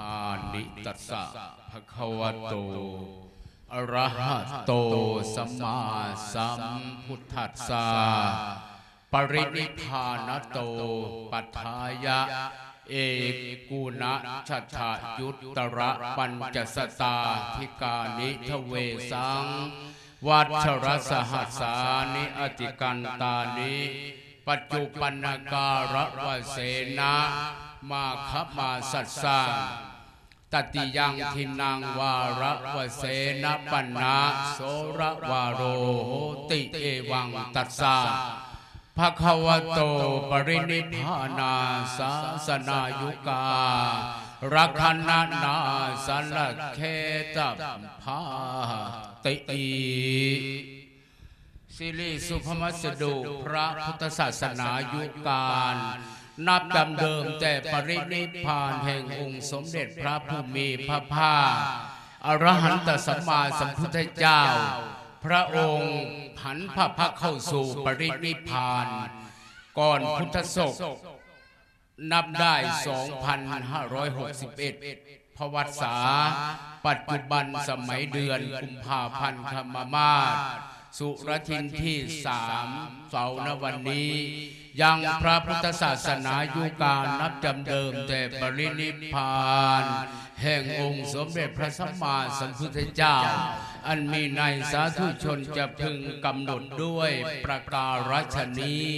ອານິ ຕັດສະ ພະຄະວະໂຕ ອະຣະຫະໂຕ ສຳມາສຳພຸດທັດສະ ປະລິນິບພານະໂຕ ປັດຖາຍະ ເອກຸນະ ຊະທະ ຍຸດຕະຣະ ປັນຈະສະຕາທິການິ ທະເວສັງ ວັດຊະລະສະຫັດສານິ ອະຕິກັນຕານິ ປັດຈຸປັນນະກາລະວະເສນະ ມາຄະມາສັດສັງ ຕະຕິຍັງທິນັງວາລະວະເສນະປັນນະ ໂສລະວາໂລໂຫຕິ ເອວັງຕັດສະ ພະຄະວະໂຕ ປະລິນິບພານາສາສະນາຍຸກາ ລັກຂະນະນາສະລັກເຂຕະພາຕິ ສິລິສຸພະມະສະດຸ ພະພຸດທະສາສະໜາຍຸການ ນັບດຳເດີມແຕ່ປະລິນິບພານແຫ່ງອົງສົມເດັດພະຜູ້ມີພະພາກ ອະລະຫັນຕະສຳມາສຳພຸດທະເຈົ້າ ພະອົງຫັນພະພັກເຂົ້າສູ່ປະລິນິບພານ ກ່ອນພຸດທະສົກ ນັບໄດ້ສອງພັນຫ້າຮ້ອຍຫົກສິບເອັດ ພະວັດສາ ປັດຈຸບັນສະໄໝເດືອນກຸມພາພັນຄະມະມາດ ສຸລະທິນທີສາມ ເສົານະວັນນີ້ ຍັງພະພຸດທະສາສະໜາຍຸການນັບຈຳເດີມແຕ່ປະລິນິບພານ ແຫ່ງອົງສົມເດັດພະສຳມາສຳພຸດທະເຈົ້າ ອັນມີໃນສາທຸຊົນຈະເພິ່ງກຳນົດດ້ວຍປະກາລະຊະນີ້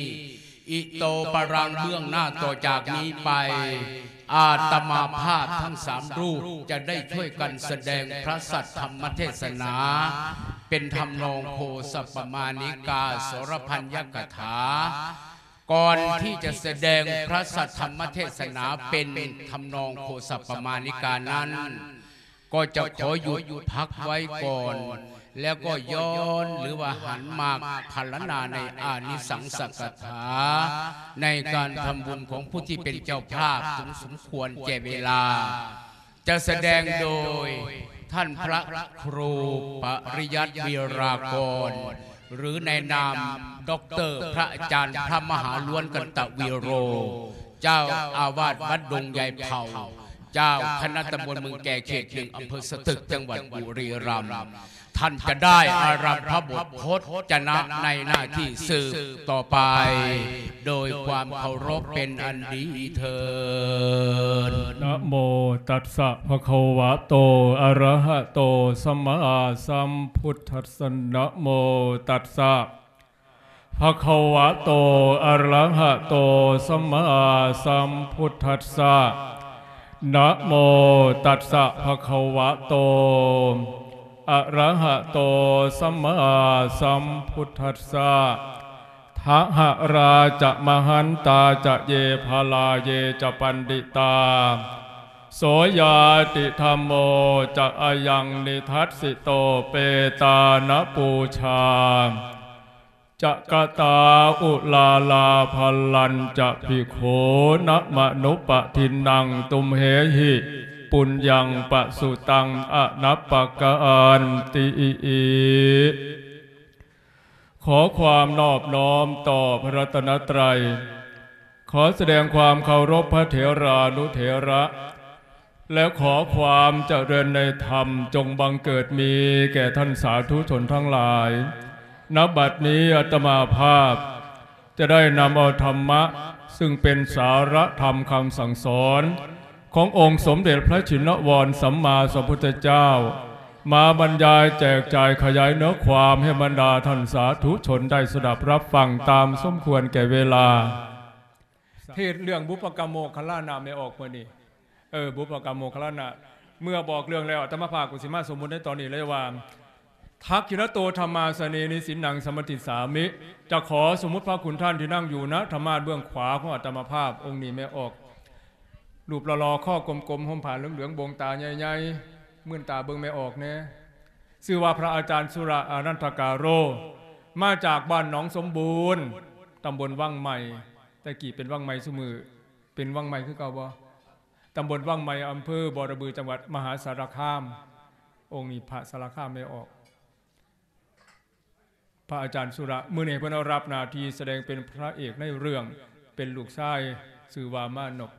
ອິໂຕປະລັງ ເບື້ອງໜ້າຕໍ່ຈາກນີ້ໄປ ອາດຕະມາພາບທັງສາມຮູບຈະໄດ້ຊ່ວຍກັນສະແດງພະສັດທຳມະເທດສະໜາ ເປັນທຳນອງໂຄສະປະມານິກາ ສອລະພັນຍະກະຖາ. ກ່ອນທີ່ຈະສະແດງພະສັດທຳມະເທດສະໜາເປັນທຳນອງໂຄສະປະມານິການັ້ນ ກໍຈະຂໍຢຸດພັກໄວ້ກ່ອນ ແລ້ວກໍຍ້ອນ ຫຼືວ່າຫັນມາພັນລະນາໃນອານິສັງສະກະຖາ ໃນການທຳບຸນຂອງຜູ້ທີ່ເປັນເຈົ້າພາບ ສົມຄວນແກ່ເວລາ ຈະສະແດງໂດຍທ່ານພະຄູປະລິຍັດ ວິລາກອນ ຫຼືໃນນາມ ດັອກເຕີ ພະອາຈານ ພະມະຫາ ລ້ວນ ກັນຕະວີໂຣ ເຈົ້າອາວາດວັດດົງໃຫຍ່ເພົາ ເຈົ້າຄະນະຕຳບົນເມືອງແກ່ ເຂດໜຶ່ງ ອຳເພີສະຕຶກ ຈັງຫວັດບຸລີລັມ. ທ່ານຈະໄດ້ອາລັມພະບົດພົດຈະນະໃນໜ້າທີ່ສືບຕໍ່ໄປ ໂດຍຄວາມເຄົາລົບເປັນອັນດີເທີ້ນ. ນະໂມຕັດສະ ພະຄະວະໂຕ ອະຣະຫະໂຕ ສຳມາສຳພຸດທັດສະ ນະໂມຕັດສະ ພະຄະວະໂຕ ອະຣະຫະໂຕ ສຳມາສຳພຸດທັດສະ ນະໂມຕັດສະ ພະຄະວະໂຕ ອະຣະຫະໂຕ ສຳມາສຳພຸດທັດສະ ທະຫະຣາຈະມະຫັນຕາຈະເຢ ພະລາເຢຈະປັນດິຕາ ໂສຍາຕິທຳໂມຈະອະຍັງນິທັດສິໂຕ ເປຕານະປູຊາ ຈະກະຕາອຸລາລາພັນລັນຈະພິກຂຸນະມະນຸປະທິນນັງ ຕຸມເຫຫິ ປຸນຍັງປະສຸຕັງ ອະນັບປະການຕິ. ຂໍຄວາມນອບນ້ອມຕໍ່ພະລັດຕະນະໄຕຣ ຂໍສະແດງຄວາມເຄົາລົບພະເຖລານຸເຖລະ ແລະ ຂໍຄວາມຈະເລີນໃນທຳຈົ່ງບັງເກີດມີແກ່ທ່ານສາທຸຊົນທັງຫຼາຍ. ນະບັດນີ້ອາດຕະມາພາບຈະໄດ້ນຳເອົາທຳມະ ຊຶ່ງເປັນສາລະທຳຄຳສັ່ງສອນຂອງອົງສົມເດັດພະຊິນນະວອນສຳມາສຳພຸດທະເຈົ້າ ມາບັນຍາຍແຈກຈ່າຍຂະຫຍາຍເນື້ອຄວາມໃຫ້ບັນດາທ່ານສາທຸຊົນໄດ້ສະດັບຮັບຟັງຕາມສົມຄວນແກ່ເວລາ. ເທດເລື່ອງບຸບປະກຳໂມກຂະລານະແມ່ອອກມື້ນີ້ ເອີ ບຸບປະກຳໂມກຂະລານະ ເມື່ອບອກເລື່ອງແລ້ວ ອາດຕະມາພາບກໍຊິມາສົມມຸດໃນຕອນນີ້ເລີຍວ່າ ທັກຂິນະໂຕທຳມາສະເນ ນິສິນນັງສະມາທິສາມິ ຈະຂໍສົມມຸດພະຄຸນທ່ານທີ່ນັ່ງຢູ່ນະທຳມາດເບື້ອງຂວາຂອງອາດຕະມາພາບ ອົງນີ້ແມ່ອອກ ຮູບຫຼໍ່ໆ ຄໍກົມໆ ຫົ່ມຜ້າເຫຼືອງໆ ໂບງຕາໃຫຍ່ໆ ມື່ນຕາເບິ່ງແມ່ອອກແດ່ ຊື່ວ່າພະອາຈານສຸລະອານັນທະກາໂລ ມາຈາກບ້ານໜອງສົມບູນ ຕຳບົນວັງໃໝ່ ແຕ່ກີ້ເປັນວັງໃໝ່ ຊຸມື້ເປັນວັງໃໝ່ຄືເກົ່າບໍ່? ຕຳບົນວັງໃໝ່ ອຳເພີບໍລະບື ຈັງຫວັດມະຫາສາລະຄາມ. ອົງນີ້ພະສາລະຄາມແມ່ອອກ ພະອາຈານສຸລະ ມື້ນີ້ເພິ່ນເອົາຮັບໜ້າທີ່ສະແດງເປັນພະເອກໃນເລື່ອງ ເປັນລູກຊາຍ ຊື່ວ່າມານົບ.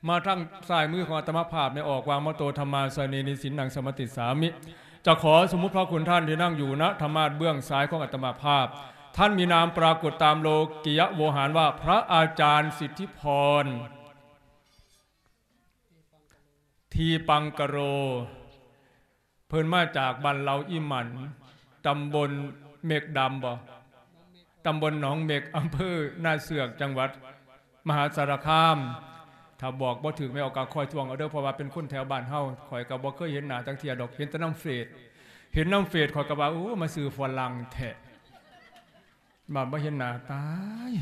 ມາທາງຊ້າຍມືຂອງອາດຕະມາພາບ ແມ່ອອກວ່າ ມະໂຕ ທຳມາສະເນ ນິສິນນັງ ສະມະຕິສາມິ. ຈະຂໍສົມມຸດພະຄຸນທ່ານທີ່ນັ່ງຢູ່ນະທຳມາດເບື້ອງຊ້າຍຂອງອາດຕະມາພາບ. ທ່ານມີນາມປາກົດຕາມໂລກິຍະໂວຫານວ່າ ພະອາຈານສິດທິພອນ ທີປັງກະໂລ. ເພິ່ນມາຈາກບ້ານເລົາອີ່ໝັນ ຕຳບົນເມັກດຳບໍ? ຕຳບົນໜອງເມັກ ອຳເພີນາເຊືອກ ຈັງຫວັດມະຫາສາລະຄາມ. ຖ້າບອກບໍ່ຖືກ ແມ່ອອກກໍຄອຍທວງເອົາເດີ້ ເພາະວ່າເປັນຄົນແຖວບ້ານເຮົາ. ຂ້ອຍກໍບໍ່ເຄີຍເຫັນໜ້າຈັກເທື່ອດອກ ເຫັນແຕ່ນຳເຟສ ເຫັນນຳເຟສ ຂ້ອຍກໍວ່າ ໂອ້ ມາຊື່ຝຣັ່ງແທ້ ມາ ມາເຫັນໜ້າ ຕາຍ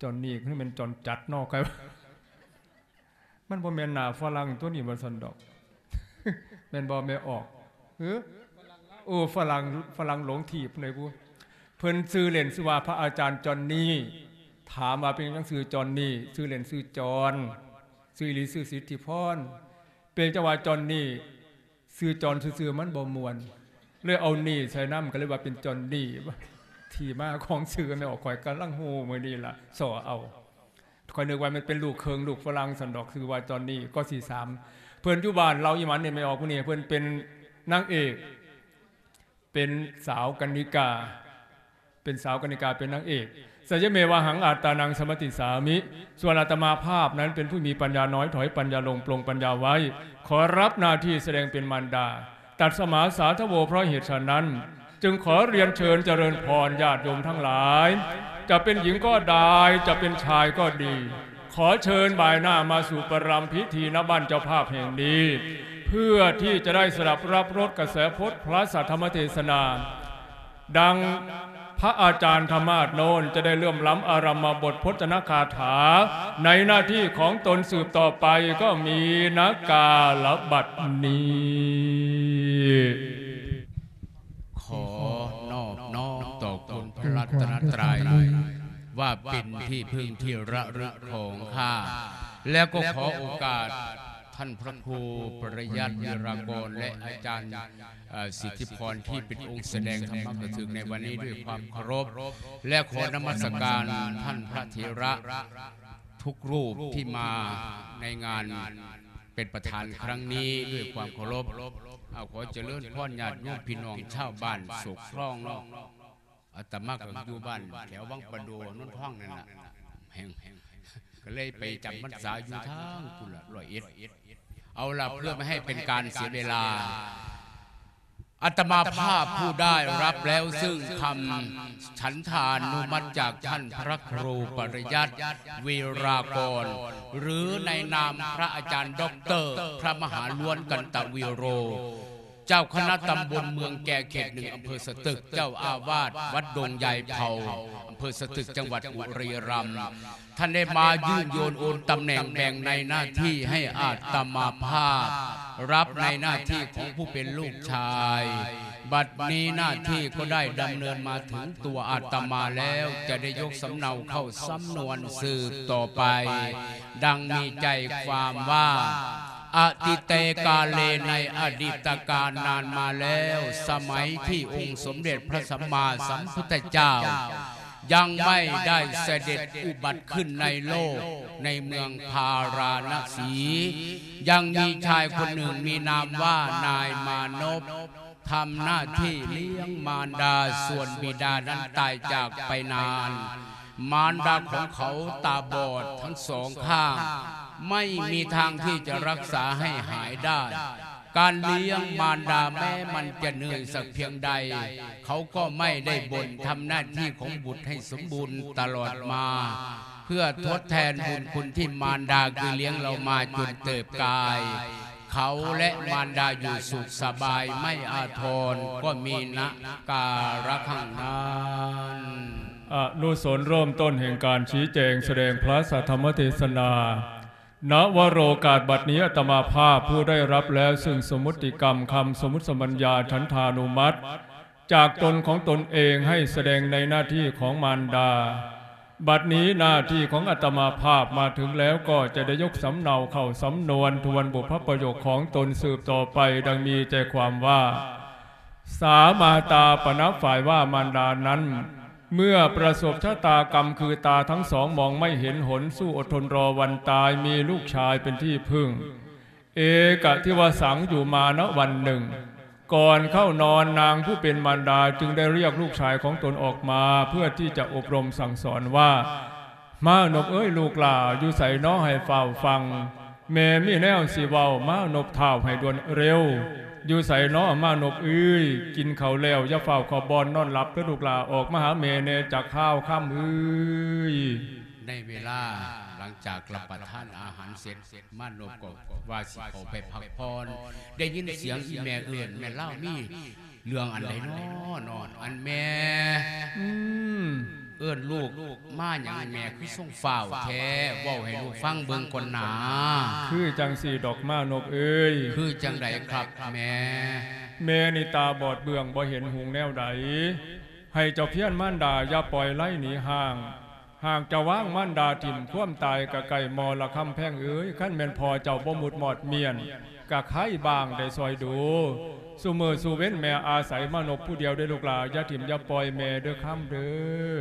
ຈອນນີ້ຄືແມ່ນຈອນຈັດເນາະ ຂ້ອຍວ່າ ມັນບໍ່ແມ່ນໜ້າຝຣັ່ງຕົວນີ້ວ່າຊັ້ນດອກ ແມ່ນບໍ່ແມ່ອອກ? ເອີ ໂອ້ ຝຣັ່ງ ຝຣັ່ງຫຼົງທີບໃດບຸ. ເພິ່ນຊື່ເລ່ນຊື່ວ່າພະອາຈານຈອນນີ້. ຖາມວ່າເປັນຫຍັງຊື່ຈອນນີ້? ຊື່ເລ່ນຊື່ຈອນ ຊື່ອີ່ຫຼີຊື່ສິດທິພອນ. ເປັນຈັ່ງວ່າຈອນນີ້ ຊື່ຈອນຊື່ໆ ມັນບໍ່ມ່ວນ ເລີຍເອົານີ້ໃສ່ນຳ ກໍເລີຍວ່າເປັນຈອນນີ້. ທີ່ມາຂອງຊື່ແມ່ອອກ ຂ້ອຍກຳລັງຮູ້ມື້ນີ້ລະ ສໍ່ເອົາ. ຂ້ອຍນຶກວ່າມັນເປັນລູກເຄິ່ງ ລູກຝຣັ່ງຊັ້ນດອກ ຊື່ວ່າຈອນນີ້. ກໍທີສາມ ເພິ່ນຢູ່ບ້ານເລົາອີ່ໝັນນີ້ ແມ່ອອກຜູ້ນີ້ ເພິ່ນເປັນນາງເອກ ເປັນສາວກະນິກາ ເປັນສາວກະນິກາ ເປັນນາງເອກ. ສະຍະເມວະຫັງ ອັດຕານັງ ສະມະຕິສາມິ. ສ່ວນອາດຕະມາພາບນັ້ນເປັນຜູ້ມີປັນຍານ້ອຍ ຖອຍປັນຍາລົງ ປລົງປັນຍາໄວ້ ຂໍຮັບໜ້າທີ່ສະແດງເປັນມານດາ. ຕັດສະມາສາທະໂວ ເພາະເຫດສະນັ້ນ ຈຶ່ງຂໍລຽນເຊີນຈະເລີນພອນຍາດໂຍມທັງຫຼາຍ ຈະເປັນຍິງກໍໄດ້ ຈະເປັນຊາຍກໍດີ ຂໍເຊີນບາຍໜ້າມາສູ່ປະລຳພິທີ ນະບ້ານເຈົ້າພາບແຫ່ງນີ້ ເພື່ອທີ່ຈະໄດ້ສະດັບຮັບລົດກະແສພົດພະສັດທຳມະເທສະນາ ດັ່ງພະອາຈານທຳມາດໂນນ ຈະໄດ້ເລີ່ມລຳອາລຳມະບົດພົດຈະນະຄາຖາ ໃນໜ້າທີ່ຂອງຕົນສືບຕໍ່ໄປ ກໍມີນະກາລະບັດນີ້. ຂໍນອບນ້ອມຕໍ່ຄຸນພະລັດຕະນະໄຕ ວ່າເປັນທີ່ເພິ່ງທີ່ລະລຶກຂອງຂ້າ ແລະ ກໍຂໍໂອກາດທ່ານພະຄູປະຢັດ ວິລາກອນ ແລະ ອາຈານ ເອີ ສິດທິພອນ ທີ່ເປັນອົງສະແດງທຳມະກະທຶກໃນວັນນີ້ດ້ວຍຄວາມເຄົາລົບ ແລະ ຂໍນະມັດສະການທ່ານພະເຖລະທຸກຮູບທີ່ມາໃນງານເປັນປະທານຄັ້ງນີ້ດ້ວຍຄວາມເຄົາລົບ. ເອົາ ຂໍຈະເລີນພອນຍາດໂຍມພີ່ນ້ອງຊາວບ້ານໂສກຄອງເນາະ. ອາດຕະມາກໍຢູ່ບ້ານແຖວວັງປະດູ ໂນນທອງນັ້ນລະ ແຫ່ງ ກໍເລີຍໄປຈຳພັນສາຢູ່ທາງພຸ້ນລະ ຮ້ອຍເອັດ. ເອົາລະ ເພື່ອບໍ່ໃຫ້ເປັນການເສຍເວລາ ອາດຕະມາພາບຜູ້ໄດ້ຮັບແລ້ວຊຶ່ງຄຳສັນທານຸມັດຈາກທ່ານພະຄູປະຢັດ ວິລາກອນ ຫຼື ໃນນາມພະອາຈານດັອກເຕີ ພະມະຫາລ້ວນ ກັນຕະວິໂຣ ເຈົ້າຄະນະຕຳບົນເມືອງແກ ເຂດໜຶ່ງ ອຳເພີສະຕຶກ, ເຈົ້າອາວາດວັດດົງໃຫຍ່ເພົາ ອຳເພີສະຕຶກ ຈັງຫວັດບຸຣີລຳ. ທ່ານໄດ້ມາຍືນໂຍນໂອນຕຳແໜ່ງແບ່ງໃນໜ້າທີ່ໃຫ້ອາດຕະມາພາບ ຮັບໃນໜ້າທີ່ຂອງຜູ້ເປັນລູກຊາຍ. ບັດນີ້ໜ້າທີ່ກໍໄດ້ດຳເນີນມາເຖິງຕົວອາດຕະມາແລ້ວ, ຈະໄດ້ຍົກສຳເນົາເຂົ້າສຳນວນສືບຕໍ່ໄປ ດັ່ງມີໃຈຄວາມວ່າ ອະຕິເຕກາເລ ໃນອະດີດຕະການນານມາແລ້ວ, ສະໄໝທີ່ອົງສົມເດັດພະສຳມາສຳພຸດທະເຈົ້າ ຍັງໄມ່ໄດ້ສະເດັດອຸບັດຂຶ້ນໃນໂລກ ໃນເມືອງພາລານະສີ, ຍັງມີຊາຍຄົນໜຶ່ງມີນາມວ່ານາຍມານົບ ທຳໜ້າທີ່ລ້ຽງມານດາ, ສ່ວນບິດານັ້ນຕາຍຈາກໄປນານ. ມານດາຂອງເຂົາຕາບອດທັງສອງຂ້າງ, ໄມ່ມີທາງທີ່ຈະລັກສາໃຫ້ຫາຍໄດ້. ການລ້ຽງມານດາແມ້ມັນຈະເໜື່ອຍສັກພຽງໃດ, ເຂົາກໍໄມ່ໄດ້ບົ່ນ, ທຳໜ້າທີ່ຂອງບຸດໃຫ້ສົມບູນຕະຫຼອດມາ, ເພື່ອທົດແທນບຸນຄຸນທີ່ມານດາເຄີຍລ້ຽງເຮົາມາຈົນເຕີບກາຍ. ເຂົາ ແລະ ມານດາຢູ່ສຸກສະບາຍໄມ້ອາທອນ, ກໍມີນະກາລະຄັ້ງນັ້ນ. ອະນຸສົນເລີ່ມຕົ້ນແຫ່ງການຊີ້ແຈງສະແດງພະສັດທຳມະເທສະນາ. ນະວະໂລກາດບັດນີ້ ອາດຕະມາພາບຜູ້ໄດ້ຮັບແລ້ວຊຶ່ງສົມມຸດຕິກຳຄຳສົມມຸດສຳບັນຍາສັນທານຸມັດ ຈາກຕົນຂອງຕົນເອງໃຫ້ສະແດງໃນໜ້າທີ່ຂອງມານດາ. ບັດນີ້ໜ້າທີ່ຂອງອາດຕະມາພາບມາເຖິງແລ້ວ, ກໍຈະໄດ້ຍົກສຳເນົາເຂົ້າສຳນວນທວນບຸບພະປະໂຫຍກຂອງຕົນສືບຕໍ່ໄປ, ດັ່ງມີໃຈຄວາມວ່າ ສາມາຕາປະນະຝ່າຍວ່າມານດານັ້ນ เมื่อประสบชะตากรรมคือตาทั้งสองมองไม่เห็นหน สู้อดทนรอวันตาย มีลูกชายเป็นที่พึ่ง เอกะทิวสัง อยู่มาณวันหนึ่ง ก่อนเข้านอนนางผู้เป็นมารดาจึงได้เรียกลูกชายของตนออกมา เพื่อที่จะอบรมสั่งสอนว่า มานพเอ้ยลูกหล่า อยู่ไสน้อให้ฟ้าวฟัง แม่มีแนวสิเว้า มานพท้าวให้ด่วนเร็ว อยู่ไสน้อมานพเอ้ย กินข้าวแล้วอย่าฟ้าวเข้าบ่อนนอนหลับเด้อลูกหล่า ออกมาหาแม่แน่จักคาว คำเอ้ย ในเวลาหลังจากรับประทานอาหารเสร็จ มานพก็ว่าสิเข้าไปพักผ่อน ได้ยินเสียงอีแม่เอิ้น แม่นลาวมีเรื่องอันใดน้อ น้อ อันแม่ อืม เอิ้นลูกมาหยังแม่คือส่งฟ้าวแท้ เว้าให้ลูกฟังเบิ่งก่อนนา คือจั่งซี้ดอกมานพเอ้ย คือจั่งใดครับแม่ แม่นี่ตาบอดเบื้องบ่เห็นหุงแนวใด ให้เจ้าเพี้ยนมารดาอย่าปล่อยไล่หนีห่าง หากเจ้าวางมารดาถิ่ม ความตายก็ใกล้มอละคำแพงเอ้ย คันแม่นพ่อเจ้าบ่มุดมอดเมี้ยน ก็ไคบ้างได้ซอยดู ซุมื้อซุเว็นแม่อาศัยมานพผู้เดียวเด้อลูกหล่า อย่าถิ่มอย่าปล่อยแม่เด้อคำเด้อ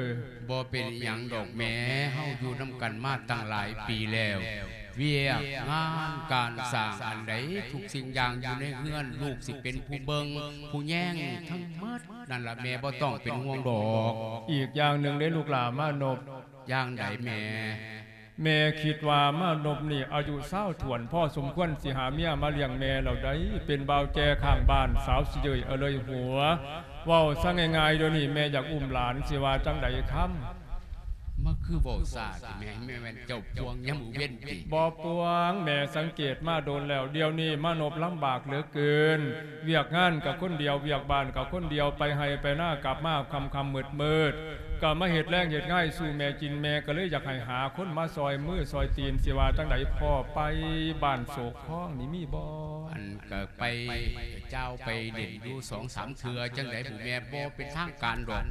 บ่เป็นอิหยังดอกแม่ เฮาอยู่นำกันมาตั้งหลายปีแล้ว เวียกงานการสร้างอันใด ทุกสิ่งอย่างอยู่ในเฮือน ลูกสิเป็นผู้เบิ่ง ผู้แยงทั้งหมด นั่นล่ะแม่บ่ต้องเป็นห่วงดอก อีกอย่างหนึ่งเด้อลูกหล่ามานพ อย่างใดแม่ แม่คิดว่ามานพนี่อายุซาวถ้วนพอสมควรสิหาเมียมาเลี้ยงแม่แล้วได๋ เป็นบ่าวแจ่ข้างบ้าน สาวสิเยยอะเลยหัว เว้าซะง่ายๆ เดี๋ยวนี้แม่อยากอุ้มหลาน สิว่าจั่งใดคำ มาคือเว้าซ่าติแม่ แม่แม่นเจ้าพวงยามมื้อเว็นติ บ่ปวง แม่สังเกตมาโดนแล้ว เดี๋ยวนี้มานพลำบากเหลือเกิน เวียกงานก็คนเดียว เวียกบ้านก็คนเดียว ไปไฮ่ไปนากลับมาค่ำๆ มืดๆ ก็มาเฮ็ดแลงเฮ็ดงายสู่แม่กิน แม่ก็เลยอยากให้หาคนมาซ่อยมือซ่อยตีน สิว่าจั่งใดพ่อไป บ้านโศกคองนี่มีบ่ อันก็ไปจ้าวไปเล่นอยู่สองสามเทื่อ จั่งใดบุแม่ บ่เป็นทางการดอก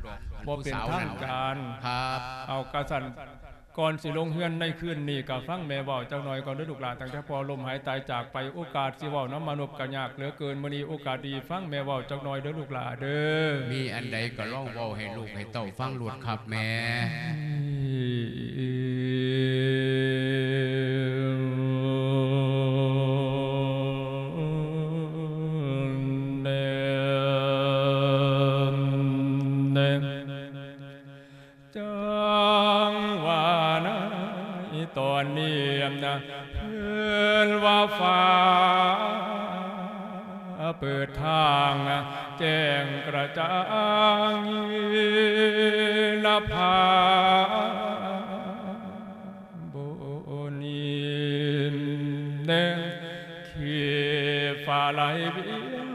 บ่เป็นทางการ ครับ เอากะซั่น ก่อนสิลงเฮือนในคืนนี้ ก็ฟังแม่เว้าจักหน่อยก่อนเด้อลูกหลาน ตั้งแต่พ่อล้มหายตายจากไป โอกาสสิเว้านำมานพก็ยากเหลือเกิน มื้อนี้โอกาสดี ฟังแม่เว้าจักหน่อยเด้อลูกหลานเด้อ มีอันใดก็ลองเว้าให้ลูกให้เต้าฟังโลดครับแม่ จั่งว่าในตอนนี้นะ เพิ่นว่าฟ้าเปิดทางแจ้งกระจ่างนภา บนนี้แดง ขีฟ้าไหลเวียน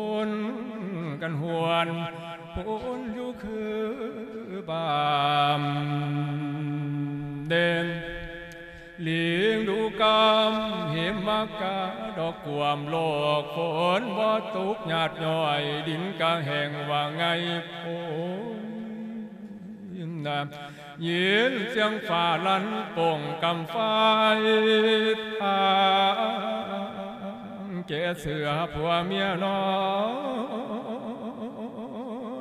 วนกันหวน ฝนอยู่คือบ้านเด่น ลิงดูกำเหมมากา ดอกกวมโลก ฝนบ่ตกหยาดย้อย ดินกะแห้งว่าไงโพ นะ ยินเสียงฟ้าลั่นโป่งกำไฟทางแก่เสือผัวเมียนอ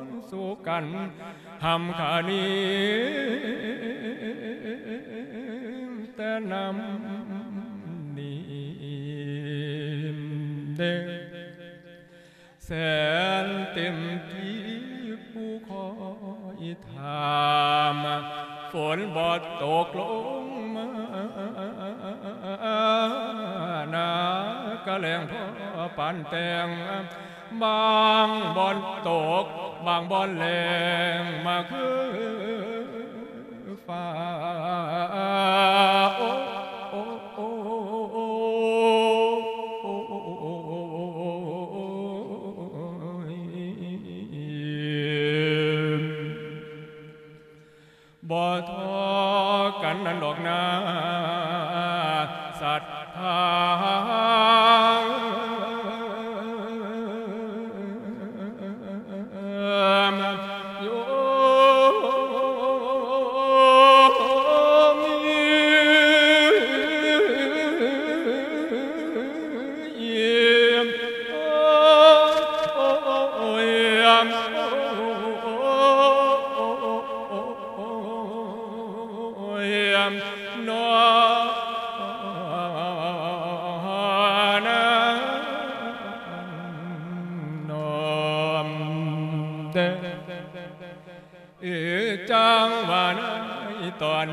นสู้กันหำขานี้แต่นำนี้เด้ แสนเต็มที่ผู้คอยถาม ฝนบ่ตกลงมา นากะแลงพอปานแต่ง บางบ่อนตก บางบ่อนแลงมาคือ ฟ้า โอ้ โอ้ โอ้ บ่ทอกันนั้นดอกนา ศรัทธา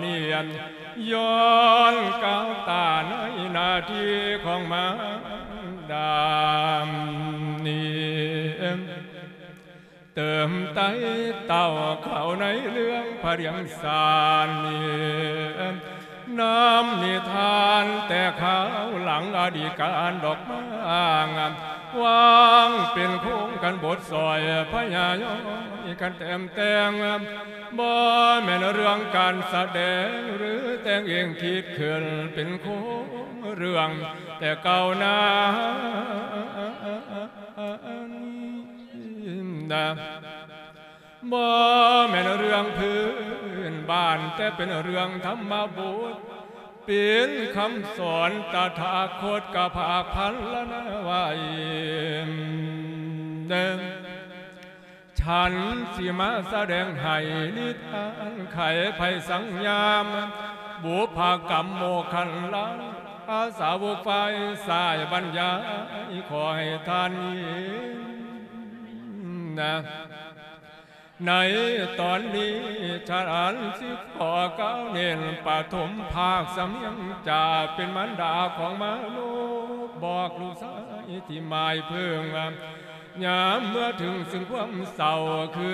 ນີ້ ຍ້ອນກ້າວຕາໃນໜ້າທີ່ຂອງມານດານີ້ ເຕີມໄຕ້ເຕົ້າເຂົ້າໃນເລື່ອງພະລຽງຊານນີ້ ນຳນິທານແຕ່ຄາວຫຼັງອະດີດການດອກມາງ ວາງເປັນໂຄງກັນບົດຊອຍພະຍາຍ້ອຍກັນແຕ້ມແຕ່ງ ບໍ່ແມ່ນເລື່ອງການສະແດງ ຫຼື ແຕ່ງເອງຄິດຂຶ້ນເປັນໂຄງເລື່ອງແຕ່ເກົ່ານານ ບໍ່ແມ່ນເລື່ອງພື້ນບ້ານ ແຕ່ເປັນເລື່ອງທຳມະບົດ ເປັນຄຳສອນຕະຖາຄົດກະພາກພັນລະນາໄວ້ ເດີ ສັນຊິມາສະແດງໃຫ້ນິທານໄຂໄພສັງຍາມ ບຸບພະກຳໂມຄັນລາ ອາສາວົກຝ່າຍສາຍບັນຍາຍ ຂໍໃຫ້ທ່ານຍິນ ໃນຕອນນີ້ ຈະອັນຊິຂໍກ່າວເນັ້ນປະຖົມພາກສຳນຽງຈາກເປັນມານດາຂອງມະນຸດ ບອກລູກຊາຍທີ່ໝາຍເພິ່ງວ່າ ຍາມເມື່ອເຖິງຊຶ່ງຄວາມເສົ້າ ຄື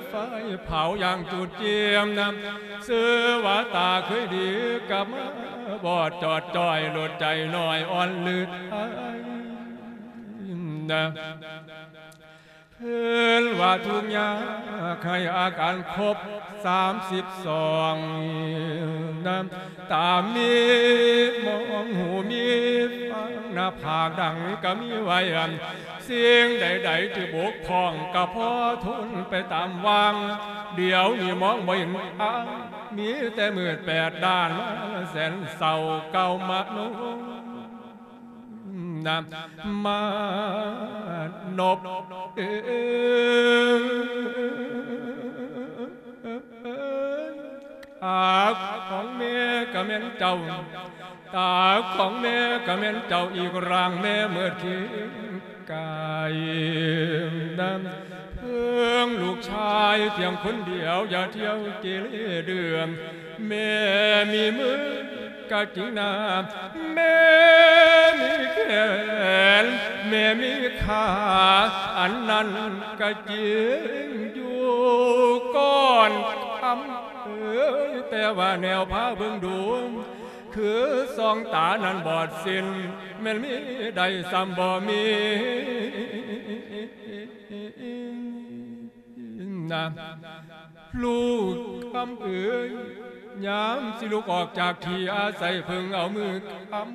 ໄຟເຜົາຢ່າງຈູດຈຽມນຳ ຊື່ວ່າຕາເຄີຍດີກັບມາບອດຈອດຈ້ອຍ ໂລດໃຈນ້ອຍອ່ອນລືດໄອນະ ເພິ່ນວ່າທຸກຍາກໃຫ້ອາການຄົບສາມສິບສອງນຳ ຕາມີມອງຫູມີຟັງ ໜ້າຜາກດັງກະມີໄວ້ ສິ່ງໃດໆທີ່ບົກຜ່ອງກະພໍທົນໄປຕາມວັງ ດຽວນີ້ມອງບໍ່ເຫັນອາຍ ມີແຕ່ມືດແປດດ້ານ ມາແສນເສົ້າເກົ່າມະໂນ ນະມານົບເອີ ອາຂອງແມ່ກະແມ່ນເຈົ້າ ຕາຂອງແມ່ກະແມ່ນເຈົ້າ ອີກຮ່າງແມ່ເໝິດຄຽງກາຍນະ ເພິ່ງລູກຊາຍພຽງຄົນດຽວ ຢ່າທ່ຽວເກເລເດືອ ແມ່ມີມືກະຈິງນາ ແມ່ມີແຂນ ແມ່ມີຂາ ອັນນັ້ນກະຈິງຢູ່ ກ່ອນຄຳເອີຍ ແຕ່ວ່າແນວພາເບິ່ງດູ ຄືສອງຕານັ້ນບອດສິ້ນ ແມ່ນມີໄດ້ຊ້ຳບໍ່ມີ ນະ ລູກຄຳເອີຍ ຍາມຊິລຸກອອກຈາກທີ່ອາໄສ ເພິ່ງເອົາມືຄຳ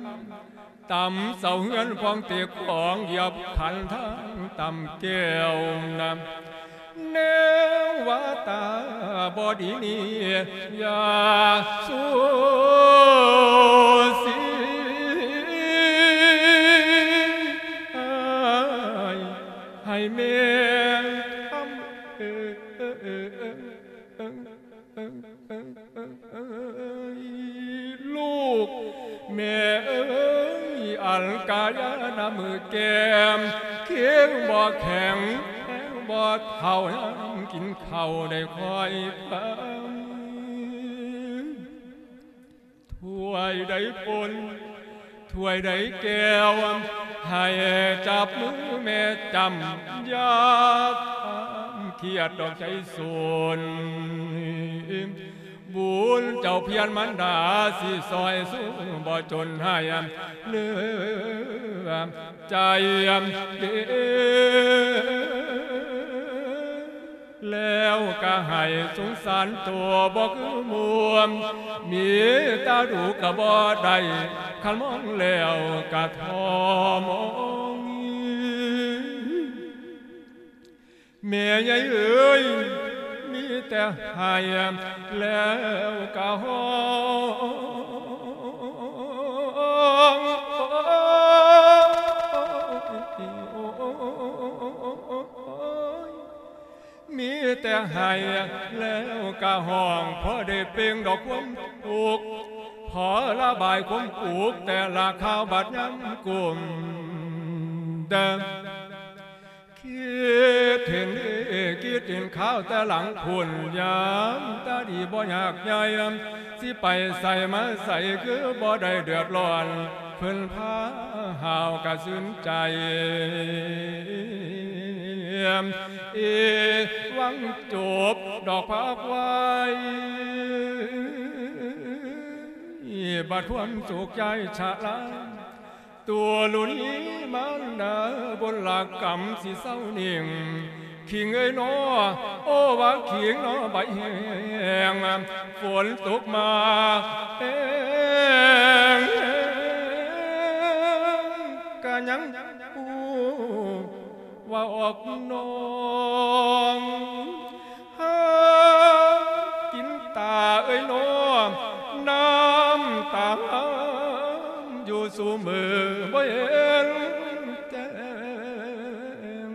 ຕຳເສົາເຮືອນຂອງເຕກຂອງ ຢຽບຂັນທາງຕຳແກ້ວນະ ແນວວ່າຕາບໍ່ດີນີ້ ຢ່າສູສີ ໃຫ້ແມ່ຄຳເອີຍ ລູກແມ່ເອີຍ ອັນກາຍານະມືແກ້ມ ຄຽງບໍ່ແຂງ ແຂງບໍ່ເທົ່າ ຍາມກິນເຂົ້າໄດ້ຄ່ອຍຟັງ ຖ້ວຍໃດປົນ ຖ້ວຍໃດແກ້ວ ໃຫ້ຈັບມືແມ່ຈ້ຳ ຢ່າທຳຄຽດດອກໃຈສູນ ບຸນເຈົ້າພຽນມານດາ ຊິຊ່ອຍຊູບໍ່ຈົນໃຫ້ເຫຼືອໃຈເດ ແລ້ວກະໃຫ້ສົງສານໂຕບໍ່ຄືໝູ່ ມີຕາດູກະບໍ່ໄດ້ ຄັນມອງແລ້ວກະທໍ່ມອງ. ແມ່ໃຫຍ່ເອີຍ ມີແຕ່ໄຫ້ ແລ້ວກະຮ້ອງ ມີແຕ່ໄຫ້ແລ້ວກະຮ້ອງ ພໍໄດ້ເປັ່ງດອກຄວາມທຸກ ພໍລະບາຍຄວາມອຸກ ແຕ່ລະຄາວບາດຍາມກຸ້ມເດີ. ເຫັນດີຄິດເຫັນຄາວແຕ່ຫຼັງພຸ້ນ ຍາມຕາດີບໍ່ຍາກໃຫຍ່ ຊິໄປໃສມາໃສຄືບໍ່ໄດ້ເດືອດຮ້ອນ ເພິ່ນພາຫ້າວກະຊື່ນໃຈ ເອ ຫວັງຈົບດອກພາກໄວ້ ບັດຄວາມໂສກໃຈຊະລາ ຕົວລຸນີມານດາ ບຸນລະກຳຊິເຊົານິ່ງ ຄີງເອີຍນໍ ໂອ ວ່າຄີງນໍ ໃບແຫ້ງ ຝົນຕົກມາແຮງ ກະຍັງຮູ້ວ່າອອກນອງ ຫາກິນຕາເອີຍນໍ ນ້ຳຕາງາມຢູ່ສູ່ມື້ ບໍ່ເຫັນແຈ້ງ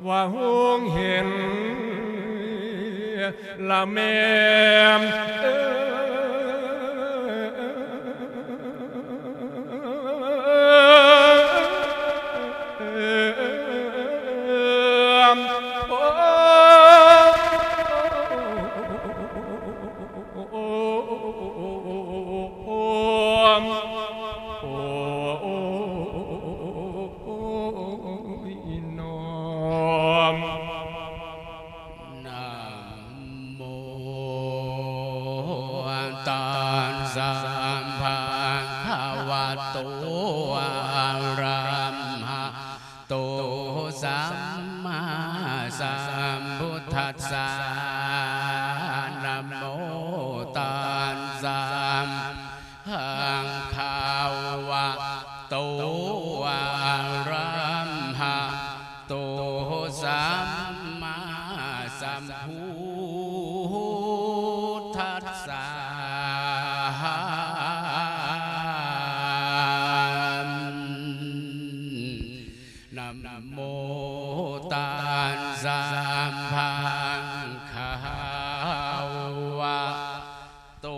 ວ່າຫົງເຫັນລະແມ່ນເອີຍ ໂອ້ ໂອ້ຍ ນ້ອມ ນະໂມຕັດສະ ພະຄະວະໂຕ ອະລະຫະໂຕ ສຳມາສຳພຸດທັດສະ ນະໂມຕັດສະ ພະຄະວະໂຕ ອະລະຫະໂຕ ສຳມາສຳພຸດທັດສະ ນະໂມຕັດສະ ພະຄະວະ ໂຕ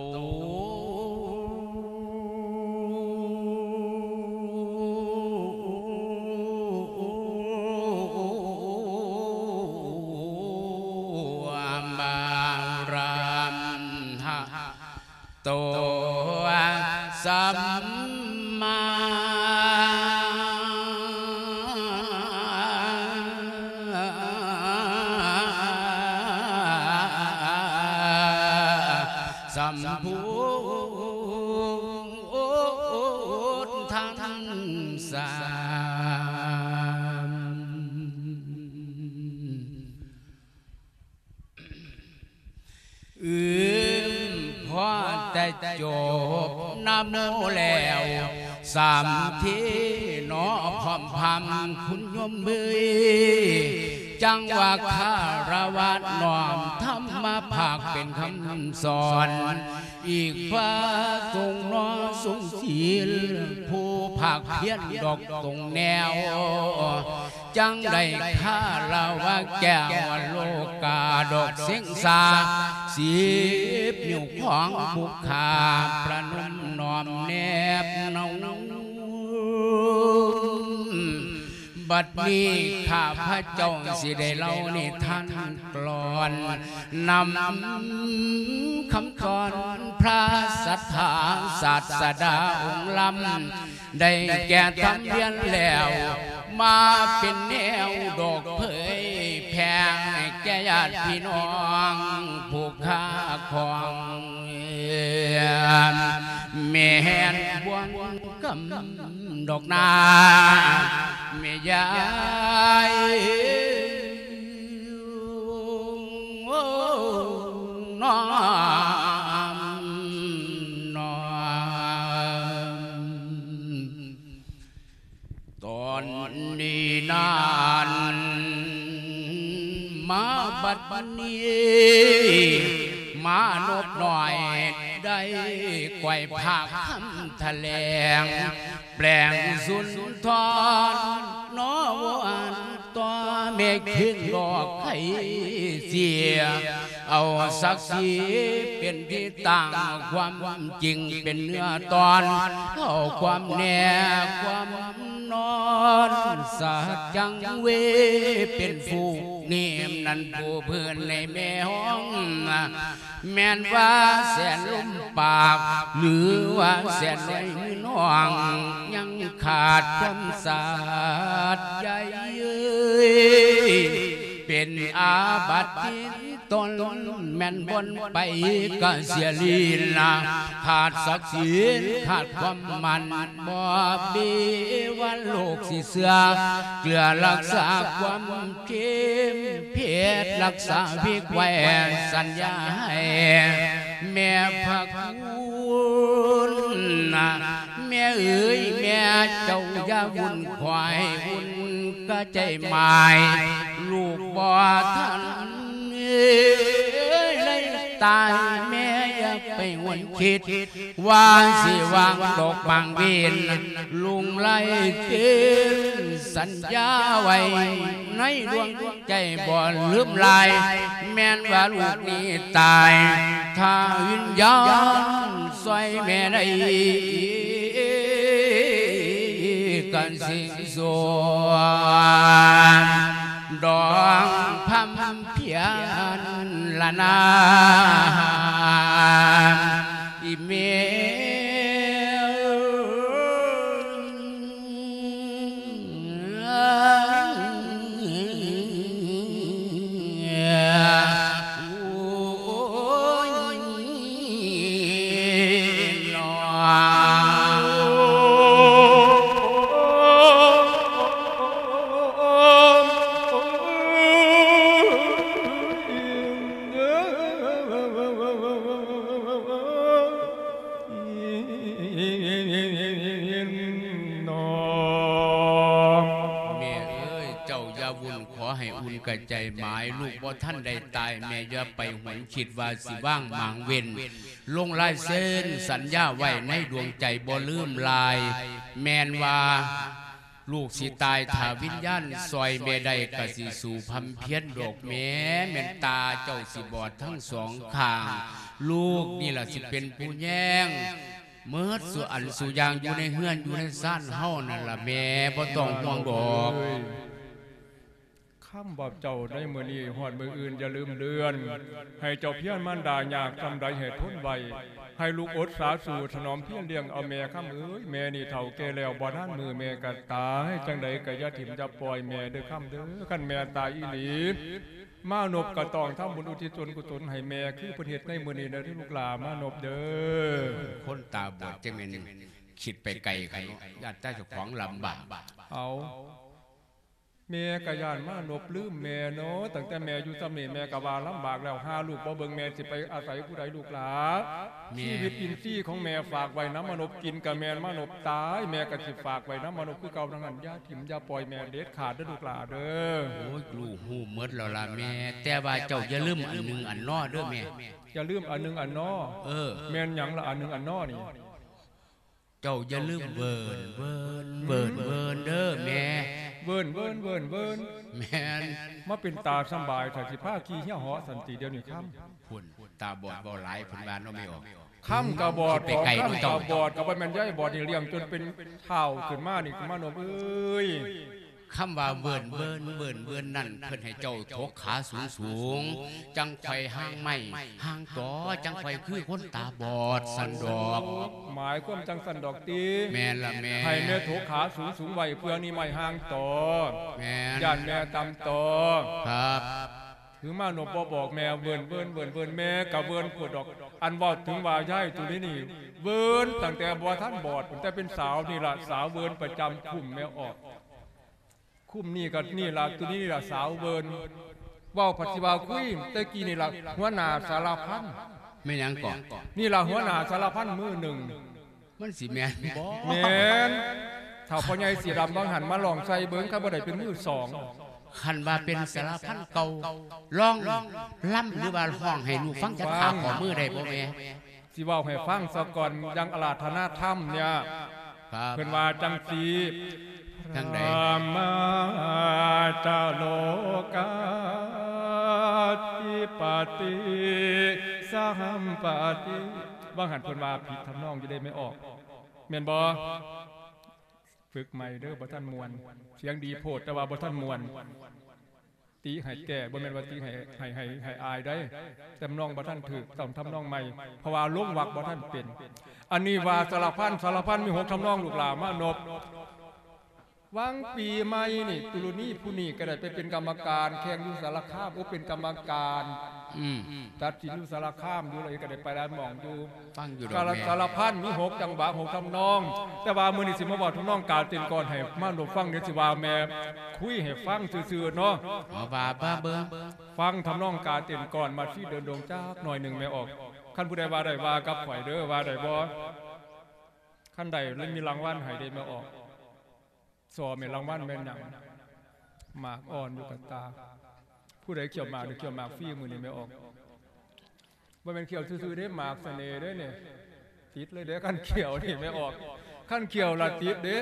ອະລະຫະໂຕ ສຳມາ ສຳພຸດທັດສະ ອືມ ພໍແຕ່ຈົບນະໂມແລ້ວ ສາມທີເນາະ ພ້ອມພຳຄຸນໂຍມເອີຍ ຈັ່ງວ່າຄາລະວະນ້ອມທຳມະພາກເປັນຄຳສອນ ອີກພະສົງເນາະຊົງສີລ ຜູ້ພາກພຽນດອກຕົງແນວ ຈັ່ງໄດ້ຄາລະວະແກ້ວໂລກາ ດອກເສັງສາ ສິບນິ້ວຂອງຜູ້ຂ້າ ປະນົມນ້ອມແນບໜົ່ງ ບັດນີ້ຂ້າພະເຈົ້າຊິໄດ້ເລົ່ານິທານກລອນ ນຳຄຳສອນພະສັດທາສາດສະດາອົງລຳ ໄດ້ແກ່ທຳວຽນແລ້ວ ມາເປັນແນວດອກເຜີຍແຜ່ແກ່ຍາດພີ່ນ້ອງຜູ້ຄ້າຂອງ ແມ່ນບ່ວງກຳດອກນາ ແມ່ຍາຍ ນ້ອມ ນ້ອມ ຕອນນີ້ນັ້ນ ມາບັດນີ້ ມະນົບນ້ອຍໄດ້ກວຍພາກຄຳຖະແຫຼງ ແປງສຸນທອນ ເນາະ ອັນ ແມ່ຄິງດອກໄຄເສຍ ເອົາສັກສີເປັນທີ່ຕັ້ງ ຄວາມຈິງເປັນເນື້ອຕອນ ເອົາຄວາມແນ່ຄວາມນອນ ສັດຈັງເວ ເປັນຜູ້ນີ້ນັ້ນ ຜູ້ເພິ່ນໃນແມ່ຫ້ອງ ແມ່ນວ່າແສນລົມປາກ ຫຼືວ່າແສນນ້ອຍມືນ້ອງ ຍັງຂາດຄວາມສາດໃຍ ເປັນອາບັດຕິດຕົນ ແມ່ນບ່ອນໄປກະເສຍລີນາ ຂາດສັກສີນ ຂາດຄວາມໝັ້ນ ບໍ່ມີວັນໂລກຊິເຊື່ອ ເກືອລັກສາຄວາມ ເຈັບເພັດລັກສາວິກໄວ້ ສັນຍາໃຫ້ແມ່ພະຄຸນນະ ແມ່ເອີຍ ແມ່ເຈົ້າຢ່າວຸ່ນ ຂໍໃຫ້ອຸ່ນກະໃຈໝາຍ ລູກບໍ່ທັນເອີຍໄດ້ຕາຍ ແມ່ຢ່າໄປຫວນຄິດ ວ່າຊິວາງດອກບາງເວນ ລຸງໄລ່ເຕີນສັນຍາໄວ້ໃນດວງໃຈບໍ່ລືມລາຍ ແມ່ນວ່າລູກນີ້ຕາຍ ຖ້າວິນຍານຊ່ອຍແມ່ໄດ້ ກະຊິສວນດອງພຳ ພຽນລະນາ ອີແມ່. ແມ່ເອີຍ ເຈົ້າຢ່າວຸ່ນ ຂໍໃຫ້ອຸ່ນກະໃຈໝາຍ ລູກບໍ່ທັນໄດ້ຕາຍ ແມ່ຢ່າໄປຫວນຄິດວ່າຊິວາງໝາງເວັນ ລົງລາຍເຊັນສັນຍາໄວ້ໃນດວງໃຈບໍ່ລືມລາຍ ແມ່ນວ່າ ລູກຊິຕາຍ ຖ້າວິນຍານຊ່ອຍແມ່ໄດ້ ກະຊິສູ້ພຳພຽນດອກແມ່ ແມ່ນຕາເຈົ້າຊິບອດທັງສອງຂ້າງ ລູກນີ້ລະຊິເປັນຜູ້ແຍງ ເໝິດສູ່ອັນສູ່ຢ່າງ ຢູ່ໃນເຮືອນຢູ່ໃນຊານເຮົານັ້ນລະແມ່ ບໍ່ຕ້ອງຫ່ວງດອກ. ຄຳວ່າເຈົ້າໃນມື້ນີ້ຮອດມື້ອື່ນຢ່າລືມເລື່ອນ ໃຫ້ເຈົ້າພຽນມານດາຍາກສ່ຳໃດໃຫ້ທົນໄວ້ ໃຫ້ລູກອົດສາສູ້ຖະໜອມພຽນລ້ຽງເອົາແມ່ ຄຳເອີຍ ແມ່ນີ້ເຖົ້າແກ່ແລ້ວ ບໍ່ນານມື້ແມ່ກະຕາຍ ຈັ່ງໃດກະຢ່າຖິ້ມຢ່າປ່ອຍແມ່ເດີ ຄຳເດີ ຄັນແມ່ຕາຍອີ່ຫຼີ ມານົບກະຕ້ອງທຳບຸນອຸທິດສ່ວນກຸສົນໃຫ້ແມ່ ຄືເພິ່ນເຮັດໃນມື້ນີ້ເດີລູກຫຼ້າ ມານົບເດີ. ຄົນຕາບອດຈັ່ງແມ່ນຄິດໄປໄກຄັນເນາະ ຢ້ານແຕ່ເຈົ້າຂອງລຳບາກ ເອົາ ແມ່ກະຢ້ານມານົບລືມແມ່ເນາະ ຕັ້ງແຕ່ແມ່ຢູ່ຊ່ຳນີ້ແມ່ກະວ່າລຳບາກແລ້ວ ຫາລູກບໍ່ເບິ່ງແມ່ຊິໄປອາໄສຜູ້ໃດລູກຫຼ້າ ແມ່ ຊີວິດອິນຊີຂອງແມ່ຝາກໄວ້ນຳມານົບ ກິນກະແມ່ນມານົບຕາຍ ແມ່ກະຊິຝາກໄວ້ນຳມານົບຄືເກົ່ານັ້ນ ຢ່າຖິ້ມຢ່າປ່ອຍແມ່ເດັດຂາດເດີລູກຫຼ້າເດີ. ໂອ້ຍ ລູກຮູ້ໝົດແລ້ວລະແມ່ ແຕ່ວ່າເຈົ້າຢ່າລືມອັນໜຶ່ງອັນນໍເດີແມ່. ຢ່າລືມອັນໜຶ່ງອັນນໍ? ເອີ ແມ່ນຫຍັງລະອັນໜຶ່ງອັນນໍນີ້? ເຈົ້າຢ່າລືມເວີນ ເວີນ ເວີນ ເວີນເດີແມ່. ເວີນ ເວີນ ເວີນ ເວີນ ແມ່ນ. ມາເປັນຕາສຳບາຍແທ້ ຊິພາຂີ່ເຮືອເຫາະຊັ້ນຕິດຽວນີ້ຄຳ. ພຸ້ນ ຕາບອດເວົ້າຫຼາຍ ເພິ່ນວ່າເນາະແມ່ອອກ. ຄຳກະບອດ ຄຳກະບອດ ກະບໍ່ແມ່ນຍາຍບອດນີ້ລ້ຽງຈົນເປັນທ້າວຂຶ້ນມານີ້ ມານົບເອີຍ. ຄຳວ່າເວີນເວີນ ເວີນເວີນນັ້ນ ເພິ່ນໃຫ້ເຈົ້າຖົກຂາສູງໆ ຈັ່ງຂ້ອຍຫາງໄມ້ຫາງຕໍ ຈັ່ງຂ້ອຍຄືຄົນຕາບອດຊັ້ນດອກ. ໝາຍຄວາມຈັ່ງຊັ້ນດອກຕິ? ແມ່ນລະແມ່. ໃຫ້ແມ່ຖົກຂາສູງໆໄວ້ ເພື່ອນີ້ໄມ້ຫາງຕໍ. ແມ່ນ. ຢ້ານແມ່ຕ່ຳຕໍ. ຄັບ. ຄືມານົບບໍ່ບອກແມ່ ເວີນເວີນ ເວີນເວີນ ແມ່ກະເວີນໂພດດອກ. ອັນເວົ້າເຖິງວ່າຍາຍໂຕນີ້ນີ້ ເວີນຕັ້ງແຕ່ບໍ່ທັນບອດ ຕັ້ງແຕ່ເປັນສາວນີ້ລະ ສາວເວີນປະຈຳຄຸ້ມແມ່ອອກ. ຄຸ້ມນີ້ກະນີ້ລະ ໂຕນີ້ລະສາວເວີນ. ເວົ້າພັດຊິວ່າຄຸຍ ແຕ່ກີ້ນີ້ລະຫົວໜ້າສາລະພັນ. ແມ່ນຫຍັງເກາະ? ນີ້ລະຫົວໜ້າສາລະພັນມື້ໜຶ່ງ. ມັນຊິແມ່ນບໍ່? ແມ່ນ. ເຖົ້າພໍ່ໃຫຍ່ສີດຳບາງຫັ້ນມາລອງໃສ່ເບິ່ງ ຄັນບໍ່ໄດ້ເປັນມືສອງ. ຄັນວ່າເປັນສາລະພັນເກົ່າ ລອງລຳ ຫຼືວ່າຮ້ອງໃຫ້ລູກຟັງຈັກຄາບ ຂໍມືໄດ້ບໍ່ແມ່? ຊິເວົ້າໃຫ້ຟັງສາກ່ອນ ຢ່າງອາລາທະນາທຳເນຍ ຄັບ ເພິ່ນວ່າຈັ່ງຊີ້. ທາງໃດ? ທຳມະຈະໂລກາທິປະຕິສະຫັມປະຕິ ວ່າຫັ້ນເພິ່ນວ່າຜິດທຳນອງຢູ່ເດ້ແມ່ອອກ ແມ່ນບໍ່? ຝຶກໃໝ່ເດີ ບໍ່ທັນມ່ວນ ສຽງດີໂພດ ແຕ່ວ່າບໍ່ທັນມ່ວນ. ຕິໃຫ້ແກ້ ບໍ່ແມ່ນວ່າຕິໃຫ້ ໃຫ້ ໃຫ້ ໃຫ້ອາຍໃດ໋ ແຕ່ທຳນອງບໍ່ທັນຖືກ ຕ້ອງທຳນອງໃໝ່ ເພາະວ່າລົງວັກບໍ່ທັນເປັນ. ອັນນີ້ວ່າສາລະພັນ ສາລະພັນມີຫົກທຳນອງ ລູກຫຼ້າມານົບ. ຫວ່າງປີໃໝ່ນີ້ ຕຸລຸນີຜູ້ນີ້ກໍໄດ້ໄປເປັນກຳມະການແຂ່ງຢູ່ສາລະຄາມ ໂອ ເປັນກຳມະການ ອືມ ຕັດສິນຢູ່ສາລະຄາມຢູ່ ແລ້ວກໍໄດ້ໄປຫຼາຍໝ່ອງຢູ່. ຟັງຢູ່ດອກແມ່ ສາລະພັນມີຫົກຈັງຫວະ ຫົກທຳນອງ ແຕ່ວ່າມື້ນີ້ຊິມາເວົ້າທຳນອງການເຕັ້ນກ່ອນ ໃຫ້ມານົບຟັງ ດຽວຊິວ່າແມ່ຄຸຍໃຫ້ຟັງຊື່ໆເນາະ. ເອົາວ່າ ວ່າເບິ່ງ ຟັງທຳນອງການເຕັ້ນກ່ອນ ມາຊີເດີນດົງຈັກໜ້ອຍໜຶ່ງແມ່ອອກ. ຄັນຜູ້ໃດວ່າໄດ້ວ່າກັບຂ້ອຍເດີ ວ່າໄດ້ບໍ່? ຄັນໄດ້ລະມີລາງວັນໃຫ້ເດ້ແມ່ອອກ. ຊໍແມ່ນລາງວັນແມ່ນຫຍັງ? ໝາກອ່ອນຢູ່ກັບຕາ. ຜູ້ໃດຂ້ຽວໝາກ ໄດ້ຂ້ຽວໝາກຟຣີມື້ນີ້ແມ່ອອກ. ບໍ່ແມ່ນຂ້ຽວຊື່ໆເດ້ ໝາກສະເໜ່ເດ້ນີ້ ຕິດເລີຍເດ້ ຄັນຂ້ຽວນີ້ແມ່ອອກ. ຄັນຂ້ຽວລະຕິດເດ້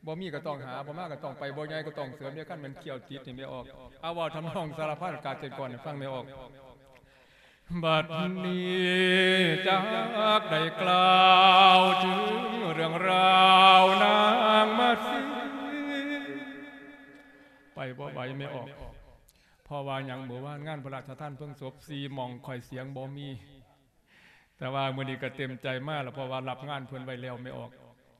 ບໍ່ມີກໍຕ້ອງຫາ ບໍ່ມາກໍຕ້ອງໄປ ບໍ່ໃຫຍ່ກໍຕ້ອງເສີມເດ້ ຄັນແມ່ນຂ້ຽວຕິດນີ້ແມ່ອອກ. ເອົາ ເວົ້າທຳນອງສາລະພັນການເຕັ້ນກ່ອນໃຫ້ຟັງແມ່ອອກ. ບັດນີ້ຈັກໄດ້ກ່າວເຖິງເລື່ອງລາວນາງມາສີ ໄປບໍ່ໄຫວແມ່ອອກ. ເພາະວ່າຫຍັງ? ມື້ວານງານພະລາຊະທານເພິ່ງສົບ ສີ່ໝ່ອງຂ້ອຍສຽງບໍ່ມີ ແຕ່ວ່າມື້ນີ້ກໍເຕັມໃຈມາລະ ເພາະວ່າຮັບງານເພິ່ນໄວ້ແລ້ວແມ່ອອກ.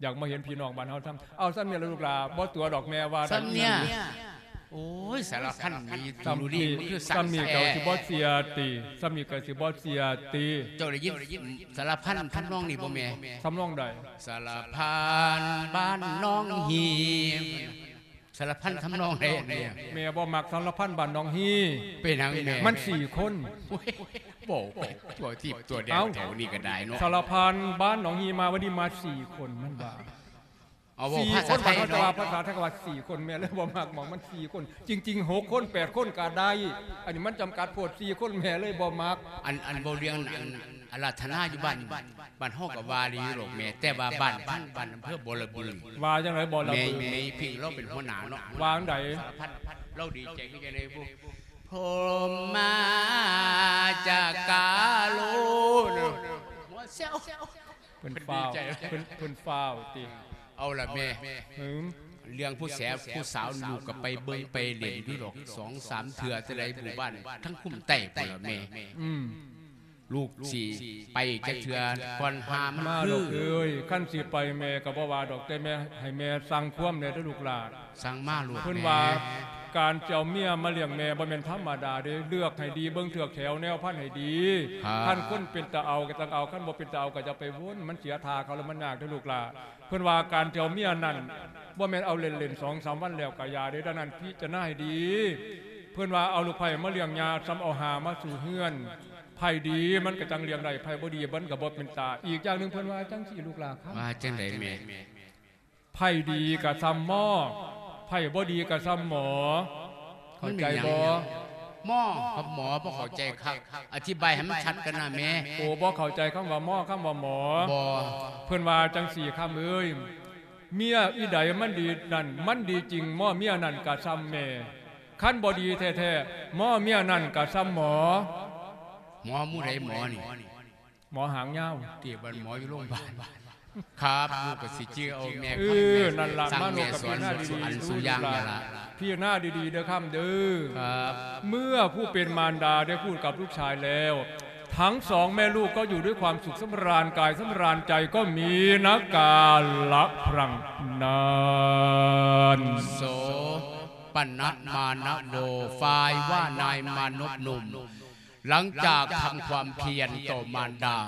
ຢາກມາເຫັນພີ່ນ້ອງບ້ານເຮົາທຳ ເອົາສ່ຳນີ້ລະລູກຫຼ້າ ບໍ່ຕົວດອກແມ່ວ່າ ສ່ຳນີ້. ໂອ້ຍ ສາລະພັນມີ ສ່ຳນີ້ ສ່ຳນີ້ກໍຊິບໍ່ເສຍຕິ ສ່ຳນີ້ກໍຊິບໍ່ເສຍຕິ. ເຈົ້າໄດ້ຍິນສາລະພັນທຳນອງນີ້ບໍ່ແມ່? ທຳນອງໃດ? ສາລະພັນບ້ານໜອງຮີ. ສາລະພັນທຳນອງໃດອັນນີ້? ແມ່ບໍ່ມັກສາລະພັນບ້ານໜອງຮີ. ເປັນຫຍັງແມ່? ມັນສີ່ຄົນ. ໂອ້ຍ ເວົ້າໄປຕົວທີບຕົວແດງ ເອົ້າ ແຖວນີ້ກໍໄດ້ເນາະ. ສາລະພັນບ້ານໜອງຮີມາ ວັນນີ້ມາສີ່ຄົນ ມັນວ່າ. ເອົາເວົ້າພາສາໄທເນາະ ວ່າພາສາໄທກໍວ່າສີ່ຄົນ ແມ່ເລີຍບໍ່ມັກໝ່ອງມັນສີ່ຄົນ. ຈິງໆ ຫົກຄົນ ແປດຄົນກໍໄດ້ ອັນນີ້ມັນຈຳກັດໂພດ ສີ່ຄົນ ແມ່ເລີຍບໍ່ມັກ. ອັນ ອັນເວົ້າເລື່ອງອັນ ອາລາທະນາຢູ່ບ້ານ ບ້ານເຮົາກໍວ່າດີຢູ່ດອກແມ່ ແຕ່ວ່າບ້ານພັນ ບ້ານອຳເພີບໍລະບູ ວ່າຈັ່ງໃດບໍລະບູ? ແມ່ ແມ່ພິງລາວເປັນຫົວໜ້າເນາະ. ວ່າຈັ່ງໃດ? ສາລະພັນ ລາວດີໃຈຄືຈັ່ງໃດບຸ? ພົມມາຈະກາໂລ ເພິ່ນຟ້າວ ເພິ່ນ ເພິ່ນຟ້າວຕິ. ເອົາລະແມ່ ເລື່ອງຜູ້ແສ ຜູ້ສາວ ລູກກໍໄປເບິ່ງໄປຫຼິ້ນຢູ່ດອກ ສອງສາມເທື່ອ ແຕ່ໃດໝູ່ບ້ານ ທັງຄຸ້ມໃຕ້ພຸ້ນລະແມ່. ອືມ ລູກຊິໄປຈັກເທື່ອກ່ອນຫາມັນຄື. ມາລູກເອີຍ ຄັນຊິໄປແມ່ກໍບໍ່ວ່າດອກ ແຕ່ແມ່ ໃຫ້ແມ່ສັ່ງຄວາມແດ່ເດີລູກຫຼ້າ. ສັ່ງມາໂລດ. ເພິ່ນວ່າ ການຈະເອົາເມຍມາລ້ຽງແມ່ບໍ່ແມ່ນທຳມະດາເດ້ ເລືອກໃຫ້ດີ ເບິ່ງເທືອກແຖວແນວພັນໃຫ້ດີ. ຄັນຄົນເປັນຕາເອົາກໍຈັ່ງເອົາ ຄັນບໍ່ເປັນຕາເອົາກໍຢ່າໄປວົນ ມັນເສຍທ່າເຂົາແລ້ວມັນຍາກເດີລູກຫຼ້າ. ເພິ່ນວ່າການຈະເອົາເມຍນັ້ນ ບໍ່ແມ່ນເອົາເລ່ນໆ ສອງສາມວັນແລ້ວກໍຢ່າເດ້ ດັ່ງນັ້ນພິຈາລະນາໃຫ້ດີ. ເພິ່ນວ່າເອົາລູກໃພ້ມາລ້ຽງຍ່າ ສ່ຳເອົາຫ່າມາສູ່ເຮືອນ. ໃຜດີມັນກໍຈັ່ງລ້ຽງໄດ້ ໃຜບໍ່ດີມັນກໍບໍ່ເປັນຕາ. ອີກຢ່າງໜຶ່ງເພິ່ນວ່າຈັ່ງຊີ້ລູກຫຼ້າຄຳ. ວ່າຈັ່ງໃດແມ່? ໃຜດີກໍສ່ຳໝໍ ໃຜບໍ່ດີກໍສ່ຳໝໍ. ເຂົ້າໃຈບໍ່? ໝໍກັບໝໍບໍ່ເຂົ້າໃຈຄັກ ອະທິບາຍໃຫ້ມັນຊັດກັນນະແມ່. ໂອ ບໍ່ເຂົ້າໃຈຄຳວ່າໝໍ ຄຳວ່າໝໍ. ບໍ່. ເພິ່ນວ່າຈັ່ງຊີ້ຄຳເອີຍ ເມຍອີໃດມັນດີນັ້ນ ມັນດີຈິງ ໝໍເມຍນັ້ນກະສ່ຳແມ່. ຄັນບໍ່ດີແທ້ໆ ໝໍເມຍນັ້ນກະສ່ຳໝໍ. ໝໍໝູ່ໃດໝໍນີ້? ໝໍຫາງຍາວ ຕິ ບັດໝໍຢູ່ໂລງບານ. ຄັບ ລູກກໍຊິຈື່ເອົາແມ່. ເອີ ນັ້ນລະ ມາລູກກໍພິຈາລະນາດີໆ ອັນສູ່ຢ່າງນັ້ນລະ ພິຈາລະນາດີໆເດີຄຳເດີ. ຄັບ ເມື່ອຜູ້ເປັນມານດາໄດ້ພູດກັບລູກຊາຍແລ້ວ ທັງສອງແມ່ລູກກໍຢູ່ດ້ວຍຄວາມສຸກສຳລານກາຍສຳລານໃຈ ກໍມີນະກາລະພລັງນານ. ໂສປະນະມານະໂວ ຝ່າຍວ່ານາຍມະນຸດໜຸ່ມ ຫຼັງຈາກທຳຄວາມພຽນຕໍ່ມານດາ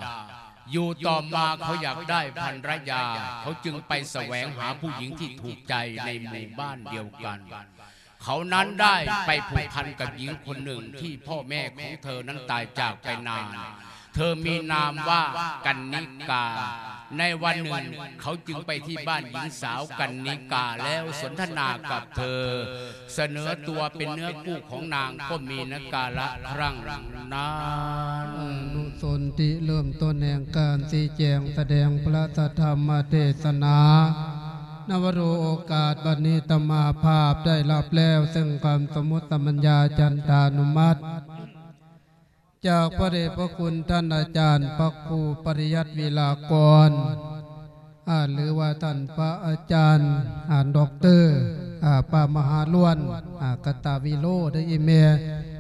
ຢູ່ຕໍ່ມາເຂົາຢາກໄດ້ພັນລະຍາ ເຂົາຈຶ່ງໄປສະແຫວງຫາຜູ້ຍິງທີ່ຖືກໃຈໃນໝູ່ບ້ານດຽວກັນ. ເຂົານັ້ນໄດ້ໄປຜູກພັນກັບຍິງຄົນໜຶ່ງທີ່ພໍ່ແມ່ຂອງເທີນັ້ນຕາຍຈາກໄປນານ. ເທີມີນາມວ່າກັນນິກາ. ໃນວັນໜຶ່ງເຂົາຈຶ່ງໄປທີ່ບ້ານຍິງສາວກັນນິກາແລ້ວສົນທະນາກັບເທີ ສະເໜີຕົວເປັນເນື້ອຄູ່ຂອງນາງ ກໍມີນະກາລະພລັງນານ. ອະນຸສົນທິ ເລີ່ມຕົ້ນແຫ່ງການຊີ້ແຈງສະແດງພະທຳມະເທດສະໜາ. ນະວະໂລ ໂອກາດບັດນີ້ ອາດຕະມາພາບໄດ້ຮັບແລ້ວ ເຊິ່ງຄຳສົມມຸດສະມັນຍາຈັນທານຸມັດ ຈາກພະເດດພະຄຸນທ່ານອາຈານພະຄູປະລິຍັດ ວິລາກອນ ອາ ຫຼືວ່າທ່ານພະອາຈານ ອາ ດັອກເຕີ ອາ ພະມະຫາລ້ວນ ອາ ກະຕະວິໂລ ເດີອີ່ແມ່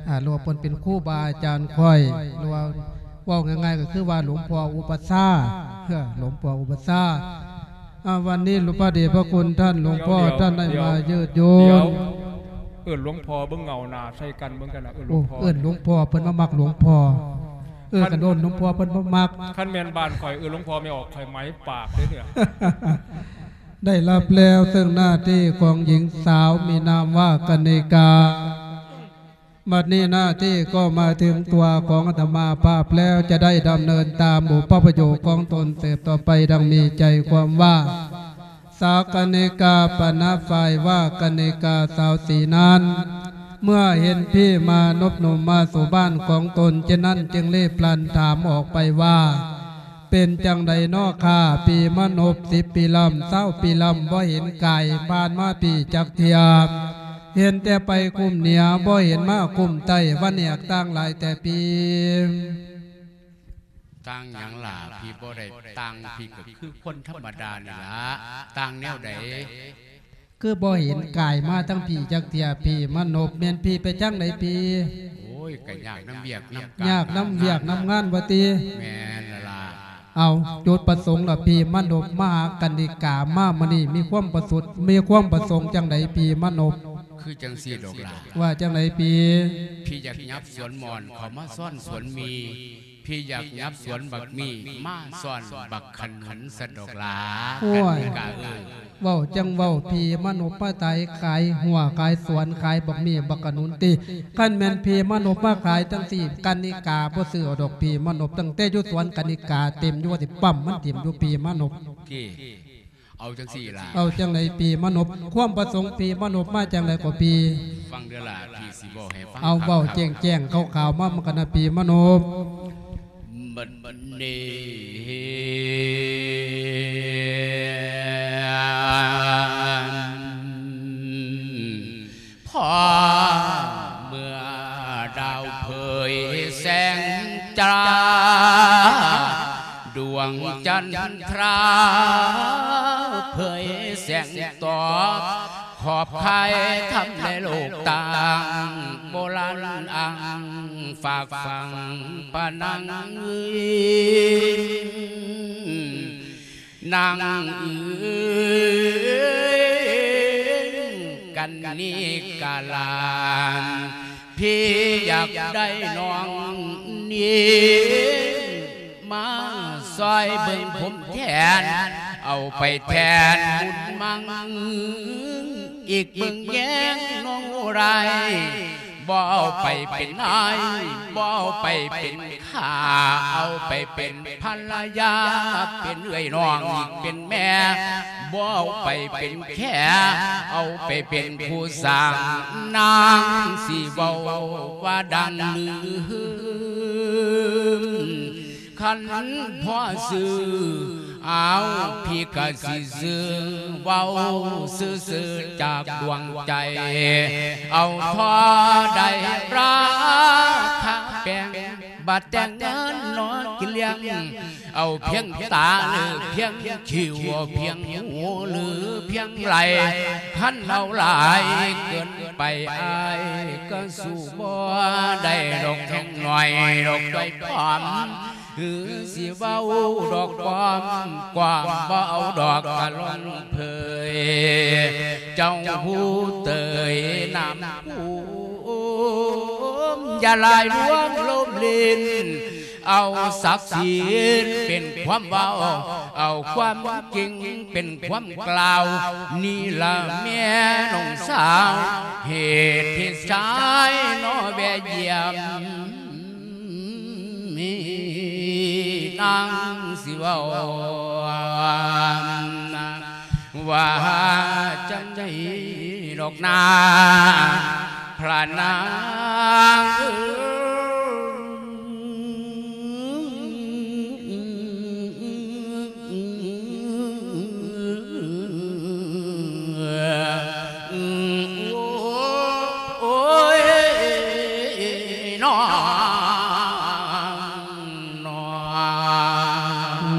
ອາ ຫຼືວ່າເພິ່ນເປັນຄູບາອາຈານຂ້ອຍ ຫຼືວ່າເວົ້າງ່າຍໆ ກໍຄືວ່າຫຼວງພໍ່ອຸປະຊາ ເອີ ຫຼວງພໍ່ອຸປະຊາ. ອາ ວັນນີ້ພະເດດພະຄຸນທ່ານຫຼວງພໍ່ ດຽວ ທ່ານໄດ້ ດຽວ ມາເຢີດໂຍ ດຽວ ນ ເອີ້ນຫຼວງພໍ່ເບິ່ງ ເງົາໜ້າໃສ່ກັນເບິ່ງກັນນະ ເອີ້ນຫຼວງພໍ່ ໂອ້ ເອີ້ນຫຼວງພໍ່ ເພິ່ນບໍ່ມັກຫຼວງພໍ່ ເອີ ຄັນ ຄັນເອີ້ນຫຼວງພໍ່ເພິ່ນບໍ່ມັກ ຄັນແມ່ນບ້ານຂ້ອຍເອີ້ນຫຼວງພໍ່ແມ່ອອກ ຂ້ອຍໄໝປາກເດ້ເທື່ອ ໄດ້ຮັບແລ້ວເຊິ່ງໜ້າທີ່ຂອງຍິງສາວມີນາມວ່າກະນິກາ. ບັດນີ້ໜ້າທີ່ກໍມາເຖິງຕົວຂອງອາດຕະມາພາບແລ້ວ ຈະໄດ້ດຳເນີນຕາມບຸບພະໂຫຍກຂອງຕົນສືບຕໍ່ໄປ ດັ່ງມີໃຈຄວາມວ່າ ສາວກະນິກາປະນະຝ່າຍວ່າກະນິກາສາວສີນັ້ນ ເມື່ອເຫັນພີມານົບໜຸ່ມມາສູ່ບ້ານຂອງຕົນເຊັ່ນນັ້ນ ຈຶ່ງລີບລັນຖາມອອກໄປວ່າ ເປັນຈັ່ງໃດນໍຂ້າ ພີມານົບ ສິບປີລຳ ຊາວປີລຳ ບໍ່ເຫັນກາຍຜ່ານມາພີຈັກເທື່ອ ເຫັນແຕ່ໄປຄຸ້ມເໜືອ ບໍ່ເຫັນມາຄຸ້ມໃຕ້ ວັນແຫກຕ່າງຫຼາຍແຕ່ພີ. ຕ່າງຫຍັງລະ? ພີບໍ່ໄດ້ຕ່າງ ພີກໍຄືຄົນທຳມະດານີ້ລະ. ຕ່າງແນວໃດ? ຄືບໍ່ເຫັນກາຍມາທາງພີຈັກເທື່ອ ພີມານົບ ແມ່ນພີໄປທາງໃດພີ? ໂອ້ຍ ກໍຍາກນຳວຽກນຳການ ຍາກນຳວຽກນຳງານວ່າຕິ? ແມ່ນລະລະ. ເອົາ ຈຸດປະສົງລະ ພີມານົບ ມາຫາກະນິກາ ມາມື້ນີ້ມີຄວາມປະສົງ ມີຄວາມປະສົງຈັ່ງໃດ ພີມານົບ? ຄືຈັ່ງຊີ້ດອກຫຼ້າ. ວ່າຈັ່ງໃດພີ? ພີຢາກຫຍັບສວນມ່ອນ ເຂົ້າມາຊ້ອນສວນໝີ່ ພີຢາກຫຍັບສວນບັກໝີ່ ມາຊ້ອນບັກຂະໜູນຊັ້ນດອກຫຼ້າ. ໂອ້ຍ ກະເອີ ເວົ້າຈັ່ງເວົ້າ ພີມານົບມາໄຖຂາຍຮົ້ວຂາຍສວນ ຂາຍບັກໝີ່ບັກຂະໜູນຕິ? ຄັນແມ່ນພີມານົບມາຂາຍຈັ່ງຊີ້ ກະນິກາບໍ່ຊື້ເອົາດອກ ພີມານົບ ຕັ້ງແຕ່ຢູ່ສວນກະນິກາເຕັມຢູ່ ວ່າຊິປ້ຳມັນຖິ້ມຢູ່ ພີມານົບ. ເອົາຈັ່ງຊີ້ລະ ເອົາຈັ່ງໃດ ພີມານົບ? ຄວາມປະສົງພີມານົບມາຈັ່ງໃດກໍພີ? ຟັງເດີລະ ພີຊິເວົ້າໃຫ້ຟັງ. ເອົາ ເວົ້າແຈ້ງໆ ຂາວໆ ມາ ມັນກະນະ ພີມານົບ. ບັດນີ້ ພໍເມື່ອດາວເຜີຍແສງຈ້າ ດວງຈັນທຣາເຜີຍແສງຕອບ ຂອບຄາຍທຳໃນໂລກຕ່າງ ໂບລານອ່າງຝາກຝັງປະນັງ ນາງເອີຍ ກັນນີກາຫຼານ ພີຢາກໄດ້ນ້ອງນີ້ ມາຊ່ອຍເບິ່ງຜົມແທນ ເອົາໄປແທນບຸນມັງ ອີກເບິ່ງແຍງນ້ອງໄດ້ ບໍ່ເອົາໄປເປັນນາຍ ບໍ່ເອົາໄປເປັນຂ້າ ເອົາໄປເປັນພັນລະຍາ ເປັນເອື້ອຍນ້ອງ ເປັນແມ່ ບໍ່ເອົາໄປເປັນແຂ ເອົາໄປເປັນຜູ້ສ້າງ ນາງຊິເວົ້າວ່າດັງລືມ ຄັນພໍຊື້ ອ້າວ ພີກະຊິຊື້ ເວົ້າຊື່ໆຈາກດວງໃຈ ເອົາທໍ່ໄດ້ລາຄາແພງ ບາດແຕ່ງເງິນນອກກິນລ້ຽງ ເອົາພຽງຕາຫຼືພຽງຄິ້ວ ເອົາພຽງຫູຫຼືພຽງໄຫຼ່ ຄັນເອົາຫຼາຍເກີນໄປ ອ້າຍກະສູ້ບໍ່ໄດ້ດອກ ແຮງໜ້ອຍດອກ ໄວ້ພ້ອມ ຫຼືຊິເວົ້າດອກປອມ ກວາມບໍ່ເອົາດອກກະລອງເຜີຍ ເຈົ້າຮູ້ເຕີຍນາມຄູມ ຢ່າຫຼາຍລວງລົມຫຼິ້ນ ເອົາສັກສີເປັນຄວາມເວົ້າ ເອົາຄວາມຈິງເປັນຄວາມກ່າວ ນີ້ລະແມ່ນ້ອງສາວ ເຫດທີ່ຊາຍນໍແວະຢ້ຽມ ນາງຊິເວົ້າວ່າຈັ່ງໃດດອກນາ ພະນາງເອີຍ.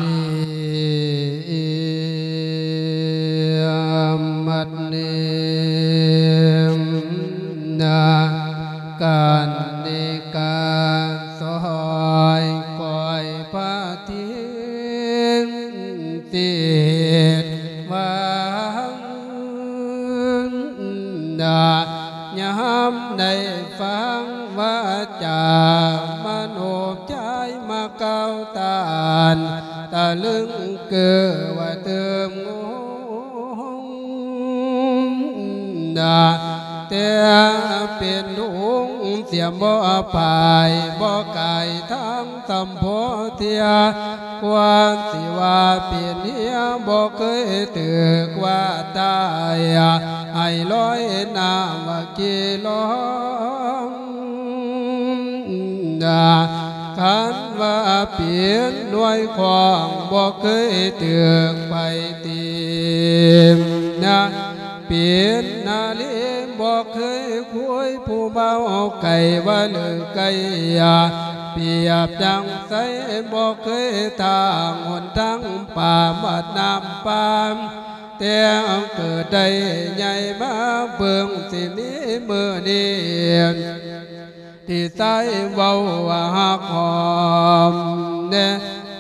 ນີ້ ບັດນີ້ນະ ການນິກາ ຊອຍກ້ອຍພະທິນ ຕິດວັງນະ ຍາມໄດ້ຟັງວາຈາມະໂນໃຈມາກ່າວຕ້ານ ຕະລຶງເກີວ່າຕື່ມງົງ ນະ ແຕ່ເປັນລຸງເສຍບໍ່ພາຍ ບໍ່ກາຍທາງສຳໂພເທຍ ກວ່າຊິວ່າເປັນເຮຍ ບໍ່ເຄີຍຖືກວ່າຕາຍ ໃຫ້ລອຍນ້ຳວ່າກີລອງ ນະ ຄັນວ່າເປັນໜ່ວຍຂອງ ບໍ່ເຄີຍຖືກໄປຕີມນະ ເປັນນາລີບໍ່ເຄີຍຄຸຍຜູ້ເບົາໄກ່ວ່າເລີກໄກ່ ປຽບຈັ່ງໃສບໍ່ເຄີຍທາງຫົນທາງປ່າໝາດນ້ຳປາມ ແຕ່ເກີດໄດ້ໃຫຍ່ມາເບິ່ງຊິມີມື້ນີ້ ທີ່ຊາຍເວົ້າວ່າຮັກຫອມແນ່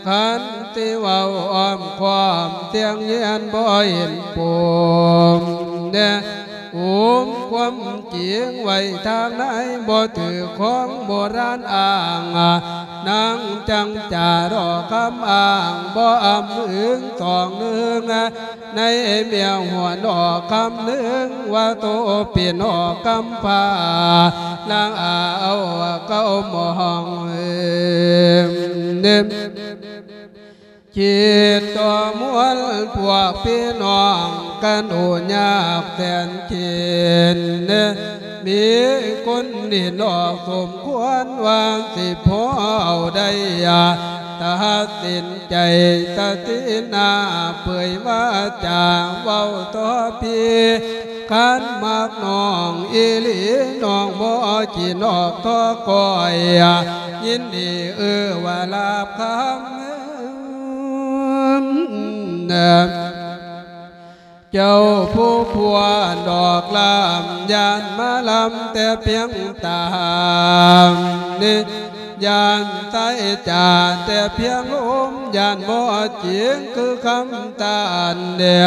ຄັນຊິເວົ້າອ້ອມຄ້ອມ ສຽງຍຽນບໍ່ເຫັນປົມແນ່ ອຸມຄວາມຈິງໄວ້ທາງໃນ ບໍ່ຖືກຂອງໂບລານອ້າງ ນາງຈັ່ງຈາດອກຄຳອ້າງ ບໍ່ອຳອຶງສອງເໜືອງ ໃນເມຍຫົວນອກຄຳໜຶ່ງ ວ່າໂຕເປັນອອກກຳພ້າ ນາງອາວເກົ້າມອງ ຄິດຕໍ່ມວນພວກພີ່ນ້ອງກັນໂອຍາກແສນເຂັນ ມີຄົນເຫັນອອກສົມຄວນວ່າຊິພໍເອົາໄດ້ ຕັດສິນ ໃຈສະຕິໜ້າເຜີຍວາຈາເວົ້າຕໍ່ພີ່ ຄັນມັກນ້ອງອີ່ຫຼີ ນ້ອງບໍ່ຂີ້ນອກທໍ່ກ້ອຍ ຍິນດີເອື້ອວ່າລາບຄຳ ເຈົ້າຜູ້ພົວດອກລາມ ຢ້ານມາລຳແຕ່ພຽງຕາມນີ້ ຢ້ານສາຍຈາແຕ່ພຽງລົມ ຢ້ານບໍ່ຈິງຄືຄຳຕານແດ່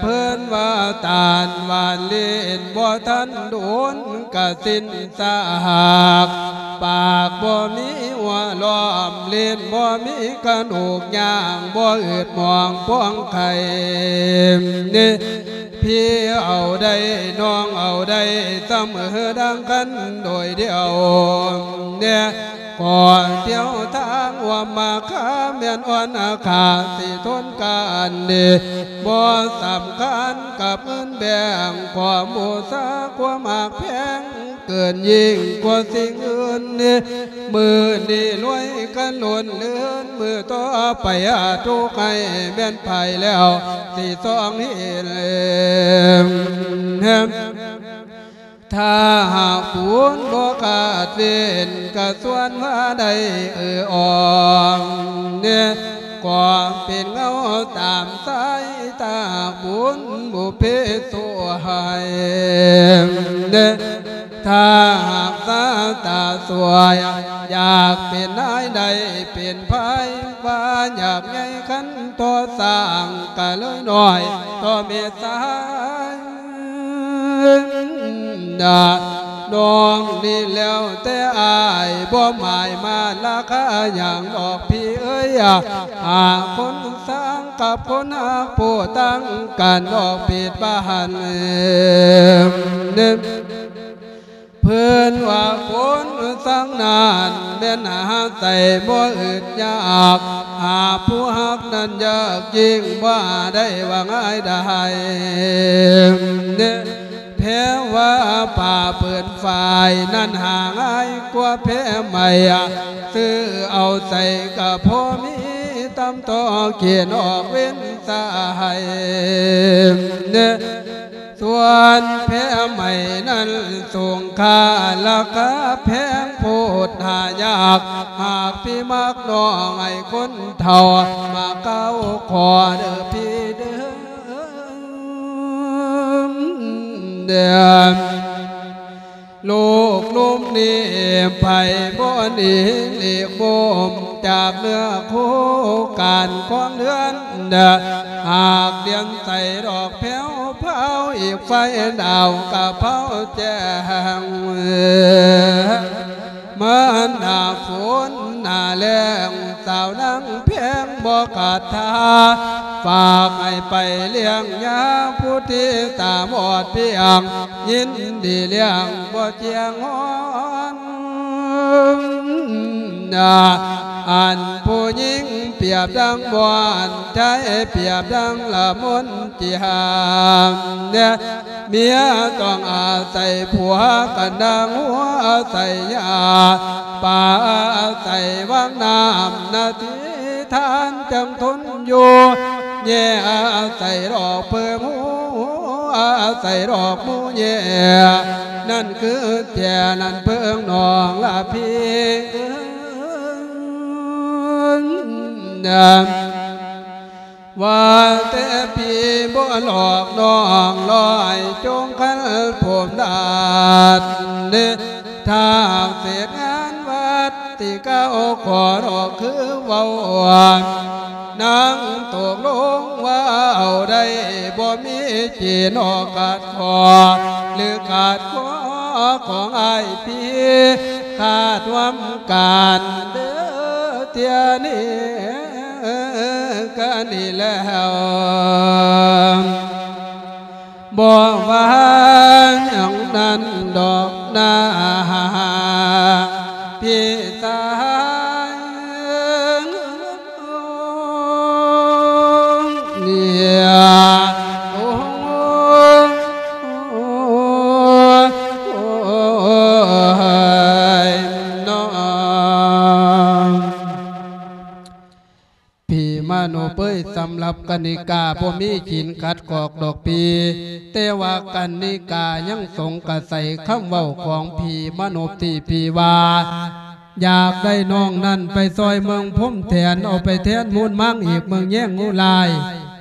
ເພິ່ນວ່າຕານຫວານຫຼິ້ນ ບໍ່ທັນດົນກະສິ້ນສາກ ປາກບໍ່ມີຫົວລ້ອມ ຫຼິ້ນບໍ່ມີກະດູກ ຍ່າງບໍ່ອືດໝອງພອງໄຂ່ ພີ່ເອົາໄດ້ ນ້ອງເອົາໄດ້ ສະເໝີດັ່ງກັນໂດຍດຽວແນ່ ກໍທ່ຽວທາງວ່າມາຄາ ແມ່ນອ່ອນອາຄາສິທົນການນີ້ ບໍ່ສຳຄັນກັບເງິນແບ່ງ ຂໍບູຊາຄວາມຮັກແພງ ເກີນຍິ່ງກວ່າສິ່ງອື່ນນີ້ ມື້ນີ້ລວຍກັນລົ້ນເລື່ອນ ມື້ຕໍ່ໄປຫາທຸກໃຫ້ແມ່ນໄປແລ້ວ ຊິຕ້ອງເຫັນ ຖ້າຫາກບຸນບໍ່ຂາດເວັ້ນ ກະຊວນວ່າໄດ້ເອື້ອອອງແນ່ ກໍເປັນເງົາຕາມສາຍຕາບຸນບຸເພສວຍແນ່ ຖ້າຫາກສາຕາສວຍ ຢາກເປັນນາຍໄດ້ເປັນພາຍ ວ່າຢາກໃຫຍ່ຄັນຕໍ່ສ້າງ ກະເລີຍນ້ອຍຕໍ່ເມດສາຍ ນ້ອງນີ້ແລ້ວແຕ່ອ້າຍ ບໍ່ໝາຍມາລາຄາຫຍັງດອກພີ່ເອີຍ ຫາຄົນສ້າງກັບຄົນຮັກ ຜູ້ຕັ້ງກັນດອກເປັດບ້ານ ເພິ່ນວ່າຄົນສັງນານແມ່ນຫາໃສ່ບໍ່ອຶດຍາກ ຫາຜູ້ຮັກນັ້ນຍາກຍິ່ງ ບໍ່ໄດ້ວ່າງ່າຍດາຍ ແພວ່າຜ້າເປີນຝ້າຍນັ້ນຫາງ່າຍກວ່າແພໄໝ ຊື້ເອົາໃສ່ກະພໍມີ ຕຳຕໍ່ຂຽນອອກເວັ້ນສາຍ ສ່ວນແພໄມ້ນັ້ນສູງຄ່າລາຄາແພງໂພດຫາຍາກ ຫາກພີ່ມັກນ້ອງໃຫ້ຄົນເຖົ້າ ມາກ່າວຂໍເດີພີ່ເດີ. ໂລກລຸ່ມນີ້ໄຜບໍ່ໜີຫຼີກມຸມຈາກເນື້ອຄູ່ການຂອງເດືອນ ຫາກດຽນໃສດອກແພ້ວພາວ ອີກໄຟດາວກະເຜົາແຈ້ງ ມາໜ້າຝົນໜ້າແລ້ງ ສາວນາງແພງບໍ່ຂາດທ່າ ຝາກໃຫ້ໄປລ້ຽງຍາ ຜູ້ທີ່ຕາບອດພຽງ ຍິນດີລ້ຽງບໍ່ຈຽງງອນ. ອັນຜູ້ຍິງປຽບດັ່ງບ່ອນ ຊາຍປຽບດັ່ງລະມົນຈີຮາມ ເມຍຕ້ອງອາໄສຜົວກັນດັ່ງຫົວອາໄສຢາ ປາອາໄສວັງນ້ຳນາທີທານຈັ່ງທົນຢູ່ ແຍ່ອາໄສດອກເພິ່ງ ອາໄສດອກໝູແຍ່ ນັ້ນຄືແຈນັ້ນເພິ່ງນ້ອງລະພີ່ເອີຍ. ວ່າແຕ່ພີ່ບໍ່ຫຼອກນ້ອງລອຍ ຈົ່ງຄັນຜົມດາດ ທາງເສດງານວັດ ທີ່ເກົ່າຂໍດອກຄືເວົ້າ ນາງຕົກລົງວ່າເອົາໄດ້ ບໍ່ມີຈີນອກຂາດຂໍ້ ຫຼືຂາດຂໍ້ຂອງອ້າຍພີ່ ຂາດຮ່ວມການເດີ ເທື່ອນີ້ກະນີ້ແລ້ວ ບໍ່ວ່າຫຍັງນັ້ນດອກນາ ພີ່ຊາຍ ເນຍ ໂອ້ຍ ພີ່ມະນົບເອີຍ ສຳລັບກະນິກາບໍ່ມີຂີນຂັດຂອກດອກພີ່ ແຕ່ວ່າກະນິກາຍັງສົງກະໄສຄຳເວົ້າຂອງພີ່ມະນົບທີ່ພີ່ວ່າ ຢາກໄດ້ນ້ອງນັ້ນໄປຊ່ອຍເມືອງພົມແທນ ເອົາໄປແທນມູນມັງອີກເມືອງແຍງງູລາຍ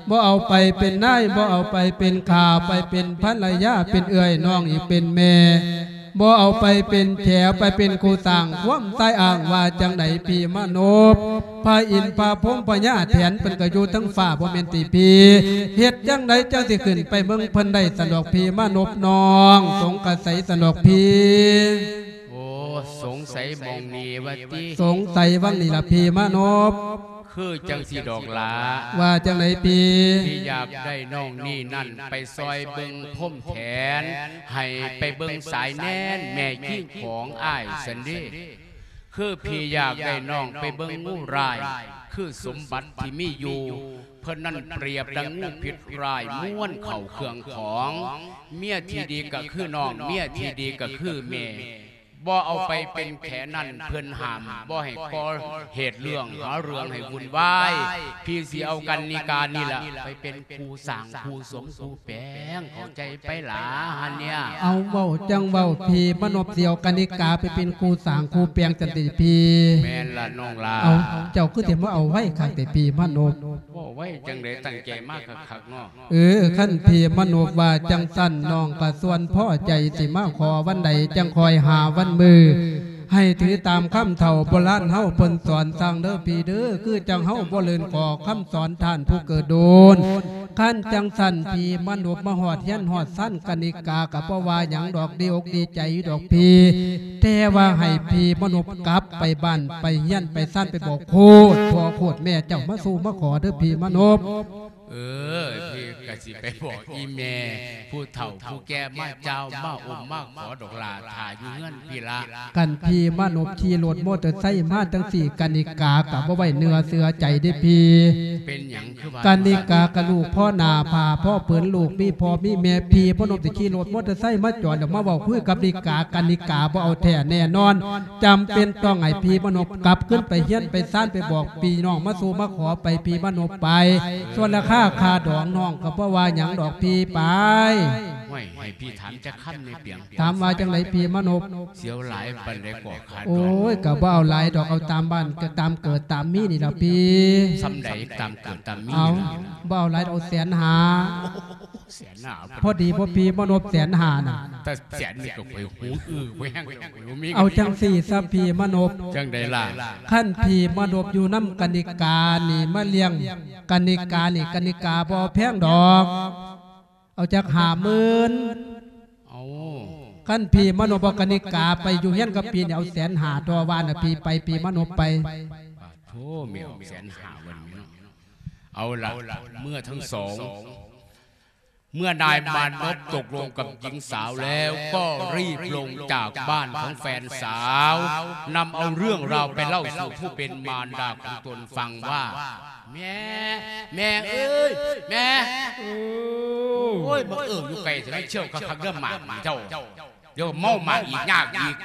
ບໍ່ເອົາໄປເປັນນາຍ ບໍ່ເອົາໄປເປັນຂ້າ ໄປເປັນພັນລະຍາ ເປັນເອື້ອຍນ້ອງອີກເປັນແມ່ ບໍ່ເອົາໄປເປັນແຂ ໄປເປັນຄູ່ສ້າງຄວາມຊາຍອ້າງວ່າຈັ່ງໃດພີ່ມະນົບ ພະອິນພະພົມພະຍາແຖນເພິ່ນກະຢູ່ເທິງຟ້າບໍ່ແມ່ນຕິພີ່ ເຮັດຈັ່ງໃດຈັ່ງຊິຂຶ້ນໄປເບິ່ງເພິ່ນໄດ້ຊັ້ນດອກພີ່ມະນົບ ນ້ອງສົງກະໄສຊັ້ນດອກພີ່. ໂອ້ ສົງໄສໝ່ອງນີ້ວ່າຕິ ສົງໄສຫວ່າງນີ້ລະພີ່ມະນົບ ຄືຈັ່ງຊີ້ດອກຫຼ້າ ວ່າຈັ່ງໃດພີ່ ທີ່ຢາກໄດ້ນ້ອງນີ້ນັ້ນໄປຊ່ອຍເບິ່ງພົມແທນ ໃຫ້ໄປເບິ່ງສາຍແນນແມ່ຍິງຂອງອ້າຍຊັ້ນເດ ຄືພີ່ຢາກໄດ້ນ້ອງໄປເບິ່ງງູລາຍ ຄືສົມບັດທີ່ມີຢູ່ ເພິ່ນນັ້ນປຽບດັ່ງງູພິດຮ້າຍມ້ວນເຂົ້າເຄື່ອງຂອງ ເມຍທີ່ດີກະຄືນ້ອງ ເມຍທີ່ດີກະຄືແມ່ ບໍ່ເອົາໄປເປັນແຂນັ້ນ ເພິ່ນຫ້າມບໍ່ໃຫ້ກໍ່ເຫດເລື່ອງຫາເລື່ອງໃຫ້ວຸ່ນວາຍ ພີ່ຊິເອົາກັນນິການີ້ລະໄປເປັນຄູ່ສ້າງຄູ່ສົມຄູ່ແປງ ເຂົ້າໃຈໄປຫຼ້າຫັ້ນເນຍ ເອົາເວົ້າຈັ່ງເວົ້າ ພີ່ມະນົບຊິເອົາກະນິກາໄປເປັນຄູ່ສ້າງຄູ່ແປງຊັ້ນຕິພີ່ ແມ່ນລະນ້ອງຫຼ້າ ເອົາ ເຈົ້າຄືຊິມາເອົາໄວຄັກແທ້ພີ່ມະນົບ ເວົ້າໄວຈັ່ງໃດ ຕັ້ງໃຈມາຄັກໆເນາະ ເອີ ຄັນພີ່ມະນົບວ່າຈັ່ງຊັ້ນ ນ້ອງກະສ່ວນພໍໃຈ ຊິມາຂໍວັນໃດຈັ່ງຄ່ອຍຫາວັນມື້ ໃຫ້ຖືຕາມຄຳເຖົ້າໂບລານເຮົາເພິ່ນສອນສັ່ງເດີພີ່ເດີ ຄືຈັ່ງເຮົາບໍ່ເລີນຂໍຄຳສອນທ່ານຜູ້ເກີດໂດນ ຄັນຈັ່ງຊັ້ນ ພີ່ມະນົບມາຮອດເຮືອນຮອດຊານກະນິກາກະບໍ່ວ່າຫຍັງດອກ ດີອົກດີໃຈຢູ່ດອກພີ່ ແຕ່ວ່າໃຫ້ພີ່ມະນົບກັບໄປບ້ານໄປເຮືອນໄປຊານ ໄປບອກໂຄດພໍ່ໂຄດແມ່ເຈົ້າມາສູ່ມາຂໍເດີພີ່ມະນົບ. ເອີ ພີ່ກະຊິໄປບອກອີ່ແມ່ຜູ້ເຖົ້າຜູ້ແກ່ມາເຈົ້າມາອົມມາຂໍດອກຫຼ້າ ຖ້າຢູ່ເຮືອນພີ່ລະ ຄັນພີ່ມະນົບຂີ່ລົດມໍເຕີໄຊມາຈັ່ງຊີ້ ກະນິກາກະບໍ່ໄວ້ເນື້ອເຊື່ອໃຈເດ້ພີ່ ເປັນຫຍັງຄືວ່າ ກະນິກາກະລູກພໍໜ້າຜາພໍເປີນ ລູກມີພໍ່ມີແມ່ ພີ່ມະນົບຊິຂີ່ລົດມໍເຕີໄຊມາຈອດແລ້ວມາເວົ້າຄຸຍກັບນິກາ ກະນິກາບໍ່ເອົາແທ້ແນ່ນອນ ຈຳເປັນຕ້ອງໃຫ້ພີ່ມະນົບກັບຄືນໄປເຮືອນໄປຊານ ໄປບອກພີ່ນ້ອງມາສູ່ມາຂໍໄປ ພີ່ມະນົບໄປ ສ່ວນລາຄາຄ່າດອງນ້ອງກະບໍ່ວ່າຫຍັງດອກພີ່ໄປ. ໃຫ້ພີ່ຖາມຈັກຄຳແດ່ປຽງ. ຖາມວ່າຈັ່ງໃດພີ່ມານົບ? ຊິເອົາຫຼາຍປານໃດກໍຄ່າດອງ? ໂອ້ຍ ກໍບໍ່ເອົາຫຼາຍດອກ ເອົາຕາມບ້ານ ກໍຕາມເກີດຕາມມີນີ້ລະພີ່. ສ່ຳໃດຕາມເກີດຕາມມີ? ເອົາ ບໍ່ເອົາຫຼາຍດອກ ເອົາແສນຫ້າ. ໂອ້ ແສນຫ້າ ພໍດີບໍ່ພີ່ມານົບ ແສນຫ້ານະ? ແຕ່ແສນນີ້ກໍຂ້ອຍຫູອື້ອໄປແຮງແລ້ວ ຂ້ອຍບໍ່ມີ. ເອົາຈັ່ງຊີ້ຊະພີ່ມານົບ. ຈັ່ງໃດລະ? ຄັນພີ່ມານົບຢູ່ນຳກະນິການີ້ ມາລ້ຽງກະນິການີ້ ກະນິກາບໍ່ເອົາແພງດອກ ເອົາຈັກຫ້າໝື່ນ. ເອົາ ຄັນພີ່ມານົບເອົາກະນິກາໄປຢູ່ຮຽນກັບປີນີ້ ເອົາແສນຫ້າ ຕໍ່ວ່ານະ ພີ່ໄປ ພີ່ມານົບໄປ. ປາດໂທ ແມ່ນແສນຫ້າວັນນີ້ເນາະ. ເອົາລະ ເມື່ອທັງສອງ ເມື່ອນາຍມານົບຕົກລົງກັບຍິງສາວແລ້ວ ກໍຣີບລົງຈາກບ້ານຂອງແຟນສາວ ນຳເອົາເລື່ອງລາວໄປເລົ່າສູ່ຜູ້ເປັນມານດາຂອງຕົນຟັງວ່າ ແມ່ ແມ່ເອີຍ ແມ່ ໂອ້ຍ ມາເອີ້ນຢູ່ໄກແທ້ ເຈົ້າຄັກໆເດີ້ ໝາກເຈົ້າ ດຽວເມົາໝາກອີກ ຍາກອີກ.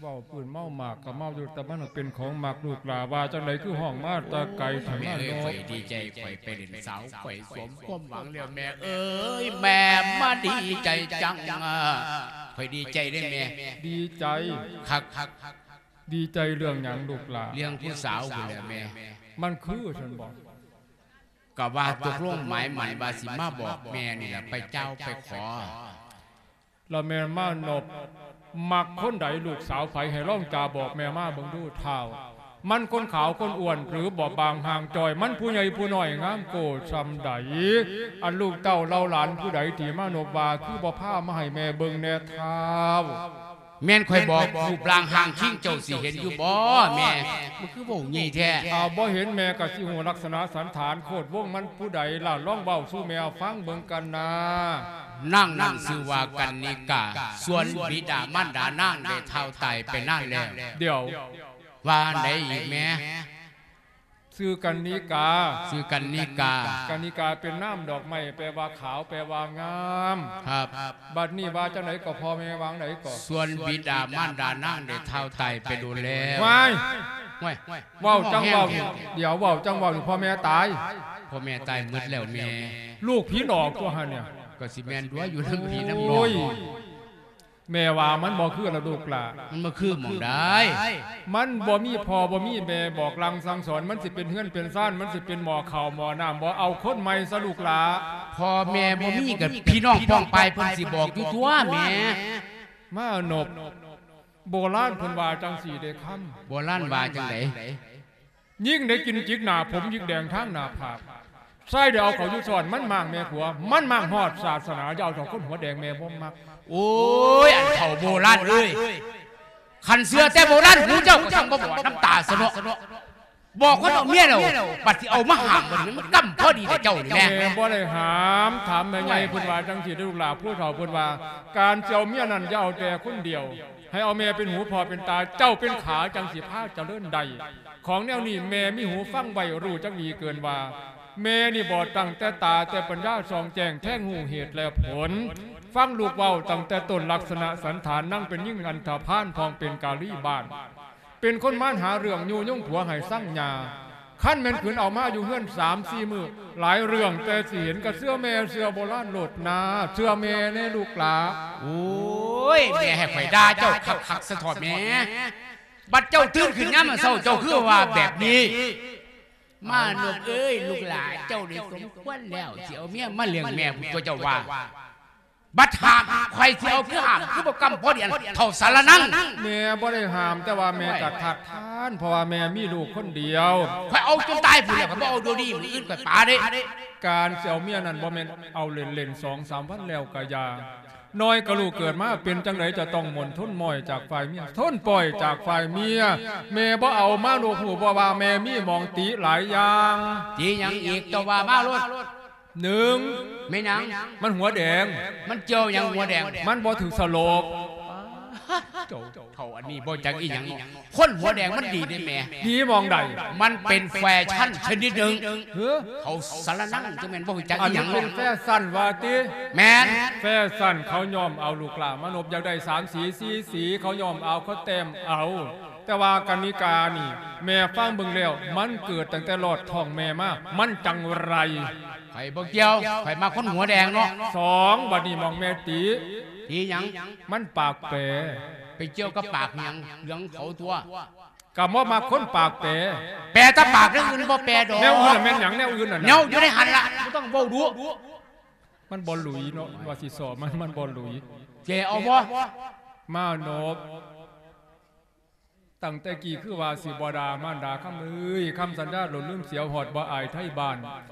ເວົ້າພື້ນເມົາໝາກກໍເມົາຢູ່ ແຕ່ມັນເປັນຂອງມັກ ລູກຫຼ້າວ່າຈັ່ງໃດຄືຮ້ອງມາແຕ່ໄກແທ້ ແມ່ເອີຍ. ຂ້ອຍດີໃຈ ຂ້ອຍໄປຫຼິ້ນສາວ ຂ້ອຍສົມຄວາມຫວັງແລ້ວ ແມ່ເອີຍ ແມ່ມາດີໃຈຈັງ. ຂ້ອຍດີໃຈເດ້ແມ່. ດີໃຈ? ຄັກ ດີໃຈເລື່ອງຫຍັງລູກຫຼ້າ? ເລື່ອງຜູ້ສາວພຸ້ນແຫຼະແມ່. ມັນຄືຊັ້ນບໍ? ກໍວ່າຕົກລົງໝາຍໝັ້ນວ່າຊິມາບອກແມ່ນີ້ລະ ໄປເຈົ້າໄປຂໍ. ລະແມ່ມານົບມັກຄົນໃດ ລູກສາວໃຜ ໃຫ້ລອງຈາບອກແມ່ມາເບິ່ງດູທ້າວ. ມັນຄົນຂາວຄົນອ້ວນ ຫຼືບໍ່ບາງຮ່າງຈ່ອຍ ມັນຜູ້ໃຫຍ່ຜູ້ນ້ອຍ ງາມໂກ້ຊ່ຳໃດ? ອັນລູກເຕົ້າເຫຼົ່າຫຼານຜູ້ໃດທີ່ມານົບວ່າ ຄືບໍ່ພາມາໃຫ້ແມ່ເບິ່ງແດ່ທ້າວ? ແມ່ນຂ້ອຍບອກ ຮູບຮ່າງຮ່າງຄີງເຈົ້າຊິເຫັນຢູ່ບໍ່ແມ່? ມັນຄືເວົ້າໃຫຍ່ແທ້. ຖ້າບໍ່ເຫັນແມ່ກໍຊິຮູ້ລັກສະນະສັນຖານໂຄດວົງມັນຜູ້ໃດລະ? ລອງເວົ້າສູ່ແມ່ຟັງເບິ່ງກັນນາ. ນາງນັ້ນຊື່ວ່າກັນນິກາ ສ່ວນບິດາມານດານາງໄດ້ທ້າວຕາຍໄປນານແລ້ວ. ດຽວ ວ່າອັນໃດອີກແມ່? ຊື່ກັນນິກາ. ຊື່ກັນນິກາ. ກັນນິກາເປັນນາມດອກໄມ້ ແປວ່າຂາວ ແປວ່າງາມ. ຄັບ. ບັດນີ້ວ່າຈັ່ງໃດກໍ ພໍ່ແມ່ວ່າຈັ່ງໃດກໍ? ສ່ວນບິດາມານດານາງໄດ້ທ້າວຕາຍໄປດົນແລ້ວ. ວ້າຍ ວ້າຍ ເວົ້າຈັ່ງເວົ້າ ດຽວເວົ້າຈັ່ງເວົ້າ ພໍ່ແມ່ຕາຍ? ພໍ່ແມ່ຕາຍໝົດແລ້ວແມ່. ລູກຜີຫຼອກຕົວຫັ້ນເນຍ. ກໍຊິແມ່ນຕົວະ ຢູ່ນຳພີ່ນຳນ້ອງ. ໂອ້ຍ ແມ່ວ່າມັນບໍ່ຄືລະລູກຫຼ້າ. ມັນບໍ່ຄືໝ່ອງໃດ? ມັນບໍ່ມີພໍ່ບໍ່ມີແມ່ບອກລ່າງສັ່ງສອນ ມັນຊິເປັນເຮືອນເປັນຊານ ມັນຊິເປັນໝໍ້ເຂົ້າໝໍ້ນ້ຳບໍ່? ເອົາຄົນໃໝ່ຊະລູກຫຼ້າ. ພໍ່ແມ່ບໍ່ມີກໍພີ່ນ້ອງປ້ອງປາຍເພິ່ນຊິບອກຢູ່ຕົວະແມ່. ມານົບ ໂບລານເພິ່ນວ່າຈັ່ງຊີ້ເດ້ຄຳ. ໂບລານວ່າຈັ່ງໃດ? ຍິງໄດ້ກິນຈິກໜ້າຜົມ ຍິກແດງທາງໜ້າຜາກ. ຊາຍໄດ້ເອົາເຂົ້າຢູ່ຊ້ອນ ມັນມ້າງແມ່ຜົວ ມັນມ້າງຮອດສາສະໜາ. ຢ່າເອົາດອກຄົນຫົວແດງ ແມ່ບໍ່ມັກ. ໂອ້ຍ ອັນເຖົ້າໂບລານເອີຍ ຄັນເຊື່ອແຕ່ໂບລານ ຫູເຈົ້າກໍຊ່າງບໍ່ບອດນຳຕາຊະເນາະ. ບອກຄົນເອົາເມຍແລ້ວ ບັດຊິເອົາມາຫ້າມ ບັດນີ້ມັນກຳພໍດີແຕ່ເຈົ້ານີ້ແມ່. ແມ່ບໍ່ໄດ້ຫ້າມ. ຖາມແມ່ໃຫຍ່ເພິ່ນວ່າຈັ່ງຊີ້ເດີ້ລູກຫຼ້າ ຜູ້ເຖົ້າເພິ່ນວ່າ ການຊິເອົາເມຍນັ້ນ ຢ່າເອົາແຕ່ຄົນດຽວ ໃຫ້ເອົາແມ່ເປັນຫູພໍ່ເປັນຕາ ເຈົ້າເປັນຂາ ຈັ່ງຊິພາຈະເລີນໄດ້. ຂອງແນວນີ້ແມ່ມີຫູຟັງໄວ້ ຮູ້ຈັກດີເກີນວ່າ ແມ່ນີ້ບອດຕັ້ງແຕ່ຕາ ແຕ່ປັນຍາສ່ອງແຈ້ງ ແທງຮູ້ເຫດແລະຜົນ ຟັງລູກເວົ້າຕັ້ງແຕ່ຕົ້ນ. ລັກສະນະສັນຖານນາງເປັນຍິງອັນທະພານ ພ້ອມເປັນກາລີບ້ານ ເປັນຄົນມານຫາເລື່ອງ ຍຸຍົງຜົວໃຫ້ຊັງຫຍ້າ. ຄັນແມ່ນຂືນເອົາມາຢູ່ເຮືອນສາມສີ່ມື້ ຫຼາຍເລື່ອງແຕ່ຊິເຫັນ. ກໍເຊື່ອແມ່ ເຊື່ອໂບລານໂລດນາ ເຊື່ອແມ່ແດ່ລູກຫຼ້າ. ໂອ້ຍ ແມ່ໃຫ້ຂ້ອຍດ່າເຈົ້າຄັກໆຊະເຖາະແມ່. ບັດເຈົ້າຕື່ນຂຶ້ນຍາມເຊົ້າ ເຈົ້າຄືວ່າແບບນີ້. ມານົບເອີຍ ລູກຫຼ້າເຈົ້ານີ້ສົມຄວນແລ້ວ ຊິເອົາເມຍມາລ້ຽງແມ່ພຸ້ນຕົວະ ເຈົ້າວ່າ. ບັດຫ້າມ ຂ້ອຍຊິເອົາຄືຫ້າມ ຄືບໍ່ກຳພໍດີ ອັນເຖົ້າສາລະນັງ. ແມ່ບໍ່ໄດ້ຫ້າມ ແຕ່ວ່າແມ່ກໍທັດທານ ເພາະວ່າແມ່ມີລູກຄົນດຽວ. ຂ້ອຍເອົາຈົນຕາຍພຸ້ນແຫຼະ ຂ້ອຍບໍ່ເອົາດຽວນີ້ ມື້ອື່ນຂ້ອຍປາເດ້. ການຊິເອົາເມຍນັ້ນ ບໍ່ແມ່ນເອົາເຫຼັ້ນໆ ສອງສາມວັນແລ້ວກໍຢ່າ. ນ້ອຍກໍລູກເກີດມາເປັນຈັ່ງໃດ ຈະຕ້ອງມົ້ນທົນມ້ອຍຈາກຝ່າຍເມຍ ທົນປ່ອຍຈາກຝ່າຍເມຍ. ແມ່ບໍ່ເອົາມາລູກຮູ້ບໍ່ວ່າແມ່ມີໝ່ອງຕິຫຼາຍຢ່າງ. ຕິຫຍັງອີກ ເຈົ້າວ່າມາໂລດ. ໜຶ່ງ ແມ່ນຫຍັງ? ມັນຫົວແດງ. ມັນກ່ຽວຫຍັງຫົວແດງ? ມັນບໍ່ຖືກສະໂລບ. ເຈົ້າເຖົ້າອັນນີ້ບໍ່ຈັກອີຫຍັງເນາະ. ຄົນຫົວແດງມັນດີເດ້ແມ່. ດີໝ່ອງໃດ? ມັນເປັນແຟຊັ່ນຊະນິດໜຶ່ງ. ເອີ ເຂົາສາລະນັງຈັ່ງແມ່ນບໍ່ຮູ້ຈັກ ອັນນີ້ ອີຫຍັງ ເປັນແຟຊັ່ນວ່າຕິ? ແມ່ນ ແຟຊັ່ນ ເຂົາຍ້ອມເອົາລູກຫຼ້າມານົບ ຢາກໄດ້ສາມສີ ສີ່ສີ ເຂົາຍ້ອມເອົາ ເຂົາແຕ້ມເອົາ. ແຕ່ວ່າກັນນິການີ້ ແມ່ຟັງເບິ່ງແລ້ວ ມັນເກີດຕັ້ງແຕ່ລອດທ້ອງແມ່ມາ ມັນຈັ່ງໄລ. ຂ້ອຍບໍ່ກ່ຽວ ຂ້ອຍມັກຄົນຫົວແດງເນາະ. ສອງ ບັດນີ້ໝ່ອງແມ່ຕິ ຕິຫຍັງ? ມັນປາກແປ. ໄປກ່ຽວກັບປາກຫຍັງ? ເລື່ອງເຂົາຕົວະ. ກະບໍ່ມັກຄົນປາກແປ. ແປແຕ່ປາກ ແນວອື່ນບໍ່ແປດອກ. ແນວອື່ນລະແມ່ນຫຍັງ? ແນວອື່ນນະ ແນວຢູ່ໃນຫັ້ນລະ ບໍ່ຕ້ອງເວົ້າດຸ. ມັນບໍ່ຫຼຸຍເນາະ ວ່າຊິຊອບມັນ ມັນບໍ່ຫຼຸຍ. ແກເອົາບໍ່? ມາໂນບ ຕັ້ງແຕ່ກີ້ຄືວ່າຊິບໍ່ດ່າມານດາຄຳເອີຍ ຄຳສັນຍາຫຼົນລືມເສຍ ຮອດບໍ່ອາຍໄທບ້ານ.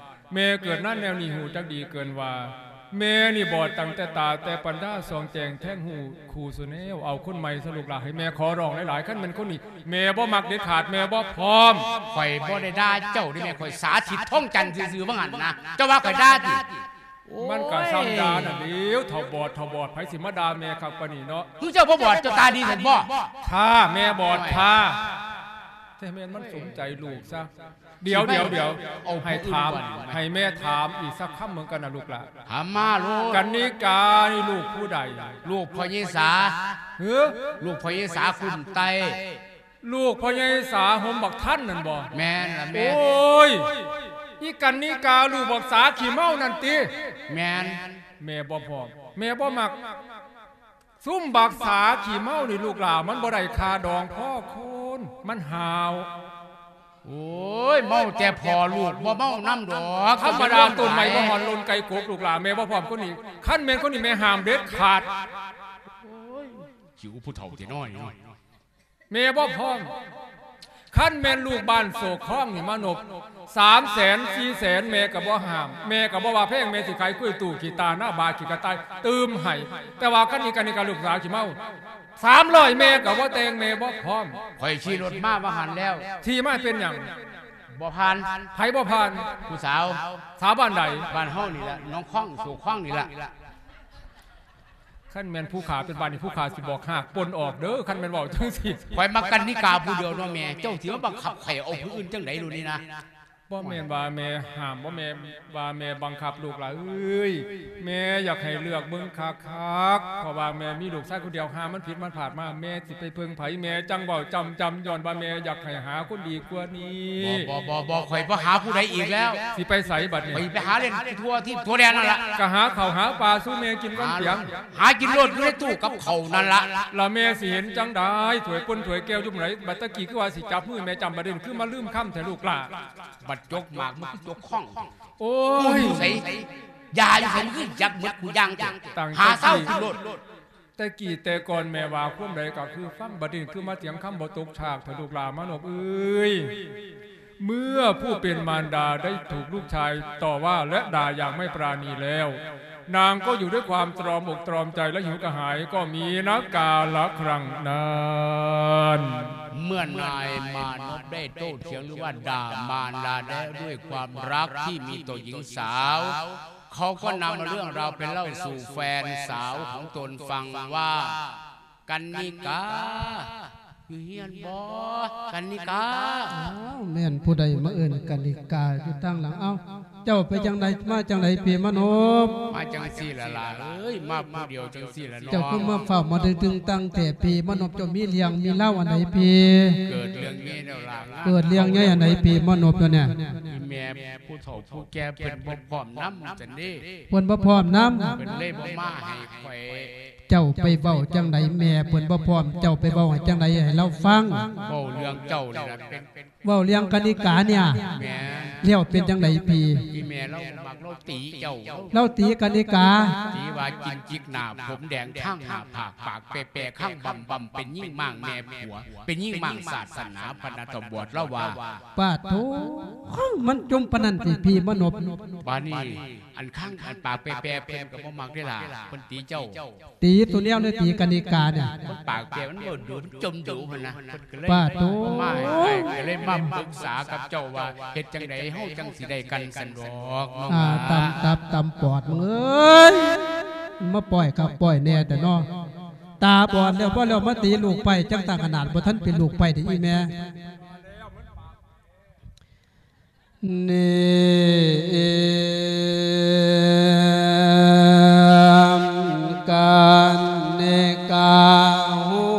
ແມ່ເກີດມາແນວນີ້ ຮູ້ຈັກດີເກີນວ່າ ແມ່ນີ້ບອດຕັ້ງແຕ່ຕາ ແຕ່ປັນຍາສ່ອງແຈ້ງແທງຮູ້ຄູ່ສູ່ແນວ. ເອົາຄົນໃໝ່ຊະລູກຫຼາ ໃຫ້ແມ່ຂໍຮ້ອງຫຼາຍໆ ຄັນແມ່ນຄົນນີ້ ແມ່ບໍ່ມັກເດັດຂາດ ແມ່ບໍ່ພ້ອມ. ຂ້ອຍບໍ່ໄດ້ດ່າເຈົ້າເດ້ແມ່ ຂ້ອຍສາທິດທອງຈັນຊື່ໆ ວ່າຫັ້ນນະ ເຈົ້າວ່າຂ້ອຍດ່າຕິ? ໂອ້ຍ ມັນກະຊ່ຳດ່ານັ້ນແຫຼ້ວ ເຖົ້າບອດ ເຖົ້າບອດ ໃຜຊິມາດ່າແມ່ຄັກປານນີ້ເນາະ. ຄືເຈົ້າບໍ່ບອດ ເຈົ້າຕາດີຊັ້ນບໍ່? ຖ້າແມ່ບອດ ໂອ້ຍ ຖ້າ ແຕ່ແມ່ນມັນສົມໃຈລູກຊະ. ດຽວ ດຽວ ດຽວ ເອົາ ໃຫ້ຖາມ ໃຫ້ແມ່ຖາມອີກສັກຄຳເບິ່ງກັນນະລູກຫຼາ. ຖາມມາໂລດ. ກັນນິການີ້ລູກຜູ້ໃດ? ລູກພໍ່ໃຫຍ່ສາ. ຫື? ລູກພໍ່ໃຫຍ່ສາຄຸ້ມໄຕ. ລູກພໍ່ໃຫຍ່ສາຫົມບັກທັນນັ້ນບໍ່? ແມ່ນລະແມ່. ໂອ້ຍ ອີກັນນິກາ ລູກບັກສາຂີ້ເມົານັ້ນຕິ? ແມ່ນ. ແມ່ບໍ່ພ້ອມ ແມ່ບໍ່ມັກ. ຊຸມບັກສາຂີ້ເມົານີ້ລູກຫຼາ ມັນບໍ່ໄດ້ຄ່າດອງພໍຄົນ ມັນຫ້າວ. ໂອ້ຍ ເມົາແຕ່ພໍ່ລູກ ບໍ່ເມົານຳດອກ. ທຳມະດາ ຕົ້ນໄມ້ບໍ່ຮອນ ຫຼົ່ນໄກ່ກົກ ລູກຫຼາ ແມ່ບໍ່ພ້ອມຄົນນີ້. ຄັນແມ່ນຄົນນີ້ ແມ່ຫ້າມເດັດຂາດ. ໂອ້ຍ ຫິວຜູ້ເຖົ້າແທ້ນ້ອຍ. ແມ່ບໍ່ພ້ອມ. ຄັນແມ່ນລູກບ້ານໂສກຄອງນີ້ມານົບ ສາມແສນ ສີ່ແສນ ແມ່ກໍບໍ່ຫ້າມ ແມ່ກໍບໍ່ວ່າແພງ ແມ່ຊິຂາຍກ້ວຍຕູ້ ຂີ້ຕາໜ້າບາ ຂີ້ກະຕ່າຍຕື່ມໃຫ້. ແຕ່ວ່າຄັນອີການນີ້ກໍລູກສາວຂີ້ເມົາ ສາມຮ້ອຍ ແມ່ກໍບໍ່ແຕ່ງ ແມ່ບໍ່ພ້ອມ. ຂ້ອຍຂີ່ລົດມາວ່າຫັ້ນແລ້ວ ຂີ່ມາເປັນຫຍັງ? ບໍ່ຜ່ານ. ໃຜບໍ່ຜ່ານ? ຜູ້ສາວ. ສາວບ້ານໃດ? ບ້ານເຮົານີ້ລະ ໜອງຄອງ ໂສກຄອງນີ້ລະ. ຄັນແມ່ນຜູ້ຂ້າເປັນບ້ານນີ້ ຜູ້ຂ້າຊິບອກຮາກປົ່ນອອກເດີ້ ຄັນແມ່ນເວົ້າຈັ່ງຊີ້. ຂ້ອຍມັກກັນນິກາຜູ້ດຽວເນາະແມ່ ເຈົ້າຊິມາບັງຄັບຂ້ອຍເອົາຜູ້ອື່ນຈັ່ງໃດໂລດນີ້ນະ? ບໍ່ແມ່ນວ່າແມ່ຫ້າມ ບໍ່ແມ່ນວ່າແມ່ບັງຄັບລູກຫຼາເອີຍ ແມ່ຢາກໃຫ້ເລືອກເບິ່ງຄັກໆ ເພາະວ່າແມ່ມີລູກຊາຍຄົນດຽວ ຫາມັນຜິດມັນພາດມາ ແມ່ຊິໄປເພິ່ງໃຜ? ແມ່ຈັ່ງເວົ້າຈ້ຳໆ ຍ້ອນວ່າແມ່ຢາກໃຫ້ຫາຄົນດີກວ່ານີ້. ບໍ່ ບໍ່ ບໍ່ ຂ້ອຍບໍ່ຫາຜູ້ໃດອີກແລ້ວ. ຊິໄປໃສບັດນີ້? ຂ້ອຍໄປຫາຫຼິ້ນທົ່ວທີ່ທົ່ວແດນນັ້ນລະ. ກະຫາເຂົ້າຫາປາສູ່ແມ່ກິນກ່ອນປຽງ. ຫາກິນໂລດ ຢູ່ໃນຕູ້ກັບເຂົ້ານັ້ນລະ. ລະແມ່ຊິເຫັນຈັ່ງໃດ? ຖ້ວຍປົນຖ້ວຍແກ້ວຢູ່ໝ່ອງໃດ? ບັດຕະກີ້ຄືວ່າຊິຈັບມືແມ່ຈ້ຳ ບັດນີ້ຄືມາລືມຄຳແທ້ລູກຫຼ້າ. ບັດຈົກໝາກ ມັນຄືຈົກຂ້ອງ. ໂອ້ຍ ກູຢູ່ໃສ? ຢາຢູ່ໃສ? ມັນຄືຈັກໝົດກູຢ່າງແທ້. ຫາເຊົາກິນໂລດ. ແຕ່ກີ້ແຕ່ກ່ອນແມ່ວ່າຄວາມໃດກໍຄືຟັງ ບັດນີ້ຄືມາຖຽງຄຳບໍ່ຕົກຊາກແທ້ລູກຫຼ້າມານົບເອີຍ. ເມື່ອຜູ້ເປັນມານດາໄດ້ຖືກລູກຊາຍຕໍ່ວ່າ ແລະ ດ່າຢ່າງໄມ່ປານີແລ້ວ ນາງກໍຢູ່ດ້ວຍຄວາມຕຣອມອົກຕຣອມໃຈ ແລະ ຫິວກະຫາຍກໍມີນະກາລະຄັ້ງນັ້ນ. ເມື່ອນາຍມານົບໄດ້ໂຕ້ຖຽງ ຫຼືວ່າດ່າມານດາແລ້ວ ດ້ວຍຄວາມຮັກທີ່ມີຕໍ່ຍິງສາວ ເຂົາກໍນຳເລື່ອງລາວໄປເລົ່າສູ່ແຟນສາວຂອງຕົນຟັງວ່າ ກັນນິກາ ຢູ່ເຮືອນບໍ່? ກັນນິກາ. ອ້າວ ແມ່ນຜູ້ໃດມາເອີ້ນກັນນິກາຢູ່ທາງຫຼັງ? ເອົ້າ ເຈົ້າໄປຈັ່ງໃດມາຈັ່ງໃດພີ່ມານົບ? ມາຈັ່ງຊີ້ລະຫຼ້າເອີຍ ມາຜູ້ດຽວຈັ່ງຊີ້ລະເນາະ. ເຈົ້າຄືມາຟ້າວມາດຶງຕຶງຕັງແທ້ພີ່ມານົບ? ເຈົ້າມີເລື່ອງມີລາວອັນໃດພີ່? ເກີດເລື່ອງໃຫຍ່ແລ້ວຫຼ້າ. ເກີດເລື່ອງໃຫຍ່ອັນໃດພີ່ມານົບດຽວນີ້? ອີແມ່ຜູ້ເຖົ້າ ຜູ້ແກ່ເພິ່ນບໍ່ພ້ອມນຳຊັ້ນເດ້. ເພິ່ນບໍ່ພ້ອມນຳ ເພິ່ນເລີຍບໍ່ມາໃຫ້ຂ້ອຍ. ເຈົ້າໄປເວົ້າຈັ່ງໃດ ແມ່ເພິ່ນບໍ່ພ້ອມ ເຈົ້າໄປເວົ້າໃຫ້ຈັ່ງໃດໃຫ້ລາວຟັງ? ເວົ້າເລື່ອງເຈົ້ານີ້ລະ ເປັນ ເວົ້າເລື່ອງກະນິການີ້. ແມ່ນ. ແລ້ວເປັນຈັ່ງໃດພີ່? ອີແມ່ລາວບໍ່ມັກ ລາວຕີເຈົ້າ. ລາວຕີກະນິກາ. ຕີວ່າຈິກຈິກໜ້າ ຜົມແດງ ຄາງໜ້າຜາກ ປາກແປໆ ຄາງບຳໆ ເປັນຍິງມ້າງແມ່ຜົວ ເປັນຍິງມ້າງສາສະໜາ ພະນະຕຳຫຼວດລາວວ່າ. ປາດໂທ ມັນຈົ່ມປານນັ້ນຕິພີ່ມານົບ? ບາດນີ້ ອັນຄັງ ອັນປາກແປໆ ເພິ່ນກໍບໍ່ມັກເດ້ລະ ເພິ່ນຕີເຈົ້າ. ຕີຕົວແນວໃດ ຕີກະນິການີ້? ເພິ່ນປາກແປ ມັນບໍ່ດູ ມັນຈົ່ມດູຫັ້ນນະ. ເພິ່ນກໍເລີຍ ປາດໂທ ມາໃຫ້ ກໍເລີຍມາປຶກສາກັບເຈົ້າວ່າ ເຮັດຈັ່ງໃດເຮົາຈັ່ງຊິໄດ້ກັນຊັ້ນດອກເນາະ. ອ່າ ຕຳຕັບຕຳປອດ ມຶງເອີຍ ມາປ່ອຍຄັກປ່ອຍແນ່ແຕ່ເນາະ. ຕາບອດແລ້ວ ບໍ່ແລ້ວມາຕີລູກໄພ້ ຈັ່ງຕ່າງຂະໜາດ ບໍ່ທັນເປັນລູກໄພ້ເດ້ອີແມ່. ນີ້ ກັນນິກາ ຮູ້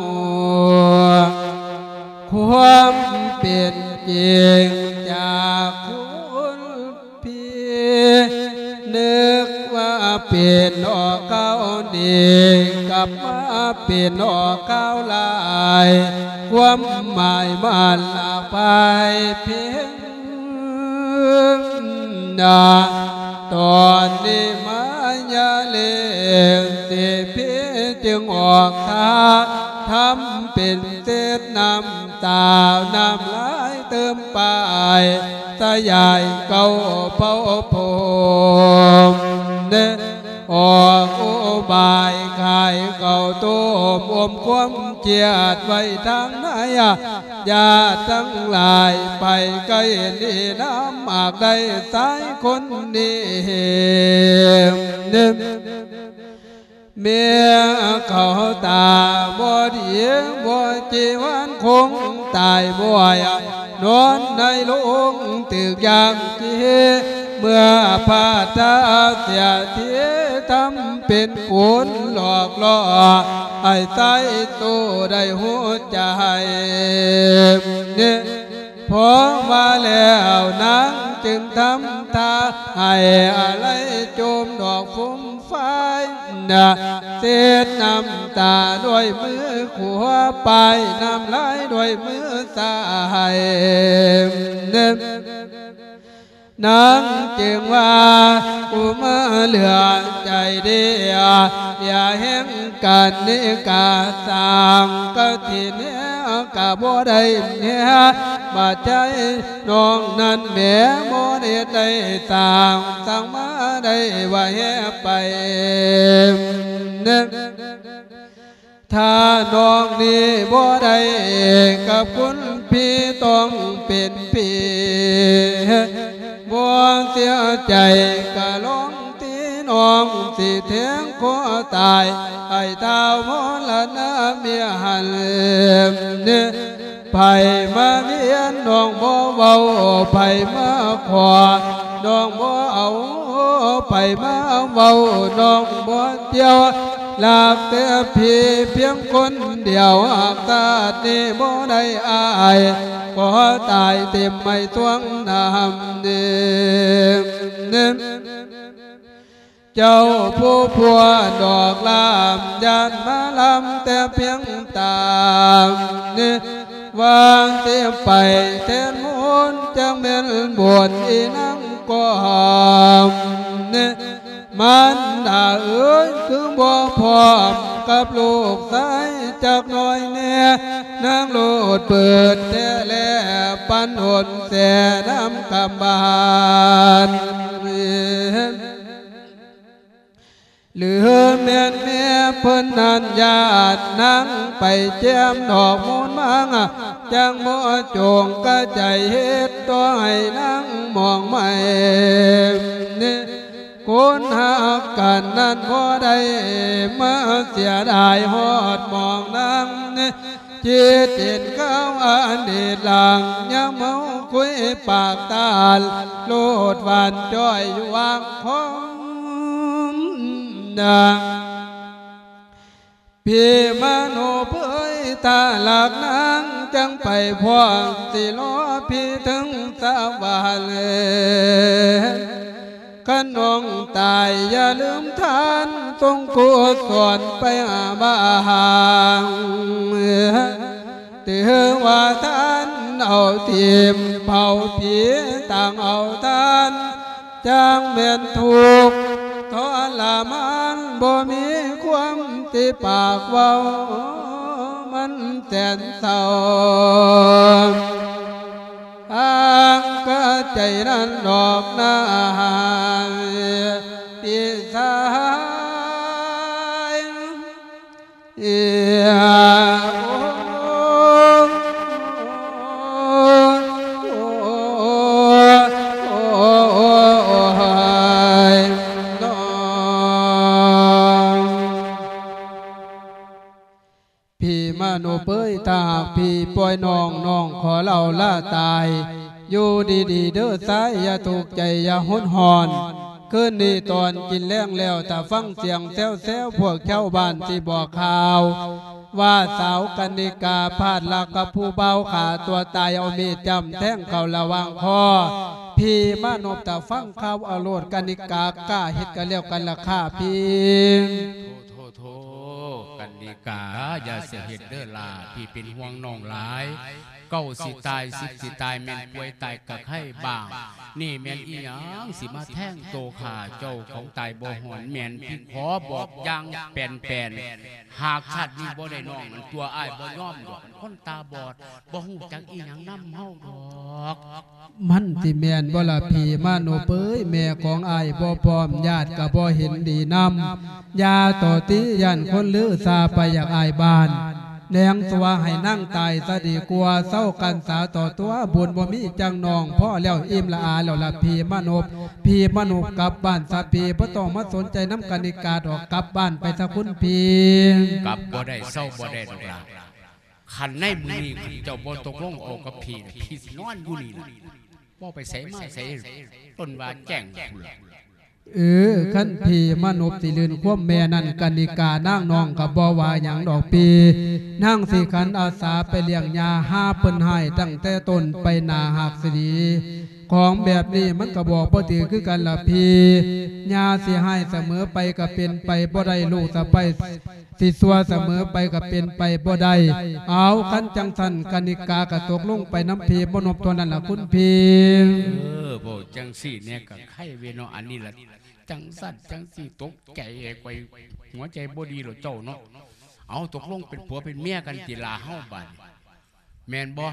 ຄວາມເປັນຈິງຈາກຄຸນພີ່. ເປັນອອກຄາວນີ້ ກັບມາເປັນອອກຄາວຫຼາຍ ຄວາມໝາຍມັນຫຼາກຫຼາຍເພງນາ. ຕອນນີ້ມາຍາເລກເສພີຈຶ່ງອອກທ່າ ທຳເປັນເສດນ້ຳຕາ ນ້ຳລາຍເຕີມປາຍ ສະຫຍາຍເກົ້າເຜົ່າພົມ ອອກອຸບາຍຂາຍເຂົ້າຕົ້ມ ອົມຄວາມຄຽດໄວ້ທາງໃນ ຍາດທັງຫຼາຍໄປໃກ້ນີ້ ນ້ຳອາກໄດ້ຊາຍຄົນນີ້ ເມຍເຂົາຕາບໍ່ດີ ບໍ່ຈີວານຄົງຕາຍບ່ອຍ ນອນໃນໂລງຖືກຢ່າງຈີ ເມື່ອພາດທາເສຍທີ ທຳເປັນໂກນຫຼອກຫຼໍ່ ໃຫ້ຊາຍໂຕໄດ້ຮູ້ໃຈ. ພໍມາແລ້ວນາງຈຶ່ງທຳທ່າ ໃຫ້ອາໄລໂຈມດອກຟຸມ ໄຟນະ ເຊັດນ້ຳຕາດ້ວຍມືຂວາ ປ້າຍນ້ຳລາຍດ້ວຍມືຊ້າຍ. ນາງຈຶ່ງວ່າ ອຸມາເຫຼືອໃຈເດ ຢ່າແຮ່ງກັນນິກາ ສ້າງກະຖິນແຮກະບໍ່ໄດ້ແຮ ບາດໃຈ ນ້ອງນັ້ນແໝບໍ່ໄດ້ໄດ້ສ້າງ ສ້າງມາໄດ້ວ່າແຮໄປ ຖ້ານ້ອງນີ້ບໍ່ໄດ້ກັບຄຸນພີ່ ຕ້ອງເປັນຜີ ບໍ່ເສຍໃຈກະລອງ ທີ່ນ້ອງຊິແທງຄໍຕາຍ ໃຫ້ທ້າວມໍລະນະເມຍຫັ້ນ. ໃຜມາວຽນນ້ອງບໍ່ເວົ້າ ໃຜມາຂໍນ້ອງບໍ່ເອົາ ໃຜມາເວົ້ານ້ອງບໍ່ກ່ຽວ ລັກແຕ່ພີ່ພຽງຄົນດຽວ ຫາກຊາດນີ້ບໍ່ໄດ້ອ້າຍ ຂໍຕາຍເຕັມໄມ້ສວງນ້ຳ ເຈົ້າຜູ້ພົວດອກລາມ ຢ້ານມາລຳແຕ່ພຽງຕາມ ວ່າຊິໄປແທນມູນ ຈັກແມ່ນບຸນອີນາງກອມ ມານດາເອີຍ ຄືບໍ່ພ້ອມກັບລູກຊາຍຈັກໜ້ອຍແນ່ ນາງໂລດເປີດແທ້ແລ ປັນຫົນແສນ້ຳກຳບານ ຫຼືແມ່ນແມ່ເພິ່ນນັ້ນ ຢ້ານນາງໄປແຈ່ມດອກມູນມາງ ຈັ່ງບໍ່ຈົງກະໃຈເຮັດ ຕໍ່ໃຫ້ນາງມອງໄໝ້ ຄົນຮັກກັນນັ້ນບໍ່ໄດ້ມາເສຍດາຍ ຮອດໝ່ອງນາງ ຈິດເຫັນຂ່າວອະດີດຫຼັງ ຍາມເມົາຄຸຍປາກຕານ ໂລດຫວານຈ້ອຍຢູ່ວາງຄອມນາງ ພີ່ມະໂນເຜີຍ ຖ້າລັກນາງຈັ່ງໄປພ້ອມ ຊິລໍພີ່ເຖິງສະຫວັນ ຄັນນ້ອງຕາຍຢ່າລືມທ່ານ ສົ່ງກຸສົນໄປຫາບ້ານ ຖືວ່າທ່ານເອົາທີມເຜົາຜີ ຕ່າງເອົາທ່ານ ຈັ່ງແມ່ນທຸກທໍລະມານ ບໍ່ມີຄວາມຕິປາກເວົ້າ ມັນແສນເສົ້າ ທາງກະໃຈນັ້ນດອກນາຍ ພີ່ຊາຍ ພີ່ມະໂນເປີຍ ຖ້າຫາກພີ່ປ່ອຍນ້ອງ ນ້ອງຂໍເລົ່າລາຕາຍ ຢູ່ດີໆເດີຊາຍ ຢ່າທຸກໃຈ ຢ່າຮຸນຮ້ອນ ຄືນນີ້ຕອນກິນແລງແລ້ວ ຖ້າຟັງສຽງແຊວໆ ພວກຊາວບ້ານຊິບອກຂ່າວ ວ່າສາວກັນນິກາພາດລັກກັບຜູ້ບ່າວ ຂ້າຕົວຕາຍ ເອົາມີດຈ້ຳແທງເຂົ້າລະຫວ່າງຄໍ ພີ່ມານົບ ຖ້າຟັງຂ່າວເອົາໂລດ ກະນິກາກ້າເຮັດກັນແລ້ວກັນລະຄ່າພີ່. ໂທ ໂທ ໂທ ກະນິກາ ຢ່າຊິເຮັດເດີຫຼ້າ ພີ່ເປັນຫ່ວງນ້ອງຫຼາຍ. ເກົ້າຊິຕາຍ ສິບຊິຕາຍ ແມ່ນປ່ວຍຕາຍກະໄຄບ້າງ. ນີ້ແມ່ນອີ່ຫຍັງ ຊິມາແທງໂຕຂ້າເຈົ້າຂອງຕາຍບໍ່ຮອດ ແມ່ນພີ່ຂໍບອກຢ່າງແປນໆ ຫາກຊາດນີ້ບໍ່ໄດ້ນ້ອງນັ້ນຕົວະ ອ້າຍບໍ່ຍອມດອກ ຄົນຕາບອດ ບໍ່ຮູ້ຈັກອີ່ຫຍັງນຳເຮົາດອກ. ມັນຊິແມ່ນບໍ່ລະພີ່ມານົບເອີຍ ແມ່ຂອງອ້າຍບໍ່ພ້ອມ ຍາດກະບໍ່ເຫັນດີນຳ ຢ່າຕໍ່ຕິ ຢ້ານຄົນລືຊາໄປຢາກອາຍບ້ານ ແນງຕົວະໃຫ້ນາງຕາຍຊະດີກວ່າ ເຊົາກັນສາຕໍ່ຕົວ ບຸນບໍ່ມີຈັ່ງນ້ອງ ພໍແລ້ວ ອີ່ມລະອາແລ້ວລະພີ່ມານົບ. ພີ່ມານົບກັບບ້ານຊະພີ່ ບໍ່ຕ້ອງມາສົນໃຈນຳກະນິກາດອກ ກັບບ້ານໄປຊະຄຸນພີ່. ກັບບໍ່ໄດ້ ເຊົາບໍ່ໄດ້ດອກຫຼ້າ. ຄັນໃນມື້ນີ້ ຄັນເຈົ້າບໍ່ຕົກລົງອອກກັບພີ່ນະ ພີ່ຊິນອນຢູ່ນີ້ລະ ບໍ່ໄປໃສມາໃສ ຕົ້ນວ່າແຈ້ງພຸ້ນລະ. ເອີ ຄັນພີ່ມານົບຊິລື່ນຄວາມແມ່ນັ້ນ ກະນິການາງນ້ອງກະບໍ່ວ່າຫຍັງດອກພີ່ ນາງຊິຂັນອາສາໄປລ້ຽງຫຍ້າ ຫາເພິ່ນຮ້າຍຕັ້ງແຕ່ຕົ້ນໄປໜ້າຫາກຊິດີ. ຂອງແບບນີ້ມັນກະບອກບໍ່ຖືກຄືກັນລະພີ່ ຍ່າຊິຮ້າຍສະເໝີໄປກະເປັນໄປບໍ່ໄດ້ ລູກສະໃພ້ ຊິຊົ່ວສະເໝີໄປກະເປັນໄປບໍ່ໄດ້. ເອົາ ຄັນຈັ່ງຊັ້ນ ກະນິກາກະຕົກລົງໄປນຳພີ່ມານົບເທົ່ານັ້ນລະຄຸນພີ່. ເອີ ເວົ້າຈັ່ງຊີ້ແດ່ກະໄຄເວເນາະ ອັນນີ້ລະ ຈັ່ງຊັ້ນຈັ່ງຊີ້ ຕົກໃຈ ຂ້ອຍຫົວໃຈບໍ່ດີແລ້ວເຈົ້າເນາະ. ເອົາ ຕົກລົງເປັນຜົວເປັນເມຍກັນຕິລະເຮົາບາດນີ້ ແມ່ນບໍ່?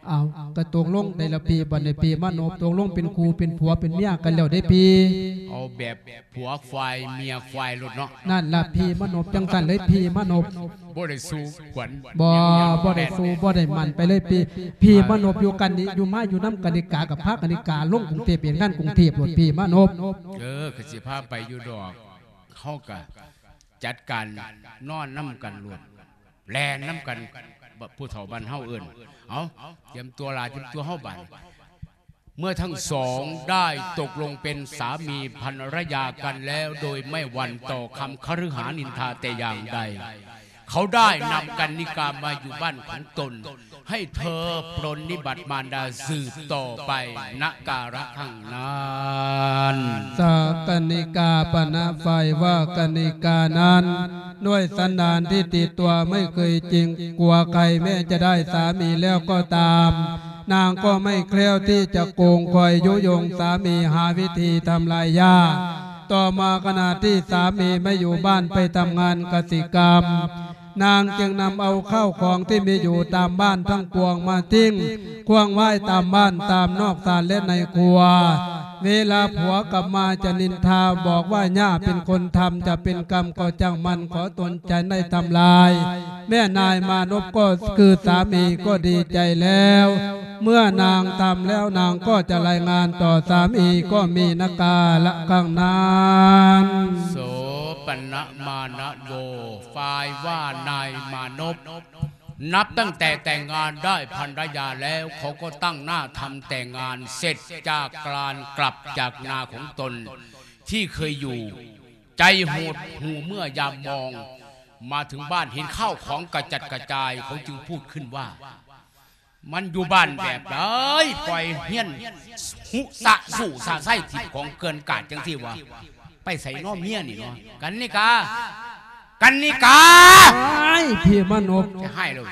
ເອົາ ກະຕົກລົງໄດ້ລະພີ່ ບາດນີ້ພີ່ມານົບ ຕົກລົງເປັນຄູ່ເປັນຜົວເປັນເມຍກັນແລ້ວເດ້ພີ່. ເອົາແບບຜົວຄວາຍເມຍຄວາຍໂລດເນາະ. ນັ້ນລະພີ່ມານົບ ຈັ່ງຊັ້ນເລີຍພີ່ມານົບ. ບໍ່ໄດ້ສູ້ຂວັນ ບໍ່ ບໍ່ໄດ້ສູ້ ບໍ່ໄດ້ໝັ້ນໄປເລີຍພີ່. ພີ່ມານົບຢູ່ກັນນີ້ ຢູ່ມາຢູ່ນຳກະນິກາ ກະພາກະນິກາລົງກຸງເທບ ເຮັດງານກຸງເທບໂລດພີ່ມານົບ. ເອີ ກະຊິພາໄປຢູ່ດອກ ເຮົາກະຈັດການນອນນຳກັນໂລດ ແລ່ນນຳກັນ ບ- ຜູ້ເຖົ້າບ້ານເຮົາເອີ້ນ. ເອົາ ຕຽມຕົວຫຼ້າ ຕຽມຕົວເຮົາບາດນີ້. ເມື່ອທັງສອງໄດ້ຕົກລົງເປັນສາມີພັນລະຍາກັນແລ້ວ ໂດຍໄມ່ຫວັ່ນຕໍ່ຄຳຄະລືຫານິນທາແຕ່ຢ່າງໃດ, ເຂົາໄດ້ນຳກັນນິກາມາຢູ່ບ້ານຂອງຕົນ, ໃຫ້ເທີປຣນນິບັດມານດາສືບຕໍ່ໄປ ນະກາລະຄັ້ງນັ້ນ. ສາກັນນິກາປະນະໄຟວ່າກັນນິການັ້ນ ດ້ວຍສັນດານທີ່ຕິດຕົວໄມ່ເຄີຍເກງກົວໃຄ ແມ້ຈະໄດ້ສາມີແລ້ວກໍຕາມ, ນາງກໍໄມ່ແຄ້ວທີ່ຈະໂກງຄອຍຍຸຍົງສາມີ ຫາວິທີທຳລາຍຢາ. ຕໍ່ມາຂະນະທີ່ສາມີໄມ່ຢູ່ບ້ານໄປທຳງານກະສິກຳ, ນາງຈຶ່ງນຳເອົາເຂົ້າຂອງທີ່ມີຢູ່ຕາມບ້ານທັງປວງມາຖິ້ງຂວ້າງໄວ້ຕາມບ້ານຕາມນອກສານ ແລະ ໃນຄົວ. ເວລາຜົວກັບມາຈະນິນທາບອກວ່າຍ່າເປັນຄົນທຳ, ຈະເປັນກຳກໍຊ່າງມັນ, ຂໍຕົນຈະໄດ້ທຳລາຍ. ແມ່ນາຍມານົບກໍຄືສາມີກໍດີໃຈແລ້ວ. ເມື່ອນາງທຳແລ້ວນາງກໍຈະລາຍງານຕໍ່ສາມີ ກໍມີນະກາລະຄັ້ງນັ້ນ. ໂສປະນະມານະໂວ ຝ່າຍວ່ານາຍມານົບ ນັບຕັ້ງແຕ່ແຕ່ງງານໄດ້ພັນລະຍາແລ້ວ ເຂົາກໍຕັ້ງໜ້າທຳແຕ່ງງານເສັດຈາກການກັບຈາກນາຂອງຕົນທີ່ເຄີຍຢູ່. ໃຈຫົດຫູ່ເມື່ອຍາມມອງມາເຖິງບ້ານ ເຫັນຂ້າວຂອງກະຈັດກະຈາຍ ເຂົາຈຶ່ງພູດຂຶ້ນວ່າ ມັນຢູ່ບ້ານແບບໃດ ປ່ອຍຮຽນຫຸສະສູສະໄຊຖິ້ມຂອງເກີນກາດຈັ່ງຊີ້ວະ? ໄປໃສນໍເມຍນີ້ນໍ? ກັນນິກາ ກັນນິກາ ໂອ້ຍ ພີ່ມານົບ ຈະຮ້າຍເລີຍ.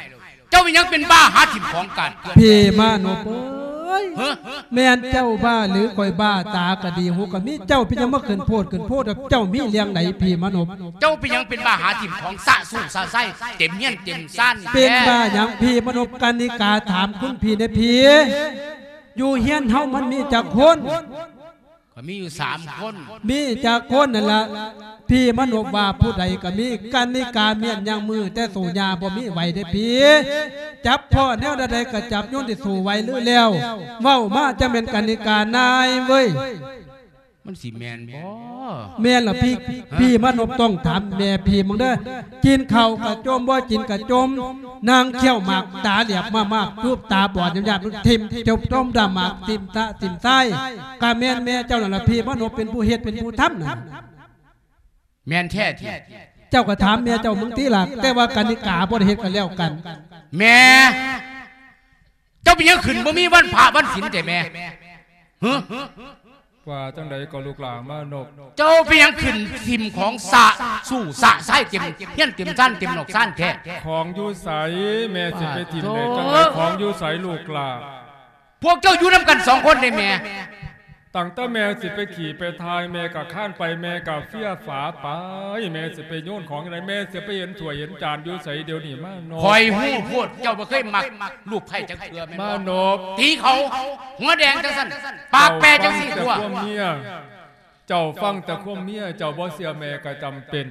ເຈົ້າເປັນຫຍັງເປັນບ້າຫາຖິ້ມຂອງກາດເກີນ? ພີ່ມານົບເອີຍ ຮະ? ແມ່ນເຈົ້າບ້າຫຼືຂ້ອຍບ້າ? ຕາກະດີ ຫູກະມີ ເຈົ້າເປັນຫຍັງມາຂຶ້ນໂພດຂຶ້ນໂພດ? ເຈົ້າມີເລື່ອງໃດ ພີ່ມານົບ? ເຈົ້າເປັນຫຍັງເປັນບ້າຫາຖິ້ມຂອງສະສູສະໄຊ ເຕັມເຮືອນເຕັມຊານ? ເປັນບ້າຫຍັງ ພີ່ມານົບ? ກັນນິກາຖາມຄຸນພີ່ແດ່ພີ່ ຢູ່ເຮືອນເຮົາມັນມີຈັກຄົນ? ກໍມີຢູ່ສາມຄົນ. ມີຈັກຄົນນັ້ນລະ? ພີ່ມານົບວ່າຜູ້ໃດກໍມີ. ກັນນິກາ ແມ່ນຍັງມືແຕ່ໂສຍາບໍ່ມີໄຫວເດ້ພີ່. ຈັບພໍ້ແນວໃດກໍຈັບ ໂຍນທີ່ໂສໄຫວຫຼືແລ້ວ. ເວົ້າມາ ຈະແມ່ນກັນນິການາຍເວີຍ. ມັນຊິແມ່ນບໍ່? ແມ່ນລະພີ່. ຮະ? ພີ່ມານົບຕ້ອງຖາມແມ່ພີ່ເບິ່ງເດີ. ກິນເຂົ້າກະຈົ່ມ ບໍ່ກິນກະຈົ່ມ. ນາງຂ້ຽວໝາກຕາແຫຼບມາກໆ ຮູບຕາບອດຍາບໆ ຖິ້ມຈົມດົມດຳໝາກ ຖິ້ມຕະຖິ້ມຊາຍ. ກະແມ່ນແມ່ເຈົ້ານັ້ນລະ ພີ່ມານົບເປັນຜູ້ເຮັດເປັນຜູ້ທຳນັ້ນ. ແມ່ນແທ້ຕິ? ເຈົ້າກໍຖາມແມ່ເຈົ້າເບິ່ງຕິລະ. ແຕ່ວ່າກັນນິກາບໍ່ໄດ້ເຮັດກໍແລ້ວກັນ. ແມ່ ເຈົ້າເປັນຫຍັງຂຶ້ນບໍ່ມີວັນພະວັນສິນແທ້ແມ່? ຮະ? ວ່າຈັ່ງໃດກໍລູກຫຼ້າມານົບ? ເຈົ້າເປັນຫຍັງຂຶ້ນຖິ້ມຂອງສະຊູ່ສະຊາຍເຕັມເຮືອນເຕັມຊານເຕັມນອກຊານແທ້? ຂອງຢູ່ໃສ? ແມ່ຊິໄປຖິ້ມໄດ້ຈັ່ງໃດ? ປາດໂທ ຂອງຢູ່ໃສລູກຫຼ້າ? ພວກເຈົ້າຢູ່ນຳກັນສອງຄົນເດ້ແມ່. ຕັ້ງແຕ່ແມ່ຊິໄປຂີ່ໄປຖ່າຍ ແມ່ກໍຄານໄປ ແມ່ກໍເຟຍຝາໄປ ແມ່ຊິໄປໂຍນຂອງໃດ? ແມ່ຊິໄປເຫັນຖ້ວຍເຫັນຈານຢູ່ໃສດຽວນີ້ມານົບ? ຂ້ອຍຮູ້ໂພດ ເຈົ້າບໍ່ເຄີຍມັກລູກໃພ້ຈັກເທື່ອແມ່ນບໍ່? ມານົບ ຕີເຂົາຫົວແດງຈັ່ງຊັ້ນ ປາກແປຈັ່ງຊີ້ຕົວະ. ເຈົ້າຟັງແຕ່ຄວາມເມຍ ເຈົ້າບໍ່ເຊື່ອແມ່ກໍຈຳເປັນ.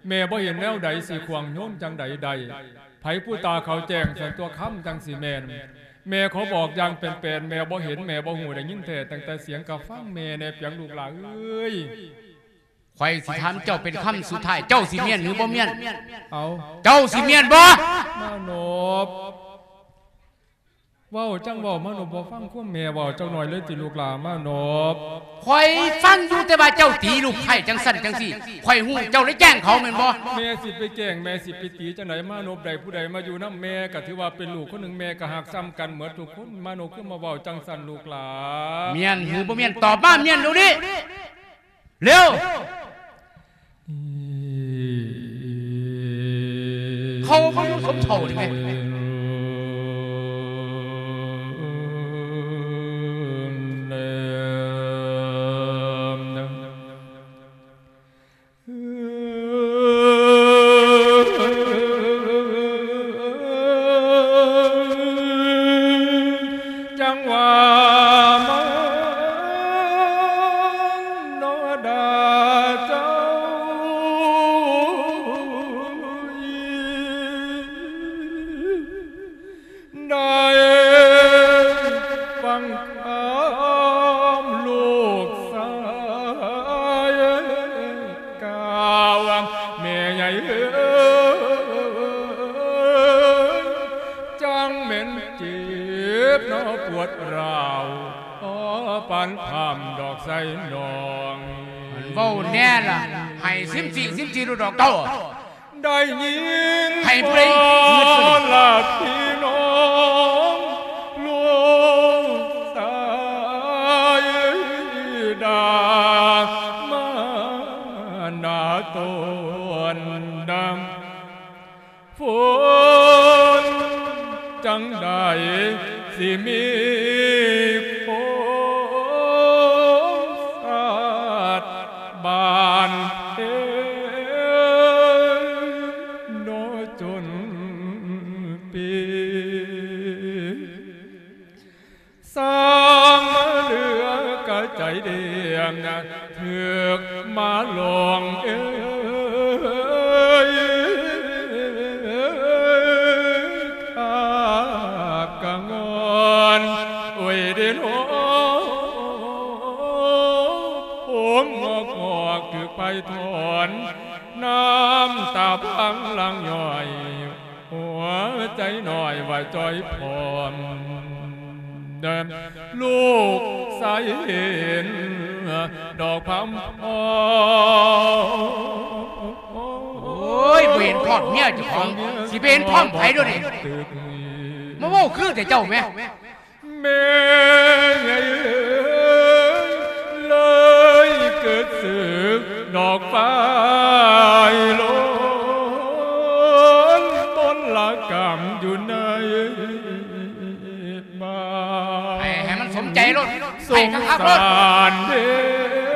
ແມ່ບໍ່ເຫັນແນວໃດຊິຂວາງໂຍນຈັ່ງໃດໄດ້. ໃຜຜູ້ຕາເຂົາແຈ້ງ ສັນຕົວະຄຳຈັ່ງຊິແມ່ນ. ແມ່ຂໍບອກຢ່າງແປນໆ ແມ່ບໍ່ເຫັນ ແມ່ບໍ່ຮູ້ ໄດ້ຍິນແທ້ຕັ້ງແຕ່ສຽງ ກໍຟັງແມ່ແດ່ປຽງລູກຫຼ້າເອີຍ. ຂ້ອຍຊິຖາມເຈົ້າເປັນຄຳສຸດທ້າຍ ເຈົ້າຊິມ້ຽນຫຼືບໍ່ມ້ຽນ? ເອົາ ເຈົ້າຊິມ້ຽນບໍ່? ມານົບ ເວົ້າຈັ່ງເວົ້າ ມານົບບໍ່ຟັງຄວາມແມ່ເວົ້າຈັກໜ້ອຍເລີຍຕິລູກຫຼ້າມານົບ? ຂ້ອຍຟັງຢູ່ ແຕ່ວ່າເຈົ້າຕີລູກໃພ້ຈັ່ງຊັ້ນຈັ່ງຊີ້ ຂ້ອຍຮູ້ເຈົ້າໄດ້ແກ້ງເຂົາແມ່ນບໍ່? ແມ່ຊິໄປແກ້ງ ແມ່ຊິໄປຕີຈັ່ງໃດ? ມານົບ ໄດ້ຜູ້ໃດມາຢູ່ນຳແມ່ ກໍຖືວ່າເປັນລູກຄົນໜຶ່ງ ແມ່ກໍຮັກສ່ຳກັນໝົດທຸກຄົນ. ມານົບ ຄືມາເວົ້າຈັ່ງຊັ້ນລູກຫຼ້າ? ມ້ຽນຫຼືບໍ່ມ້ຽນ? ຕອບມາ ມ້ຽນດຽວນີ້. ເລັວ ເຂົາບໍ່ຢູ່ສົມເຖົ້ານີ້ແມ່. ຈັ່ງວ່າມັນເນາະດາເຈົ້າ ໄດ້ຟັງຄຳລູກຊາຍກ່າວ ແມ່ໃຫຍ່ເອີຍ ຈັ່ງແມ່ນເຈັບເນາະປວດຮ້າວ ພໍປານພາມດອກໄຊນ້ອງ. ມັນເວົ້າແນ່ລະ ໃຫ້ຊິມຈີ່ ຊິມຈີ່ໂລດດອກເຈົ້າ. ໄດ້ຍິນ ໃຫ້ຜູ້ໃດ ພໍ່ລະພີ່ນ້ອງ ລູກຊາຍດ່າມາໜ້າຕົ້ນດຳ ຝົນຈັ່ງໃດຊິມີຄົນສາດບ້ານເຕັງ ໂນຈົນປີ ສ້າງມາເຫຼືອກະໃຈເດງ ຖືກມາຫຼອງເອີຍ ຂາບກະງອນ ໂອ້ຍເດໂນ ໂອມງອກໆ ຖືກໄຟຖອນ ນ້ຳຕາພັງຫຼັ່ງຍ້ອຍ ຫົວໃຈນ້ອຍວ່າຈ່ອຍພ້ອມ ລູກຊາຍເຫັນດອກພາມພ້ອມ. ໂອ້ຍ ບໍ່ເຫັນພ້ອມເມຍເຈົ້າຂອງ ຊິໄປເຫັນພ້ອມໃຜດຽວນີ້? ມາເວົ້າຄືແຕ່ເຈົ້າແມ. ແມ່ໃຫຍ່ເອີຍ ເລີຍເກີດສຶກດອກຝາຍໂລນ ມົນລະກຳຢູ່ໃນບ້ານ ໃຫ້ ໃຫ້ມັນສົມໃຈໂລດ ສົງສານເດ້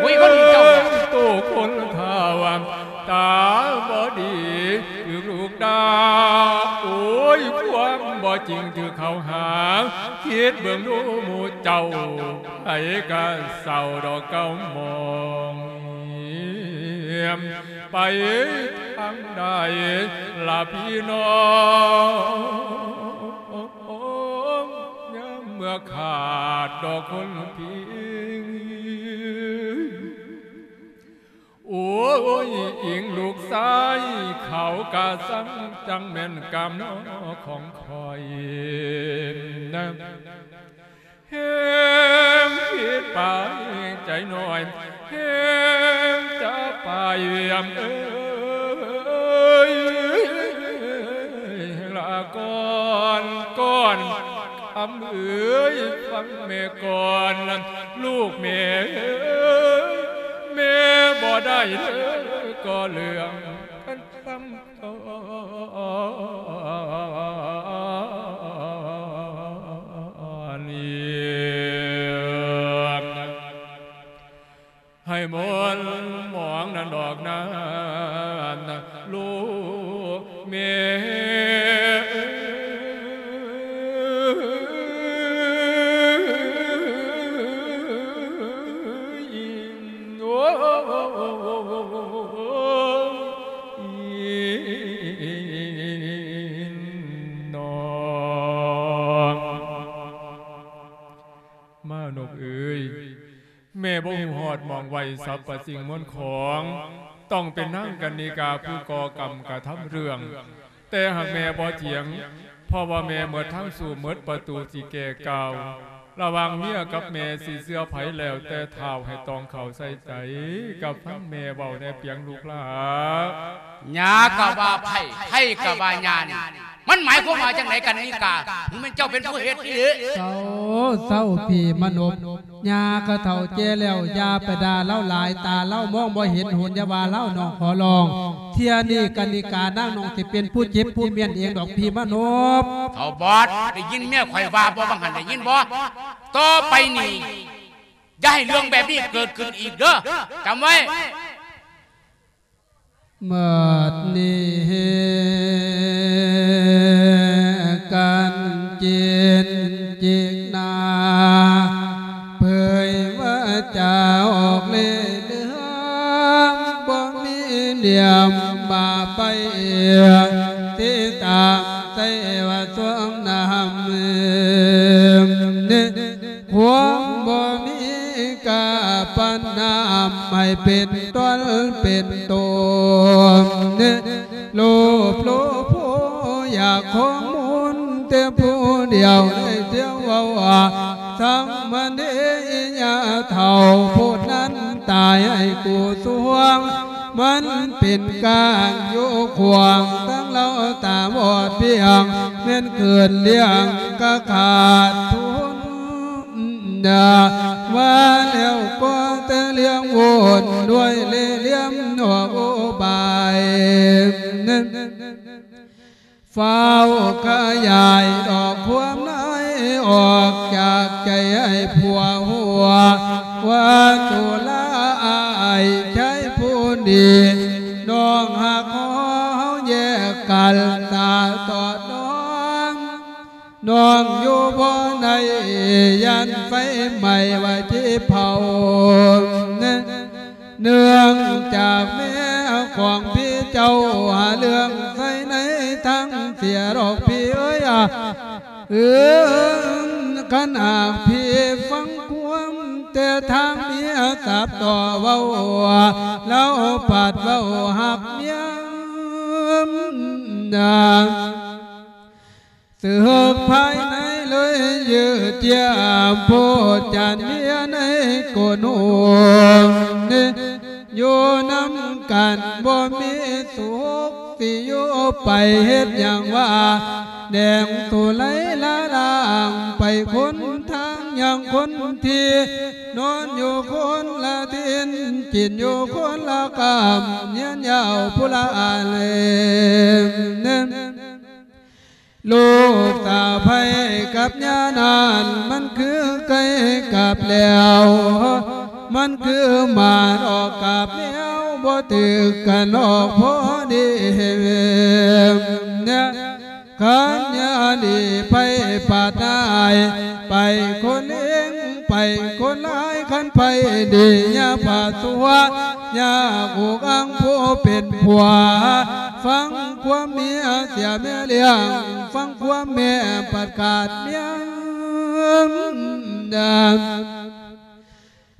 ໂອ້ຍ ຄົນເຈົ້າ ໂຕຄົນເຖົ້າ ຕາບໍ່ດີຖືກລູກດ່າ ໂອ້ຍ ຄວາມບໍ່ຈິງຖືກເຂົາຫາ ຄິດເບິ່ງດູໝູ່ເຈົ້າ ໃຜກະເສົ້າດອກເກົ່າໝອງ ໄປທາງໃດລະພີ່ນ້ອງ ຍາມເມື່ອຂາດດອກຄົນພິງ ໂອ້ຍ ອີງລູກຊາຍ ເຂົາກະສັງ ຈັ່ງແມ່ນກຳນອຂອງຂ້ອຍນະ ແຮງຜິດໄປໃຈນ້ອຍ ແຮງຈະໄປວຽມເອີຍ ລາກ່ອນ ກ່ອນ ເອີຍ ຟັງແມ່ກ່ອນ ລູກແມ່ເອີຍ ແມ່ບໍ່ໄດ້ເດີກໍເລື່ອງ ໃຫ້ມົນໝອງນັ້ນດອກນານ ລູກແມ່ເອີຍ ໂອ້ຍ ນ້ອງມານົບເອີຍ ແມ່ບໍ່ຮູ້ຮອດໝ່ອງໄວ້ສັບພະສິ່ງມວນຂອງ ຕ້ອງເປັນນາງກັນນິກາຜູ້ກໍ່ກຳກະທຳເລື່ອງ ແຕ່ຫາກແມ່ບໍ່ຖຽງ ເພາະວ່າແມ່ໝົດທາງສູ້ ໝົດປະຕູຊິແກ່ກ່າວ ລະຫວ່າງເມຍກັບແມ່ຊິເຊື່ອໃຜແລ້ວແຕ່ທ້າວ ໃຫ້ຕ້ອງເຂົ້າໃສ່ໃຈ ກັບຟັງແມ່ເວົ້າແດ່ປຽງລູກຫຼ້າ. ຍ່າກໍວ່າໃຜ ໃຜກໍວ່າຍ່ານີ້ ມັນໝາຍຄວາມວ່າຈັ່ງໃດກັນນິກາ? ມັນເຈົ້າເປັນຜູ້ເຮັດອີ່ຫຼີ. ເຊົາ ເຊົາ ພີ່ມະນົບ ຍ່າກໍເຖົ້າແກ່ແລ້ວ ຢ່າໄປດ່າລາວຫຼາຍ ຕາລາວມອງບໍ່ເຫັນ ຫຸນຢ່າວ່າລາວ ນ້ອງຂໍຮ້ອງ. ເທື່ອນີ້ກັນນິການາງນ້ອງຊິເປັນຜູ້ເຈັບຜູ້ມ້ຽນເອງດອກ ພີ່ມະນົບ. ເຖົ້າບອດ ໄດ້ຍິນເມຍຂ້ອຍວ່າບໍ່ ວ່າຫັ້ນໄດ້ຍິນບໍ່? ຕໍ່ໄປນີ້ ຢ່າໃຫ້ເລື່ອງແບບນີ້ເກີດຂຶ້ນອີກເດີ ຈຳໄວ້. ໝົດນີ້ກັນຈິນຈິກໜ້າ ເຜີຍວາຈາອອກເລ່ເລື່ອງ ບໍ່ມີນຽມບາປ ຕິຕາມໃສ່ວ່າຊ່ວງນ້ຳ ຄວາມບໍ່ມີກາປັນນ້ຳ ໃຫ້ເປັນຕົນເປັນຕົນ ໂລບໂລໂພຢາກຂອງມົນແຕ່ຜູ້ດຽວ ໄດ້ທ່ຽວເວົ້າວ່າ ສາມະເນຍາເຖົ້າຜູ້ນັ້ນຕາຍໃຫ້ກູຊ່ວງ ມັນເປັນການຢູ່ຂວາງ ທັງລາວຕາບອດພຽງ ແມ່ນເກີດລ້ຽງກະຂາດທຶນ ວ່າແລ້ວກໍແຕ່ລ້ຽງວົນ ດ້ວຍເລ່ຫຼ່ຽມນອກອຸບາຍ ຟ້າວຂະຫຍາຍດອກຄວາມໃນ ອອກຈາກໃຈໃຫ້ຜົວຮູ້ ວ່າຕຸລາອ້າຍຊາຍຜູ້ດີ ນ້ອງຮັກເຮົາແຍກກັນຕາຕອດນອນ ນ້ອງຢູ່ບໍ່ໄດ້ ຢ້ານໄຟໄໝ້ວ່າຊິເຜົາ ເນື່ອງຈາກແມ່ຂອງພີ່ເຈົ້າ ຫາເລື່ອງໃສ່ໃນທາງເສຍດອກພີ່ເອີຍ ອາ ເອີ ຄັນຫາກພີ່ຟັງຄວາມ ແຕ່ທາງເມຍສັບຕໍ່ເວົ້າ ລາວພັດເວົ້າຮັກເມຍ ນາ ເສິກພາຍໃນເລີຍຢືດຢຽມໂພດຈັນເມຍໃນໂກນໂຮມ ຢູ່ນຳກັນບໍ່ມີສຸກ ຊິຢູ່ໄປເຮັດຫຍັງວ່າ ແດງໂຕໄຫຼລະລາງໄປຄົນທາງ ຢ່າງຄົນທີ່ນອນຢູ່ຄົນລະຖິ່ນ ກິນຢູ່ຄົນລະກຳ ຮຽນຍາວຜູ້ລະອາເລມ ລູກສາໃພ້ກັບຍ່ານັ້ນ ມັນຄືໄກ່ກັບແລ້ວ ມັນຄືໝາດອກກັບແມວ ບໍ່ຖືກກັນອອກພໍດີ ຄັນຍາດີໄຜປາດນາຍ ໄປຄົນເອງ ໄປຄົນຫຼາຍ ຄັນໄຜດີຢ່າພາຊົ່ວ ຢ່າອຸກອັງຜູ້ເປັນຜົວ ຟັງຄວາມເມຍເສຍແມ່ລ້ຽງ ຟັງຄວາມແມ່ປະກາດເມຍ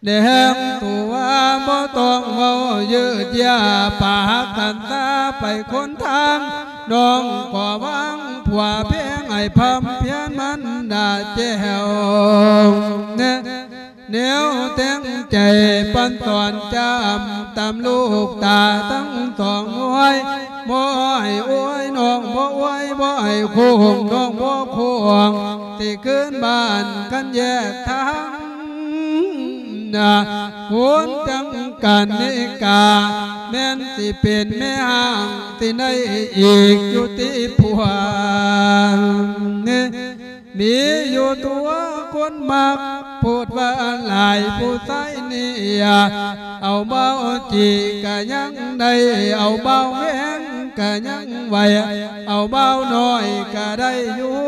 ແດງຕົວບໍ່ຕ້ອງເວົ້າຢືດຢາ ປາກກັນຊາໄປຄົນທາງ ນ້ອງກໍວາງຜົວແພງໃຫ້ພຳພຽນມັນດາແຈວ ແນວແຕ່ງໃຈປັນສອນຈຳ ຕຳລູກຕາທັງສອງນ້ອຍ ບໍ່ໃຫ້ອວຍ ນ້ອງບໍ່ອວຍ ບໍ່ໃຫ້ໂຄ້ງ ນ້ອງບໍ່ໂຄ້ງ ຊິຄືນບ້ານຄັນແຍກທາງນະ ຄົນຈັ່ງກັນນິກາ ແມ່ນຊິເປັນແມ່ຮ້າງ ຊິໄດ້ອີກຢູ່ຕິພວກ ມີຢູ່ຕົວຄົນມັກ ໂພດວ່າຫຼາຍຜູ້ຊາຍນີ້ ເອົາເບົາຈີກະຍັງໄດ້ ເອົາເບົາແຫວງກະຍັງໄຫວ ເອົາເບົານ້ອຍກະໄດ້ຢູ່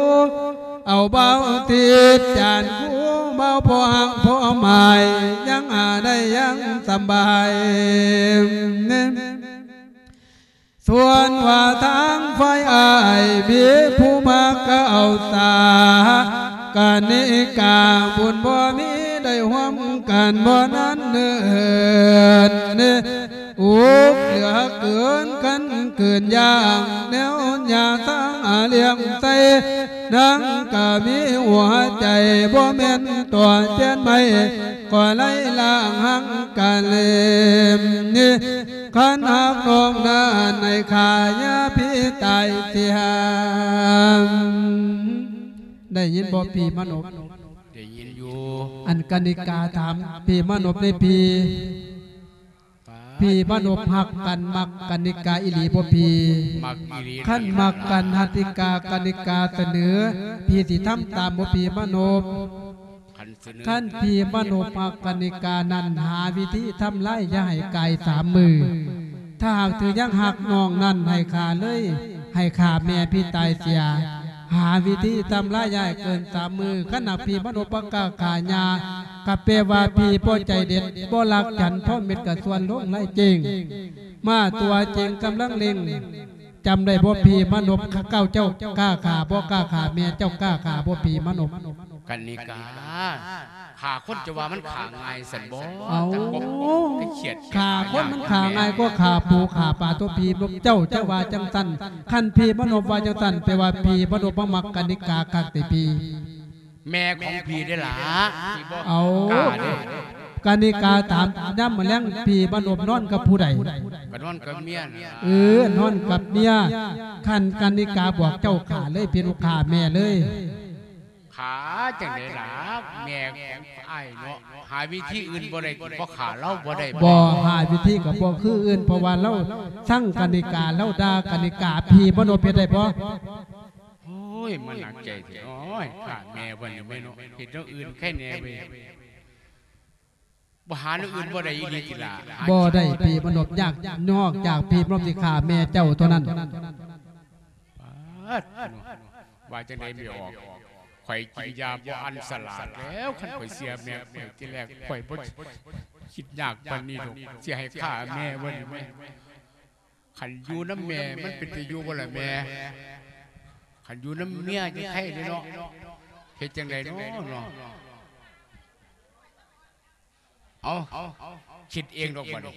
ເອົາເບົາຕິດຈານຄູ ເບົາພໍຮັກພໍໝາຍ ຍັງຫາໄດ້ຍັງສຳບາຍ. ສ່ວນວ່າທາງຝ່າຍອ້າຍ ມີຜູ້ມັກກະເອົາສາ ກະນິກາບຸນບໍ່ມີໄດ້ຮ່ວມກັນບໍ່ນັ້ນເນີນ ອຸກເຫຼືອເກີນຄັນເກີນຢ່າງ ແນວຍາສາລ້ຽງໃສ່ ນາງກະມີຫົວໃຈ ບໍ່ແມ່ນຕໍ່ແຈນໄມ້ ກໍໄລ່ລ້າງຮັກກະເລມນີ້ ຄັນຮັກນ້ອງນັ້ນໃຫ້ຂ້າຢ່າພີ່ຕາຍເສຍ. ໄດ້ຍິນບໍ່ພີ່ມະນົບ? ໄດ້ຍິນຢູ່. ອັນກະນິກາຖາມພີ່ມະນົບເດ້ພີ່ ພີ່ມະນົບຮັກກັນມັກກະນິກາອີ່ຫຼີບໍ່ພີ່? ມັກອີ່ຫຼີ. ຄັນມັກກັນ ກະນິກາ ກະນິກາສະເໜີ ພີ່ຊິທຳຕາມບໍ່ພີ່ມະນົບ? ຄັນສະເໜີ ຄັນພີ່ມະນົບຮັກກະນິການັ້ນ ຫາວິທີທຳລາຍຢ່າໃຫ້ກາຍສາມມື້. ຖ້າຫາກຖືຍັງຮັກນ້ອງນັ້ນ ໃຫ້ຂ້າເລີຍ ໃຫ້ຂ້າແມ່ພີ່ຕາຍເສຍ. ຫາວິທີທຳລາຍຢ່າໃຫ້ເກີນສາມມື້. ຄັນຫາກພີ່ມະນົບບໍ່ກ້າຂ້າຍ່າ ກະແປວ່າພີ່ບໍ່ໃຈເດັດ ບໍ່ລັກຈັນ ເພາະເມັດກະຊວນລົງໄລ່ເຈີງ. ມາຕົວເຈີງກຳລັງເລັ່ງ. ຈຳໄດ້ບໍ່ພີ່ມະນົບ ເຈົ້າ ເຈົ້າກ້າຂ້າບໍ່ ກ້າຂ້າແມ່ ເຈົ້າກ້າຂ້າບໍ່ພີ່ມະນົບ? ກະນິກາ ຂ້າຄົນຈະວ່າມັນຂ້າງ່າຍຊັ້ນບໍ່? ເອົ້າ ຈັ່ງບໍ່ໄປຂຽດ ຂ້າຄົນມັນຂ້າງ່າຍກວ່າຂ້າປູຂ້າປາຕົວະພີ່ມະນົບ ເຈົ້າຈະວ່າຈັ່ງຊັ້ນ. ຄັນພີ່ມະນົບວ່າຈັ່ງຊັ້ນ ແປວ່າພີ່ມະນົບມາມັກກະນິກາຄັກຕິພີ່? ແມ່ຂອງພີ່ເດ້ລະ ເອົ້າ ກະນິກາຖາມ ຍາມມື້ແລງພີ່ມະນົບນອນກັບຜູ້ໃດ? ກະນອນກັບເມຍນະ. ເອີ ນອນກັບເມຍ. ຄັນກະນິກາບອກເຈົ້າຂ້າເລີຍ ເປັນລູກຄ້າແມ່ເລີຍ. ຂ້າຈັ່ງໃດລະ ແມ່ຂອງອ້າຍເນາະ ຫາວິທີອື່ນບໍ່ໄດ້ຕິ ບໍ່ຂ້າລາວບໍ່ໄດ້ບໍ? ບໍ່ ຫາວິທີກະບໍ່ຄືອື່ນ ເພາະວ່າລາວຊັງກະນິກາ ລາວດ່າກະນິກາ ພີ່ມະນົບເຮັດໄດ້ບໍ່? ໂອ້ຍ ມັນໜັກໃຈແທ້ເນາະ ຂ້າແມ່ເພິ່ນນີ້ແມ່ເນາະ ເຮັດແນວອື່ນໃຄແດ່ເວີຍ. ບໍ່ຫາແນວອື່ນບໍ່ໄດ້ອີ່ຫຼີຕິລະ? ບໍ່ໄດ້ ພີ່ມະນົບ ຍາກ ນອກຈາກພີ່ມະນົບຊິຂ້າແມ່ເຈົ້າເທົ່ານັ້ນ. ປາດ ວ່າຈັ່ງໃດແມ່ອອກ ຂ້ອຍກິນຢາບໍ່ອັນສະຫຼາດແລ້ວ ຄັນຂ້ອຍເສຍແມ່ຂ້ອຍ ທີແລກຂ້ອຍບໍ່ຄິດຍາກປານນີ້ດອກ ຊິໃຫ້ຂ້າແມ່ເພິ່ນແມ່. ຄັນຢູ່ນຳແມ່ມັນເປັນຕາຢູ່ບໍ່ລະແມ່? ຄັນຢູ່ນຳເມຍຈະໄຄເດ້ເນາະ ເຮັດຈັ່ງໃດເນາະ ເນາະ? ເອົາ ຄິດເອງດອກບັດນີ້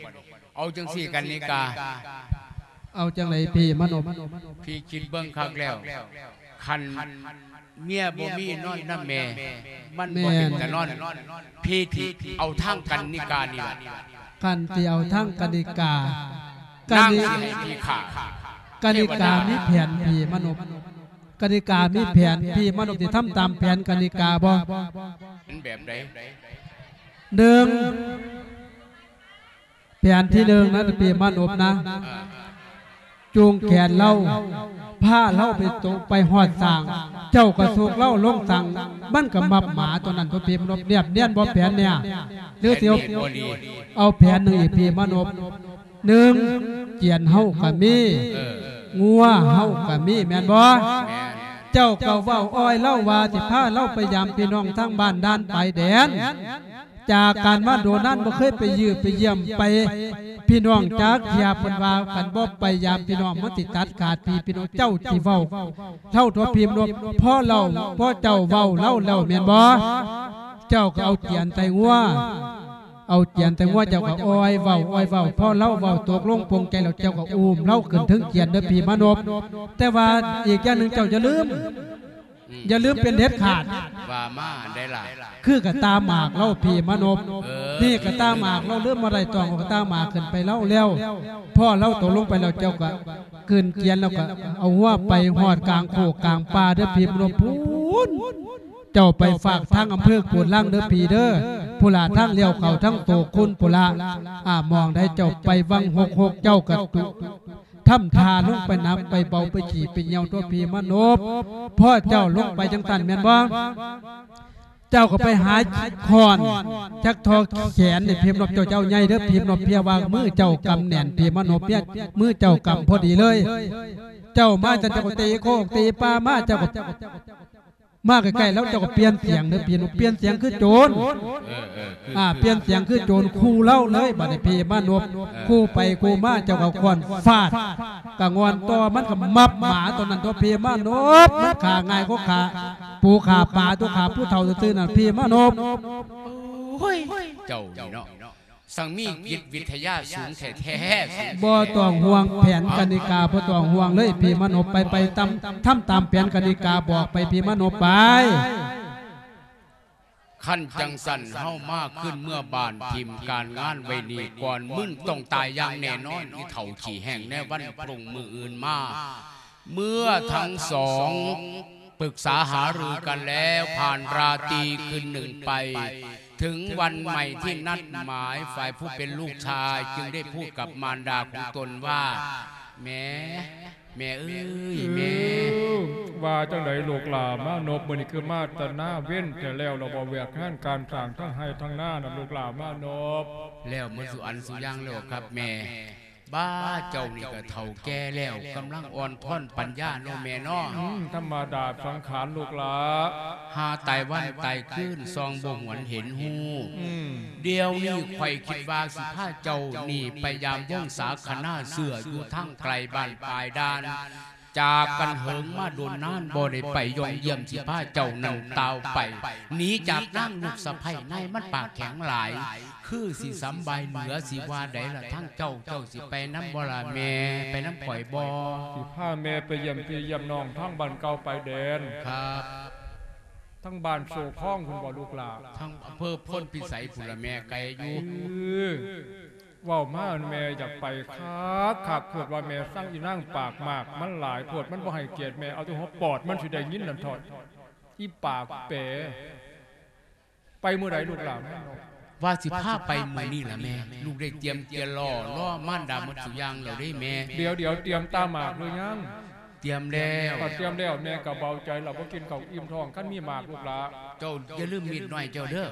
ເອົາຈັ່ງຊີ້ກະນິກາ. ເອົາຈັ່ງໃດພີ່ມະນົບ? ພີ່ຄິດເບິ່ງຄັກແລ້ວ ຄັນເມຍບໍ່ມີນອນນຳແມ່ ມັນບໍ່ເປັນຕານອນ. ແມ່ນ ພີ່ຊິເອົາທາງກະນິການີ້ລະ. ຄັນຊິເອົາທາງກະນິກາ ນາງຊິໃຫ້ພີ່ຂ້າ ກະນິກາມີແຜນພີ່ມະນົບ ກະນິກາມີແຜນ ພີ່ມະນົບຊິທຳຕາມແຜນກະນິກາບໍ່? ມັນແບບໃດ? ໜຶ່ງ ແຜນທີໜຶ່ງນະ ພີ່ມະນົບນະ ເອີ ຈູງແຂນລາວ ພາລາວໄປຕົກ ໄປຮອດສ້າງ ເຈົ້າກະຊຸກລາວລົງສ້າງ ມັນກະມັບໝາຕົວນັ້ນຕົວພີ່ມະນົບ. ແນບນຽນບໍ່ແຜນເນຍ? ຫຼືຊິ ແຜນນີ້ບໍ່ດີ ເອົາແຜນໜຶ່ງອີກພີ່ມະນົບ. ໜຶ່ງ ຈຽນເຮົາກະມີ ເອີ ງົວເຮົາກະມີ ແມ່ນບໍ່? ແມ່ນ. ເຈົ້າກະເວົ້າອ້ອຍລາວວ່າຊິພາລາວໄປຢາມພີ່ນ້ອງທາງບ້ານດ່ານຊາຍແດນ ຈາກການມາໂດນນານບໍ່ເຄີຍໄປຢ້ຽມໄປຢ້ຽມໄປພີ່ນ້ອງຈັກເທື່ອ. ເພິ່ນວ່າຄັນບໍ່ໄປຢາມພີ່ນ້ອງມັນຊິຕັດຂາດພີ່ ພີ່ນ້ອງ ເຈົ້າຊິເວົ້າເທົ່າຕົວພີ່ມະນົບ ເພາະລາວ ເພາະເຈົ້າເວົ້າລາວແລ້ວແມ່ນບໍ່? ເຈົ້າກະເອົາຈຽນໃສ່ງົວ ເອົາຈຽນໃສ່ງົວ ເຈົ້າກະອ້ອຍເວົ້າ ອ້ອຍເວົ້າ ພໍລາວເວົ້າຕົກລົງປົງໃຈແລ້ວ ເຈົ້າກະອຸ້ມລາວຂຶ້ນເທິງຈຽນເດີພີ່ມະນົບ. ແຕ່ວ່າອີກຢ່າງໜຶ່ງເຈົ້າຢ່າລືມ ອືມ ຢ່າລືມເປັນເດັດຂາດ ວ່າມາໄດ້ລະ ຄືກະຕ່າໝາກລາວ ພີ່ມານົບ ເອີ ນີ້ກະຕ່າໝາກລາວ ລືມບໍ່ໄດ້ ຕ້ອງເອົາກະຕ່າໝາກຂຶ້ນໄປລາວແລ້ວ ພໍລາວຕົກລົງໄປແລ້ວ ເຈົ້າກະກືນກຽນ ແລ້ວກະເອົາຫົວໄປຮອດກາງໂຄກກາງປ່າເດີ້ ພີ່ມານົບ ພຸ້ນ ເຈົ້າໄປຝາກທາງອຳເພີໂກນລັງເດີ້ພີ່ເດີ້ ພຸ້ນລະ ທາງລ້ຽວເຂົ້າທາງໂຕຄຸນພຸ້ນລະ ອາ ໝ່ອງໃດເຈົ້າໄປວັງຫົກຫົກ ເຈົ້າກະຕຸ ທຳທ່າລົງໄປໜັກໄປເບົາໄປຂີ້ໄປຍ່ຽວຕົວະພີ່ມານົບ ພໍເຈົ້າລົງໄປຈັ່ງຊັ້ນແມ່ນບໍ່? ເຈົ້າກໍໄປຫາຄ້ອນຈັກທໍ່ແຂນນີ້ ພີ່ມານົບ ເຈົ້າ ເຈົ້າໃຫຍ່ເດີ້ ພີ່ມານົບ ເພຍວ່າມືເຈົ້າກຳແໜ້ນ ພີ່ມານົບ ເພຍມືເຈົ້າກຳພໍດີເລີຍ ເຈົ້າມາຈັ່ງ ເຈົ້າກໍຕີໂຄກຕີປ່າມາ ເຈົ້າກໍ ມາໃກ້ໆ ແລ້ວເຈົ້າກໍປ່ຽນສຽງເດີ້ ປ່ຽນ ປ່ຽນສຽງຄືໂຈນ ເອີ ເອີ ຄື ອ່າ ປ່ຽນສຽງຄືໂຈນ ຂູ່ລາວເລີຍ ບາດນີ້ພີ່ມານົບ ເອີ ຂູ່ໄປຂູ່ມາ ເຈົ້າກໍຄ້ອນຟາດ ກະງອນຕໍ່ ມັນກໍມັບໝາຕົວນັ້ນຕົວະ ພີ່ມານົບ ມັນຂ້າງ່າຍກວ່າຂ້າປູຂ້າປາຕົວະ ຂ້າຜູ້ເຖົ້າຊື່ໆ ນັ້ນ ພີ່ມານົບ ໂອ້ຍ ເຈົ້ານີ້ເນາະ ຊ່າງມີຈິດວິທະຍາສູງແທ້ໆ ບໍ່ຕ້ອງຫ່ວງແຜນກະນິກາ ບໍ່ຕ້ອງຫ່ວງເລີຍ ພີ່ມານົບ ໄປ ໄປຕາມ ທຳຕາມແຜນກະນິກາບອກໄປ ພີ່ມານົບ ໄປ ຄັນຈັ່ງຊັ້ນ ເຮົາມາຄືນເມືອບ້ານ ຖິ້ມການງານໄວ້ນີ້ກ່ອນ ມຶງຕ້ອງຕາຍຢ່າງແນ່ນອນ ອີເຖົ້າຂີ້ແຫ້ງ ໃນວັນພະລຸງມື້ອື່ນມາ ເມື່ອທັງສອງປຶກສາຫາລືກັນແລ້ວ ຜ່ານລາຕີຄືນໜຶ່ງໄປ ເຖິງວັນໃໝ່ທີ່ນັດໝາຍ ຝ່າຍຜູ້ເປັນລູກຊາຍຈຶ່ງໄດ້ພູດກັບມານດາຂອງຕົນວ່າ ແມ່ ແມ່ເອີຍ ເອີ ແມ່ ວ່າຈັ່ງໃດລູກຫຼ້າມານົບ ມື້ນີ້ຄືມາແຕ່ນາເວັນແທ້ແລ້ວ ລະບໍ່ວຽກງານການສ້າງທັງໄຮ່ທັງນານຳ ລູກຫຼ້າມານົບ ແລ້ວໝົດສູ່ອັນສູ່ຢ່າງແລ້ວຄັບແມ່ ບ້າ ເຈົ້ານີ້ກະເຖົ້າແກ່ແລ້ວ ກຳລັງອ່ອນທ້ອນປັນຍາເນາະແມ່ເນາະ ອືມ ທຳມະດາສັງຂານລູກຫຼ້າ ຫາຕາຍວັນຕາຍຄືນ ສ່ອງບໍ່ຫວນເຫັນຮູ້ ອືມ ດຽວນີ້ຂ້ອຍຄິດວ່າຊິພາເຈົ້ານີ້ໄປຢາມວົງສາຄະນາເຊື້ອຢູ່ທາງໄກບ້ານປາຍດ່ານ ຈາກກັນເຫິງມາດົນນານ ບໍ່ໄດ້ໄປຢ້ອງຢ້ຽມ ຊິພາເຈົ້ານັ້ນຕ່າວໄປ ໜີຈາກນາງລູກສະໃພ້ ນາຍມັນປາກແຂງຫຼາຍ ຄືຊິສຳບາຍເຫຼືອ ຊິວ່າໃດລະທາງເຈົ້າ ເຈົ້າຊິໄປນຳບໍ່ລະແມ່ ໄປນຳຂ້ອຍບໍ່? ຊິພາແມ່ໄປຢ້ຽມພີ່ຢ້ຽມນ້ອງທາງບ້ານເກົ່າປາຍແດນ ຄັບ ທາງບ້ານໂຊຄອງພຸ້ນບໍ່ລູກຫຼ້າ? ທາງອຳເພີໂພນພິໄສພຸ້ນລະແມ່ ໄກຢູ່ ເອີ ເວົ້າມາແມ່ຢາກໄປຄັກຄັກ ຄືວ່າແມ່ຊັງອີນາງປາກໝາກ ມັນຫຼາຍໂພດ ມັນບໍ່ໃຫ້ກຽດແມ່ ເອົາແຕ່ຫົວປອດມັນຊິໄດ້ຍິນນັ້ນເທາະ ອີປາກແປ ໄປມື້ໃດລູກຫຼ້າ? ວ່າຊິພາໄປມື້ນີ້ລະແມ່ ລູກໄດ້ຕຽມກຽນລໍ ລໍມານດາໝົດສູ່ຢ່າງແລ້ວເດ້ແມ່ ດຽວໆ ຕຽມຕາໝາກຫຼືຍັງ? ຕຽມແລ້ວ ຖ້າຕຽມແລ້ວແມ່ກໍເບົາໃຈລະ ບໍ່ກິນເຂົ້າອີ່ມທ້ອງ ຄັນມີໝາກລູກຫຼ້າ ເຈົ້າຢ່າລືມມີດນ້ອຍເຈົ້າເດີ້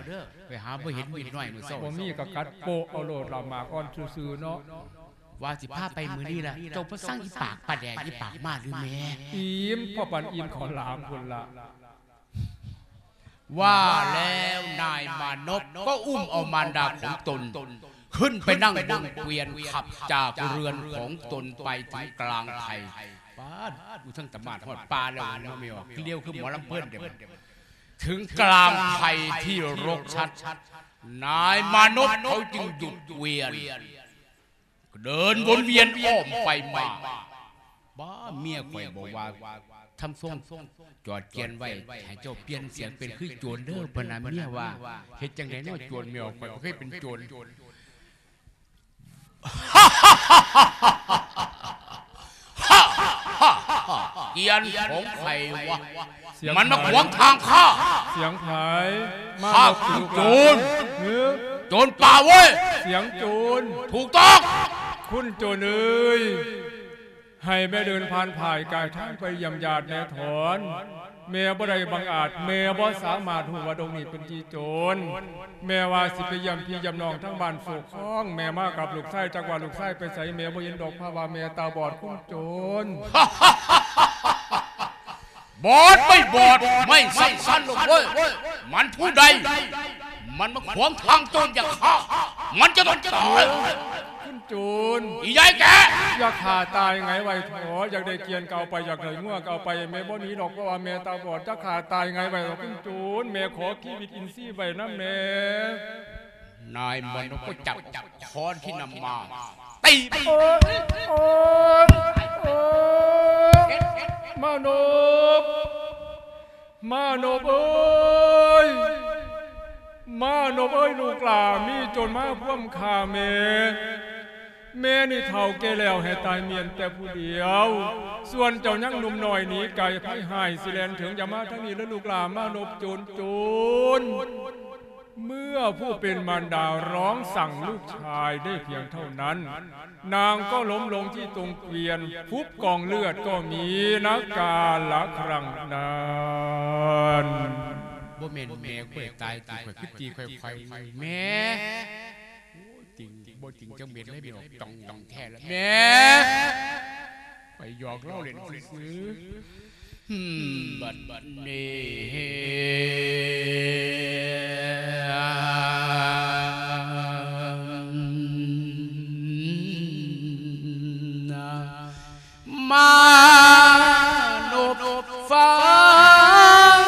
ໄປຫາບໍ່ເຫັນມີດນ້ອຍມື້ເຊົ້າ ບໍ່ມີກໍກັດໂປະເອົາໂລດລະ ໝາກອ່ອນຊື່ໆເນາະ ວ່າຊິພາໄປມື້ນີ້ລະ ເຈົ້າບໍ່ສັ່ງອີປາກປາແດກ ອີປາກໝາຫຼືແມ່ ອີ່ມພໍປານອີ່ມເຂົ້າຫຼາມພຸ້ນລະ ວ່າແລ້ວນາຍມານົບກໍອຸ້ມເອົາມານດາຂອງຕົນ ຂຶ້ນໄປນັ່ງບົນກວຽນຂັບຈາກເຮືອນຂອງຕົນໄປເຖິງກາງໄພ ປາດ ຢູ່ເທິງຕະໝາດຮອດປ່າແລ້ວ ມາແມ່ອອກ ລຽວຄືໝໍລຳເພີນເດ້ ເຖິງກາງໄພທີ່ລົກຊັດ ນາຍມານົບເຂົາຈຶ່ງຢຸດກວຽນ ເດີນວົນວຽນອ້ອມໄປມາ ບ້າ ເມຍຂ້ອຍບອກວ່າ ທຳຊົງ ຈອດກຽນໄວ້ ໃຫ້ເຈົ້າປ່ຽນສຽງເປັນຄືໂຈນເດີ້ ເພິ່ນນະ ເມຍວ່າ ເຮັດຈັ່ງໃດເນາະ ໂຈນ ເມຍຂ້ອຍບໍ່ເຄີຍເປັນໂຈນ ກຽນຂອງໃຜວະ? ມັນມາຂວາງທາງຂ້າ ສຽງໃຜ? ມາ ຂ້າຄືໂຈນ ໂຈນປ່າເວີຍ ສຽງໂຈນ ຖືກຕ້ອງ ຄຸນໂຈນເອີຍ ໃຫ້ແມ່ເດີນຜ່ານຜ່າຍກາຍທາງໄປຢ້ຽມຍາດແນ່ຖອນ ແມ່ບໍ່ໄດ້ບັງອາດ ແມ່ບໍ່ສາມາດຮູ້ວ່າດົງນີ້ເປັນທີ່ໂຈນ ແມ່ວ່າຊິໄປຢ້ຽມພີ່ຢ້ຽມນ້ອງທາງບ້ານໂສກຄອງ ແມ່ມາກັບລູກຊາຍ ຈັກວ່າລູກຊາຍໄປໃສ ແມ່ບໍ່ເຫັນດອກ ເພາະວ່າແມ່ຕາບອດ ຄຸນໂຈນ. ບອດໄມ່ບອດ ໄມ່ສຳຄັນດອກເວີຍ ມັນຜູ້ໃດ ມັນມາຂວາງທາງໂຈນຢາກຂ້າ ມັນຈະຕ້ອງຕາຍ ຄຸນໂຈນ ອີຍາຍແກ່ ຢ່າຂ້າຕາຍໄງໄວ້ເຖາະ ຢາກໄດ້ກຽນກໍເອົາໄປ ຢາກໄດ້ງົວກໍເອົາໄປ ແມ່ບໍ່ໜີດອກ ເພາະວ່າແມ່ຕາບອດ ຢ່າຂ້າຕາຍໄງໄວ້ເຖາະ ຄຸນໂຈນ ແມ່ຂໍຊີວິດອິນຊີໄວ້ນຳແມ່. ນາຍມະນົບກໍຈັບຄ້ອນທີ່ນຳມາ ຕີ ໂອ້ຍ ໂອ້ຍ ໂອ້ຍ ມະນົບ ມານົບເອີຍ ມານົບເອີຍ ລູກຫຼ້າມີຈົນມາພວມຂ້າແມ່. ແມ່ນີ້ເຖົ້າແກ່ແລ້ວ ໃຫ້ຕາຍມ້ຽນແຕ່ຜູ້ດຽວ, ສ່ວນເຈົ້າຍັງໜຸ່ມນ້ອຍໜີໄກໄພຮ້າຍ ຊິແລ່ນເຖິງ ຢ່າມາທາງນີ້ເລີຍລູກຫຼ້າ ມານົບໂຈນໂຈນ. ເມື່ອຜູ້ເປັນມານດາຮ້ອງສັ່ງລູກຊາຍໄດ້ພຽງເທົ່ານັ້ນ, ນາງກໍລົ້ມລົງທີ່ຕົງກວຽນ, ຟຸບກອງເລືອດກໍມີນະກາລະຄັ້ງນັ້ນ. ບໍ່ແມ່ນແມ່ຂ້ອຍຕາຍຕິ ຂ້ອຍຄືຕີຂ້ອຍໆ ແມ່. ໂອ້ຍ ຕິງ ບໍ່ຕິງຈັກເມັດເລີຍ ແມ່ອອກຕອງແທ້ລະແມ່. ຂ້ອຍຫຍອກລາວເລ່ນຊື່ໆ. ບັດນີ້ ມານົບຟັງ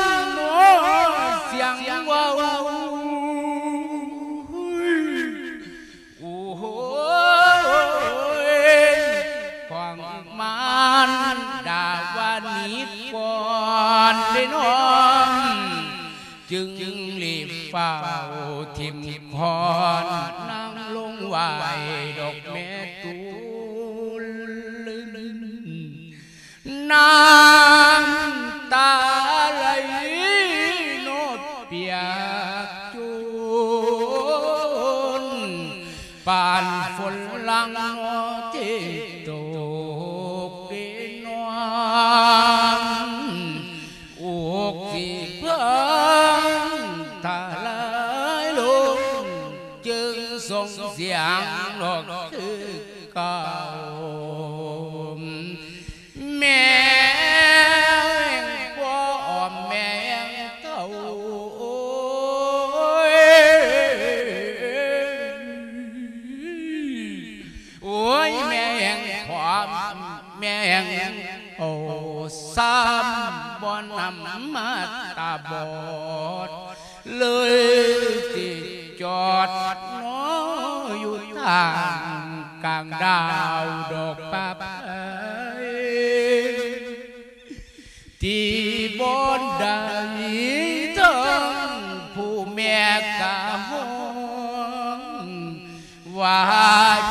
ສຽງເວົ້າ ໂອ້ຍ ຂອງມານດາວ່າໜີກ່ອນເດ້ນ້ອງ, ຈຶ່ງລີບຟ້າວຖິ້ມຄ້ອນນາງລົງໄຫວ້ດອກແມ່ຕູນ. ນ້ຳຕາໄຫຼໂນດປຽກໂຈນ ປານຝົນຫຼັງເນາະທີ່ຕົກເດນອນ, ອົກຊິເພິ່ງທະລາຍລົງ ຈຶ່ງສົ່ງສຽງຮ້ອງຄືເກົ່າ. ແມ່ງບໍ່ອອມແມ່ງເຖົ້າ ໂອ້ຍ ໂອ້ຍ ແມ່ງຂວາມ ແມ່ງໂອຊ້ຳ ບໍ່ນຳມາຕາບອດ ເລີຍຊິຈອດເນາະຢູ່ທາງກາງດາວດອກປາບໄພ ທີ່ບໍ່ໄດ້ເຖິງຜູ້ແມ່ກະຮ້ອງ ວ່າ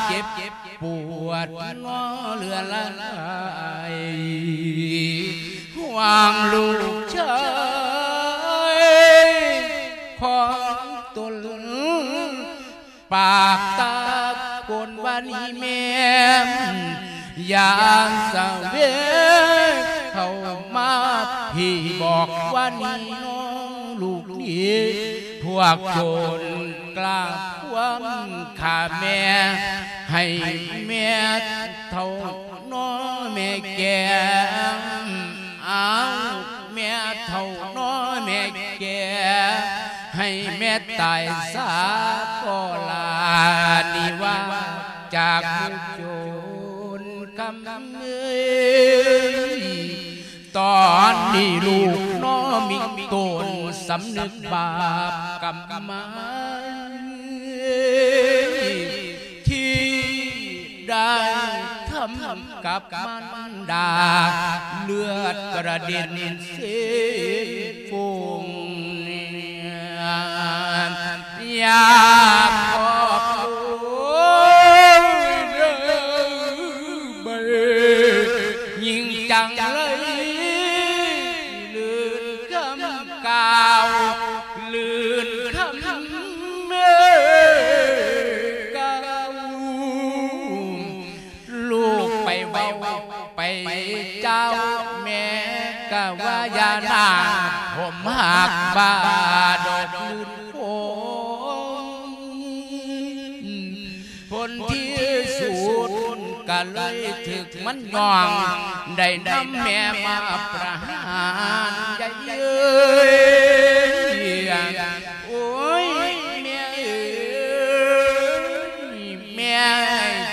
ເຈັບປວດເນາະເຫຼືອຫຼາຍ ຫວັງລູກຊາຍຂອງຕົນ ປາກຕາໂກນວ່ານີ້ແມ່ນ ຢ່າສະເວກເຂົ້າມາ ພີ່ບອກວ່ານີ້ນ້ອງລູກນີ້ ພວກໂຈນກລ້າຄວາມຂ້າແມ່ ໃຫ້ແມ່ເຖົ້ານ້ອຍແມ່ແກ່ ອ້າວ ແມ່ເຖົ້ານ້ອຍແມ່ແກ່ ໃຫ້ແມ່ຕາຍຊາກໍລານິວາຈາກໝູ່ໂຈນຄຳເອີຍ. ຕອນນີ້ລູກນ້ອຍມີຕົນສຳນຶກບາບກຳມາ ທີ່ໄດ້ທຳກັບມານດາ ເລືອດກະເດັນເສຟົງ ຢາກຂອບໂອ້ຍເດີ ເບີ ຍິ່ງຈັງເລີຍ ລື່ນຄຳກ່າວ ລື່ນຄຳກ່າວ ລູກໄປເວົ້າໄປເຈົ້າ ແມ່ກະວ່າຢ່ານາ ຜົມຮັກບາດອກລື່ນ ໂອ້ ຜົນທີ່ສຸດກະເລີຍຖືກມັນຍ້ອງ ໄດ້ນຳແມ່ມາປະຫານໃຫຍ່ເອີຍ. ໂອ້ຍ ແມ່ເອີຍ ແມ່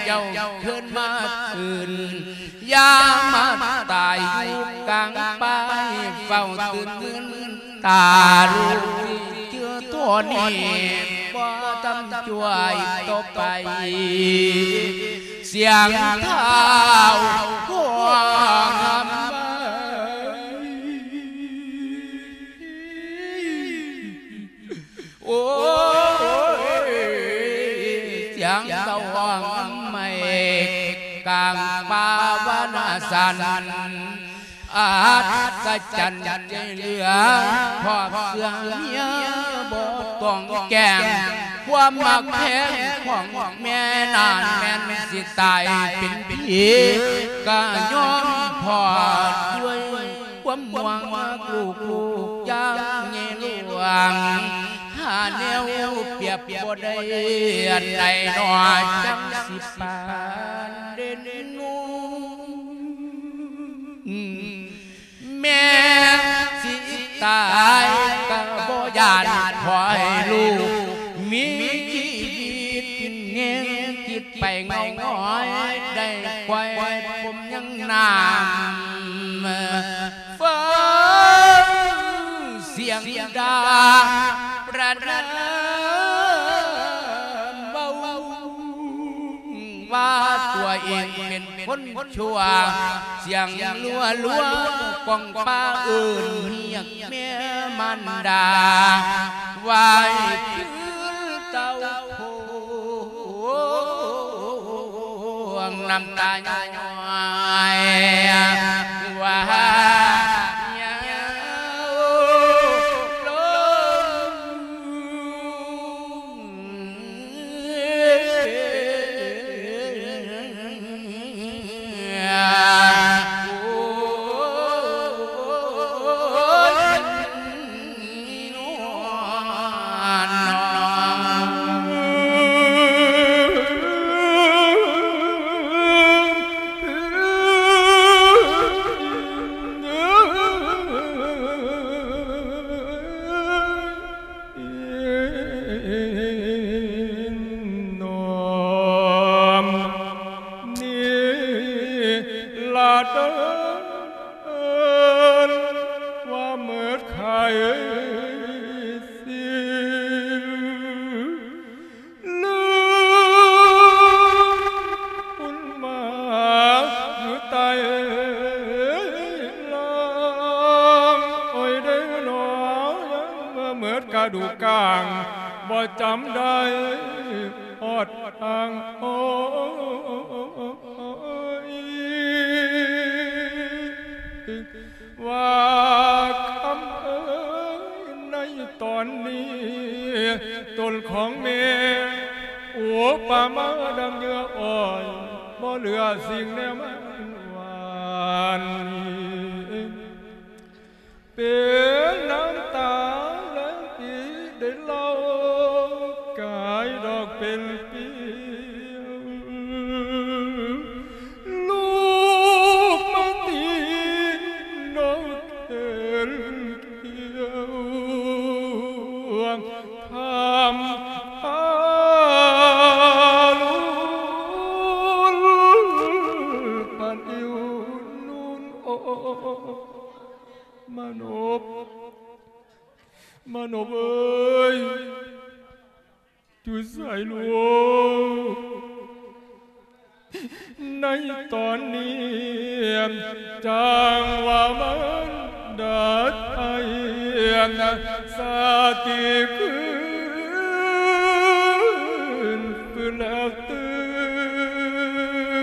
ເຈົ້າຄືນມາຄືນ ຢ່າມາຕາຍຢູ່ກາງປ່າ ເຝົ້າຕື່ນມື່ນຕາ ລູກຊິເຈື່ອໂທນີ້ ບໍ່ທຳຊ່ວຍຕໍ່ໄປ ສຽງທ້າວຮ້ອງຮຳໄຫ້. ໂອ້ຍ ສຽງສະຫວ່າງໄມ້ກາງປ່າວານາສັນ ອັດສະຈັນໃຈເຫຼືອ ຄອບເຊື່ອເມຍບໍ່ຕ້ອງແກ້ງ ຄວາມຮັກແພງຂອງແມ່ນານແມ່ນຊິຕາຍເປັນຜີ ກະຍອມພໍດດ້ວຍ ຄວາມຫວັງລູກໆຢ່າງໃຫຍ່ຫຼວງ ຫາແນວປຽບບໍ່ໄດ້ ອັນໃດໜໍຈັ່ງຊິປານເດັ່ນນຸ່ງ ແມ່ຊິຕາຍກະບໍ່ຢ້ານ ຂໍໃຫ້ລູກມີຊີວິດແຮງ ຄິດໄປເງົາງອຍ ໄດ້ຄວາຍພົມຍັງນ້ຳ ຟັງສຽງດ່າປະນາມເວົ້າ ວ່າຕົວເອງເປັນຄົນຊົ່ວ ສຽງລົວໆ ກ້ອງປ່າເອີ້ນຮຽກແມ່ມານດາ ໄຫວ້ຄືນເຕົ້າໂພ ນ້ຳຕາຍ້ອຍວ່າຍາວລົງ. ນ້ອມນີ້ລະເດີ ວ່າເໝິດໄຄຊິນ ລືມບຸນມາຢູ່ໃຕ້ລ່າງ ໂອ້ຍເດ້ໜໍ ຍັງບໍ່ເໝິດກະດູກາງ ບໍ່ຈຳໄດ້ຮອດທາງ ໂອ້ຍ ວ່າຄຳເອີຍ ໃນຕອນນີ້ ຕົນຂອງແມ່ ໂອປະມາດັ່ງເຫຍື່ອອ້ອຍ ບໍ່ເຫຼືອສິ່ງແນວມັນຫວານ ເປັນນ້ຳຕາແລງປີໄດ້ເລົ່າ ກາຍດອກເປັນປິວ ລູກມາຕີນອກເຫັນຂຽວ ທຳພາລຸນ ປານອິວນູນ ໂອ ມານົບ ມານົບເອີຍ ຢູ່ໃສລູກ ໃນຕອນນີ້ ຈັ່ງວ່າມານດາໄທ ສະຕິຄືນຟື້ນແລ້ວຕື່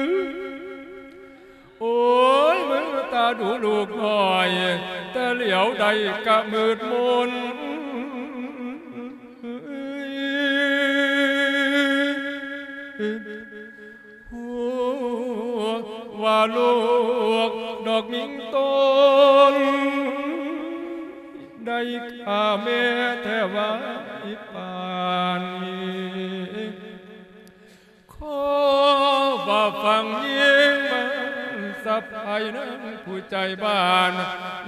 ນ ໂອ້ຍ ເມື່ອຕາດູລູກນ້ອຍ ແຕ່ຫຼຽວໃດກະມືດມົນ ຮູ້ວ່າລູກດອກຍິງຕົນ ໄດ້ຂ້າແມ່ແທ້ວ່າອີປານນີ້ ຂໍວ່າຟັງຍິງມັນສະພາຍນາງຜູ້ໃຈບານ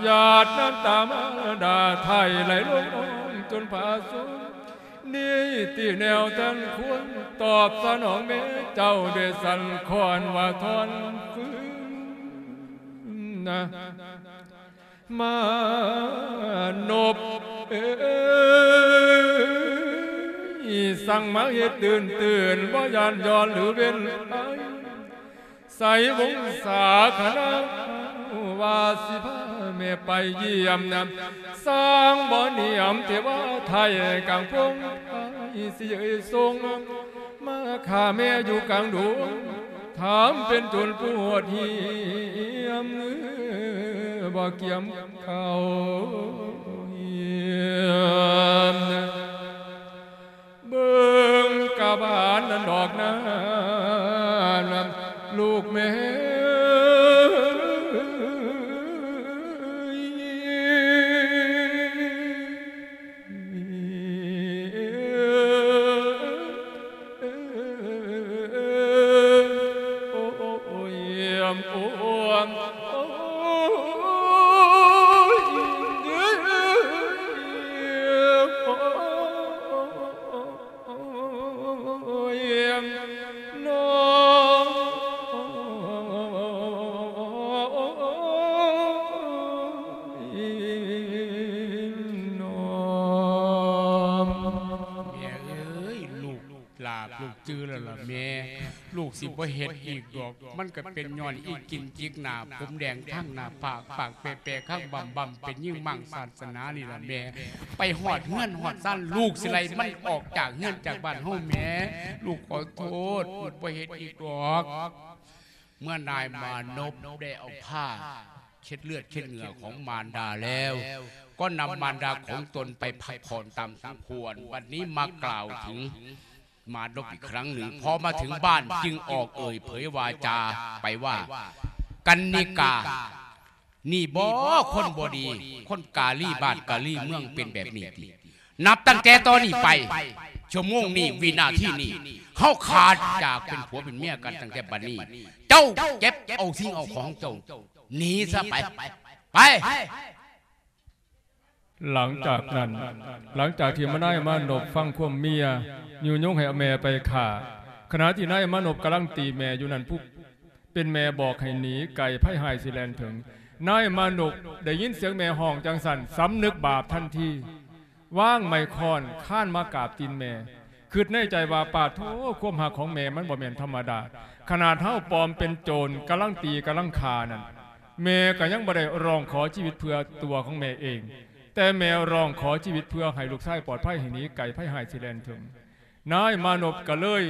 ຫຍາດນ້ຳຕາມາດາໄທໄຫຼລົງຈົນຜາສຸດ ນີ້ຕິແນວແຕ່ນຄວນ ຕອບສະໜອງແມ່ເຈົ້າດ້ວຍສັນຂອນວ່າທອນຟື້ນນະ ມານົບເອີຍ ສັ່ງມາເຮັດຕື່ນໆ ບໍ່ຢ້ານຍ້ອນຫຼືເວັ້ນໄພ ໃສ່ວົງສາຄະນະ ວ່າຊິພາແມ່ໄປຢ້ຽມນຳ ສ້າງບໍ່ນຽມເທວະໄທກາງພົງໄພ ຊິເອີ່ຍສົ່ງມາຂ້າແມ່ຢູ່ກາງດົງ ຖາມເປັນໂຈນຜູ້ໂຫດຫ້ຽມ ບໍ່ກຽມເຂົ້າຮຽນ. ເບິ່ງກະບານນັ້ນດອກນາ ລູກແມ່ເອີຍ. ແມ່ເອີຍ ລູກຫຼ້າ ລູກຈື່ແລ້ວລະແມ່ ລູກຊິບໍ່ເຮັດອີກດອກ. ມັນກະເປັນຍ້ອນອີກິນຈິກໜ້າ ຜົມແດງທາງໜ້າຜາກ ປາກແປໆ ຄາງບຳໆ ເປັນຍິງມ້າງສາສະໜານີ້ລະແມ່. ໄປຮອດເຮືອນຮອດຊານ ລູກຊິໄລ່ມັນອອກຈາກເຮືອນຈາກບ້ານເຮົາແມ່. ລູກຂໍໂທດ ລູກບໍ່ເຮັດອີກດອກ. ເມື່ອນາຍມານົບໄດ້ເອົາຜ້າເຊັດເລືອດເຊັດເຫື່ອຂອງມານດາແລ້ວ ກໍນຳມານດາຂອງຕົນໄປພັກຜ່ອນຕາມສົມຄວນ. ບັດນີ້ມາກ່າວເຖິງ ມານົບອີກຄັ້ງໜຶ່ງ. ພໍມາເຖິງບ້ານຈຶ່ງອອກເອີ່ຍເຜີຍວາຈາໄປວ່າ ກັນນິກາ ນີ້ບໍ ຄົນບໍ່ດີ ຄົນກາລີບ້ານກາລີເມືອງເປັນແບບນີ້ຕິ? ນັບຕັ້ງແຕ່ຕອນນີ້ໄປ ຊົ່ວໂມງນີ້ ວິນາທີນີ້ ເຮົາຂາດຈາກເປັນຜົວເປັນເມຍກັນ. ຕັ້ງແຕ່ບັດນີ້ ເຈົ້າເກັບເອົາສິ່ງເອົາຂອງເຈົ້າໜີຊະໄປ ໄປ. ຫຼັງຈາກນັ້ນ ຫຼັງຈາກທີ່ມານາຍມານົບຟັງຄວາມເມຍຍຸຍົງໃຫ້ເອົາແມ່ໄປຂ້າ ຂະນະທີ່ນາຍມານົບກຳລັງຕີແມ່ຢູ່ນັ້ນ ຜູ້ເປັນແມ່ບອກໃຫ້ໜີໄກ ໄພຮ້າຍຊິແລ່ນເຖິງ. ນາຍມານົບໄດ້ຍິນສຽງແມ່ຮ້ອງຈັ່ງຊັ້ນ ສຳນຶກບາບທັນທີ ວາງໄມ້ຄ້ອນຄານມາກາບຕີນແມ່. ຄິດໃນໃຈວ່າ ປາດໂທ ຄວາມຮັກຂອງແມ່ມັນບໍ່ແມ່ນທຳມະດາ. ຂະໜາດເຮົາປອມເປັນໂຈນ ກຳລັງຕີກຳລັງຂ້ານັ້ນ ແມ່ກະຍັງບໍ່ໄດ້ຮ້ອງຂໍຊີວິດເພື່ອຕົວຂອງແມ່ເອງ, ແຕ່ແມ່ຮ້ອງຂໍຊີວິດເພື່ອໃຫ້ລູກຊາຍປອດໄພ ໃຫ້ໜີໄກໄພຮ້າຍຊິແລ່ນເຖິງ. ນາຍມານົບກະເລີຍ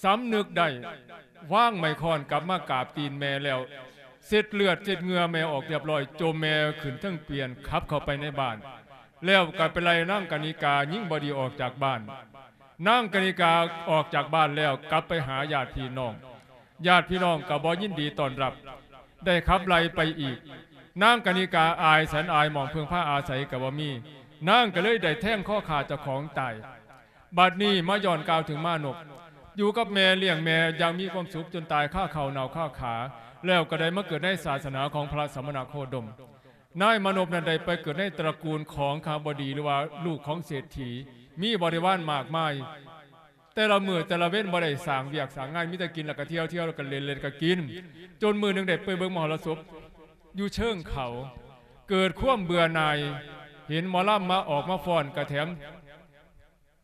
ສຳນຶກໄດ້ ວາງໄມ້ຄ້ອນກັບມາກາບຕີນແມ່ແລ້ວ ເຊັດເລືອດເຊັດເຫື່ອແມ່ອອກຮຽບຮ້ອຍ, ໂຈມແມ່ຂຶ້ນເທິງປ່ຽນ ຂັບເຂົ້າໄປໃນບ້ານ ແລ້ວກະໄປໄລ່ນາງກະນິກາ ຍິງບໍ່ດີອອກຈາກບ້ານ. ນາງກະນິກາອອກຈາກບ້ານແລ້ວ ກັບໄປຫາຍາດພີ່ນ້ອງ, ຍາດພີ່ນ້ອງກະບໍ່ຍິນດີຕ້ອນຮັບ ໄດ້ຂັບໄລ່ໄປອີກ. ນາງກະນິກາອາຍສັນອາຍໝ່ອງເພິ່ງພາອາໄສກະບໍ່ມີ, ນາງກະເລີຍໄດ້ແທງຄໍຂ້າເຈົ້າຂອງຕາຍ. ບັດນີ້ມາຍ້ອນກ່າວເຖິງມານົບ ຢູ່ກັບແມ່ລ້ຽງແມ່ຢ່າງມີຄວາມສຸກຈົນຕາຍຄາເຂົ້າໜ້າວຄາຂາ, ແລ້ວກະໄດ້ມາເກີດໃນສາສະໜາຂອງພະສະມະນະໂຄດົມ. ນາຍມານົບນັ້ນໄດ້ໄປເກີດໃນຕະກູນຂອງຄະຫະບໍດີ ຫຼືວ່າລູກຂອງເສດຖີ, ມີບໍລິວານມາກມາຍ. ແຕ່ລະມື້ແຕ່ລະເວັນບໍ່ໄດ້ສ້າງວຽກສ້າງງານ, ມີແຕ່ກິນແລ້ວກະທ່ຽວ, ທ່ຽວແລ້ວກະຫຼິ້ນ, ຫຼິ້ນແລ້ວກະກິນ. ຈົນມື້ໜຶ່ງໄດ້ໄປເບິ່ງມະຫອລະສົບຢູ່ເຊີງເຂົາ, ເກີດຄວາມເບື່ອໜ່າຍ, ເຫັນໝໍລຳມາອອກມາຟ້ອນກະແຖມ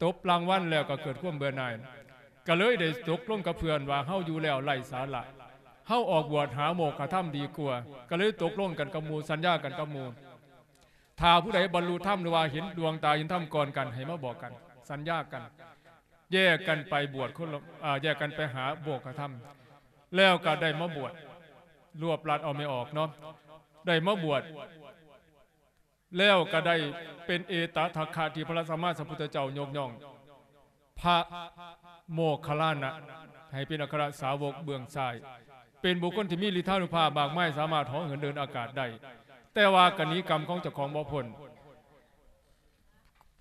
ຕົບລາງວັນແລ້ວກໍເກີດຄວາມເບື່ອໜ່າຍ, ກໍເລີຍໄດ້ຕົກລົງກັບເພື່ອນວ່າ ເຮົາຢູ່ແລ້ວໄຮ້ສາລະ, ເຮົາອອກບວດຫາໂມກຂະທຳດີກວ່າ. ກໍເລີຍຕົກລົງກັນກັບໝູ່, ສັນຍາກັນກັບໝູ່, ຖ້າຜູ້ໃດບັນລຸທຳ ຫຼືວ່າເຫັນດວງຕາເຫັນທຳກ່ອນກັນ ໃຫ້ມາບອກກັນ, ສັນຍາກັນ, ແຍກກັນໄປບວດຄົນລະ, ອາ, ແຍກກັນໄປຫາໂມກຂະທຳ. ແລ້ວກໍໄດ້ມາບວດ, ລວບລັດເອົາແມ່ອອກເນາະ, ໄດ້ມາບວດ ແລ້ວກໍໄດ້ເປັນເອຕະທັກຂະທີ່ພະສຳມາສຳພຸດທະເຈົ້າຍົກຍ້ອງພະໂມກຂະລານະໃຫ້ເປັນອັກຄະລະສາວົກເບື້ອງຊ້າຍ, ເປັນບຸກຄົນທີ່ມີລິດທານຸພາບມາກມາຍ, ສາມາດເຫາະເຫີນເດີນອາກາດໄດ້, ແຕ່ວ່າກໍໜີກຳຂອງເຈົ້າຂອງບໍ່ພົ້ນ.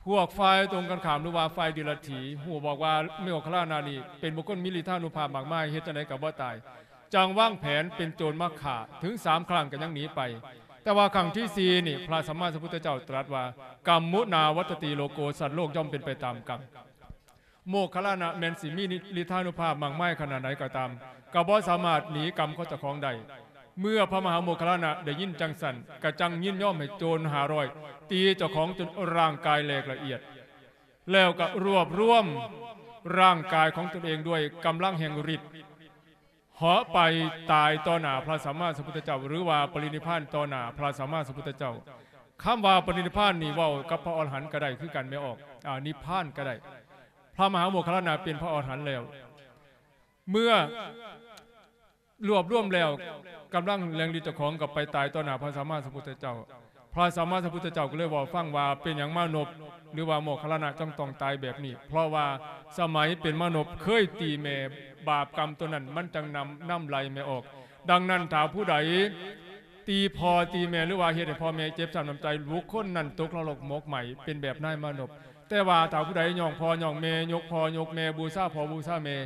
ພວກຝ່າຍຕົງກັນຂ້າມ ຫຼືວ່າຝ່າຍເດຍລະຖີ ຮູ້ບອກວ່າໂມກຂະລານະນີ້ເປັນບຸກຄົນມີລິດທານຸພາບມາກມາຍ, ເຮັດຈັ່ງໃດກໍບໍ່ຕາຍ. ຈັ່ງວາງແຜນເປັນໂຈນມາຂ້າເຖິງສາມຄັ້ງກໍຍັງໜີໄປ. ແຕ່ວ່າຄັ້ງທີສີ່ນີ້ ພະສຳມາສຳພຸດທະເຈົ້າຕລັດວ່າ ກຳມຸນາວັດຕະຕິໂລໂກ, ສັດໂລກຍ່ອມເປັນໄປຕາມກຳ. ໂມກຂະລານະແມ່ນຊິມີລິດທານຸພາບມາກມາຍຂະໜາດໃດກໍຕາມ, ກໍບໍ່ສາມາດໜີກຳຂອງເຈົ້າຂອງໄດ້. ເມື່ອພະມະຫາໂມກຂະລານະໄດ້ຍິນຈັ່ງຊັ້ນ, ກໍຈັ່ງຍິນຍອມໃຫ້ໂຈນຫ້າຮ້ອຍຕີເຈົ້າຂອງຈົນຮ່າງກາຍແຫຼກລະອຽດ. ແລ້ວກໍລວບລວມຮ່າງກາຍຂອງຕົນເອງດ້ວຍກຳລັງແຫ່ງລິດ ເຫາະໄປຕາຍຕໍ່ໜ້າພະສຳມາສຳພຸດທະເຈົ້າ ຫຼືວ່າປະລິນິບພານຕໍ່ໜ້າພະສຳມາສຳພຸດທະເຈົ້າ. ຄຳວ່າປະລິນິບພານນີ້ເວົ້າກັບພະອໍລະຫັນກໍໄດ້ຄືກັນແມ່ອອກ ອາ ນິບພານກໍໄດ້. ພະມະຫາໂມກຄັນລານະເປັນພະອໍລະຫັນແລ້ວ ເມື່ອ ລວບລວມແລ້ວ ກຳລັງແຫ່ງລິດເຈົ້າຂອງກໍໄປຕາຍຕໍ່ໜ້າພະສຳມາສຳພຸດທະເຈົ້າ. ພະສຳມາສຳພຸດທະເຈົ້າກໍເລີຍເວົ້າຟັງວ່າ ເປັນຫຍັງມານົບ ຫຼືວ່າໂມກຄັນລານະຈຶ່ງຕ້ອງຕາຍແບບນີ້? ເພາະວ່າສະໄໝເປັນມະນົບເຄີຍຕີແມ່ ບາບກຳຕົວນັ້ນມັນຈັ່ງນຳ ນຳໄຫຼແມ່ອອກ. ດັ່ງນັ້ນ ຖ້າຜູ້ໃດຕີພໍ່ຕີແມ່ ຫຼືວ່າເຮັດໃຫ້ພໍ່ແມ່ເຈັບຊ້ຳນ້ຳໃຈ ບຸກຄົນນັ້ນຕົກນະລົກໝົກໄໝ້ ເປັນແບບນາຍມະນົບ. ແຕ່ວ່າຖ້າຜູ້ໃດຍ້ອງພໍ່ຍ້ອງແມ່ ຍົກພໍ່ຍົກແມ່ ບູຊາພໍ່ບູຊາແມ່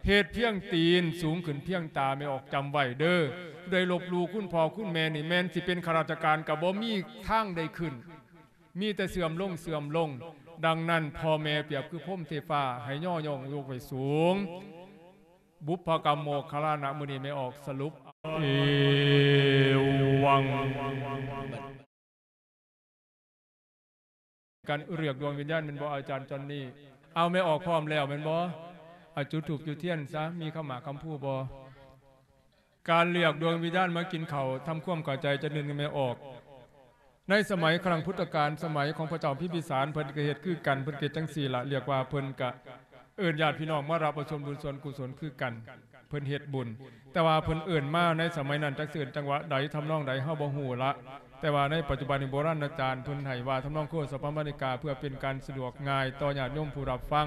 ເຮັດພຽງຕີນສູງຂຶ້ນພຽງຕາ ແມ່ອອກຈຳໄວ້ເດີ້. ຜູ້ໃດລົບຫຼູ່ຄຸນພໍ່ຄຸນແມ່ນີ້ ແມ່ນຊິເປັນຂ້າລາຊະການກໍບໍ່ມີທາງໄດ້ຂຶ້ນ ມີແຕ່ເສື່ອມລົງ ເສື່ອມລົງ. ດັ່ງນັ້ນ ພໍ່ແມ່ປຽບຄືພົມເທພາ ໃຫ້ຍໍຍ້ອງຍົກໄວ້ສູງ. ບຸບພະກຳໂມກຄັນລານະ ມື້ນີ້ແມ່ອອກສະຫຼຸບ ເອວັງ. ການລຽກດວງວິນຍານແມ່ນບໍ່ ອາຈານຈອນນີ້? ເອົາ ແມ່ອອກພ້ອມແລ້ວແມ່ນບໍ່? ເອົາ ຈຸດທູບຈຸດທຽນຊະ ມີຄຳໝາກຄຳພູບໍ່? ການລຽກດວງວິນຍານມາກິນເຂົ້າ ທຳຄວາມເຂົ້າໃຈຈັກໜຶ່ງແມ່ອອກ. ໃນສະໄໝຄັ້ງພຸດທະການ ສະໄໝຂອງພະເຈົ້າພິມພິສານ ເພິ່ນກໍເຮັດຄືກັນ ເພິ່ນເຮັດຈັ່ງຊີ້ລະ ລຽກວ່າເພິ່ນກະເອີ້ນຍາດພີ່ນ້ອງມາຮັບເອົາສ່ວນບຸນສ່ວນກຸສົນຄືກັນ. ເພິ່ນເຮັດບຸນ ແຕ່ວ່າເພິ່ນເອີ້ນມາໃນສະໄໝນັ້ນ ຈັກຊິເອີ້ນຈັງຫວະໃດ ທຳນອງໃດ ເຮົາບໍ່ຮູ້ລະ. ແຕ່ວ່າໃນປັດຈຸບັນນີ້ ໂບລານອາຈານເພິ່ນໃຫ້ວ່າ ທຳນອງໂຄສະພະມະນາລິກາ ເພື່ອເປັນການສະດວກງ່າຍຕໍ່ຍາດໂຍມຜູ້ຮັບຟັງ.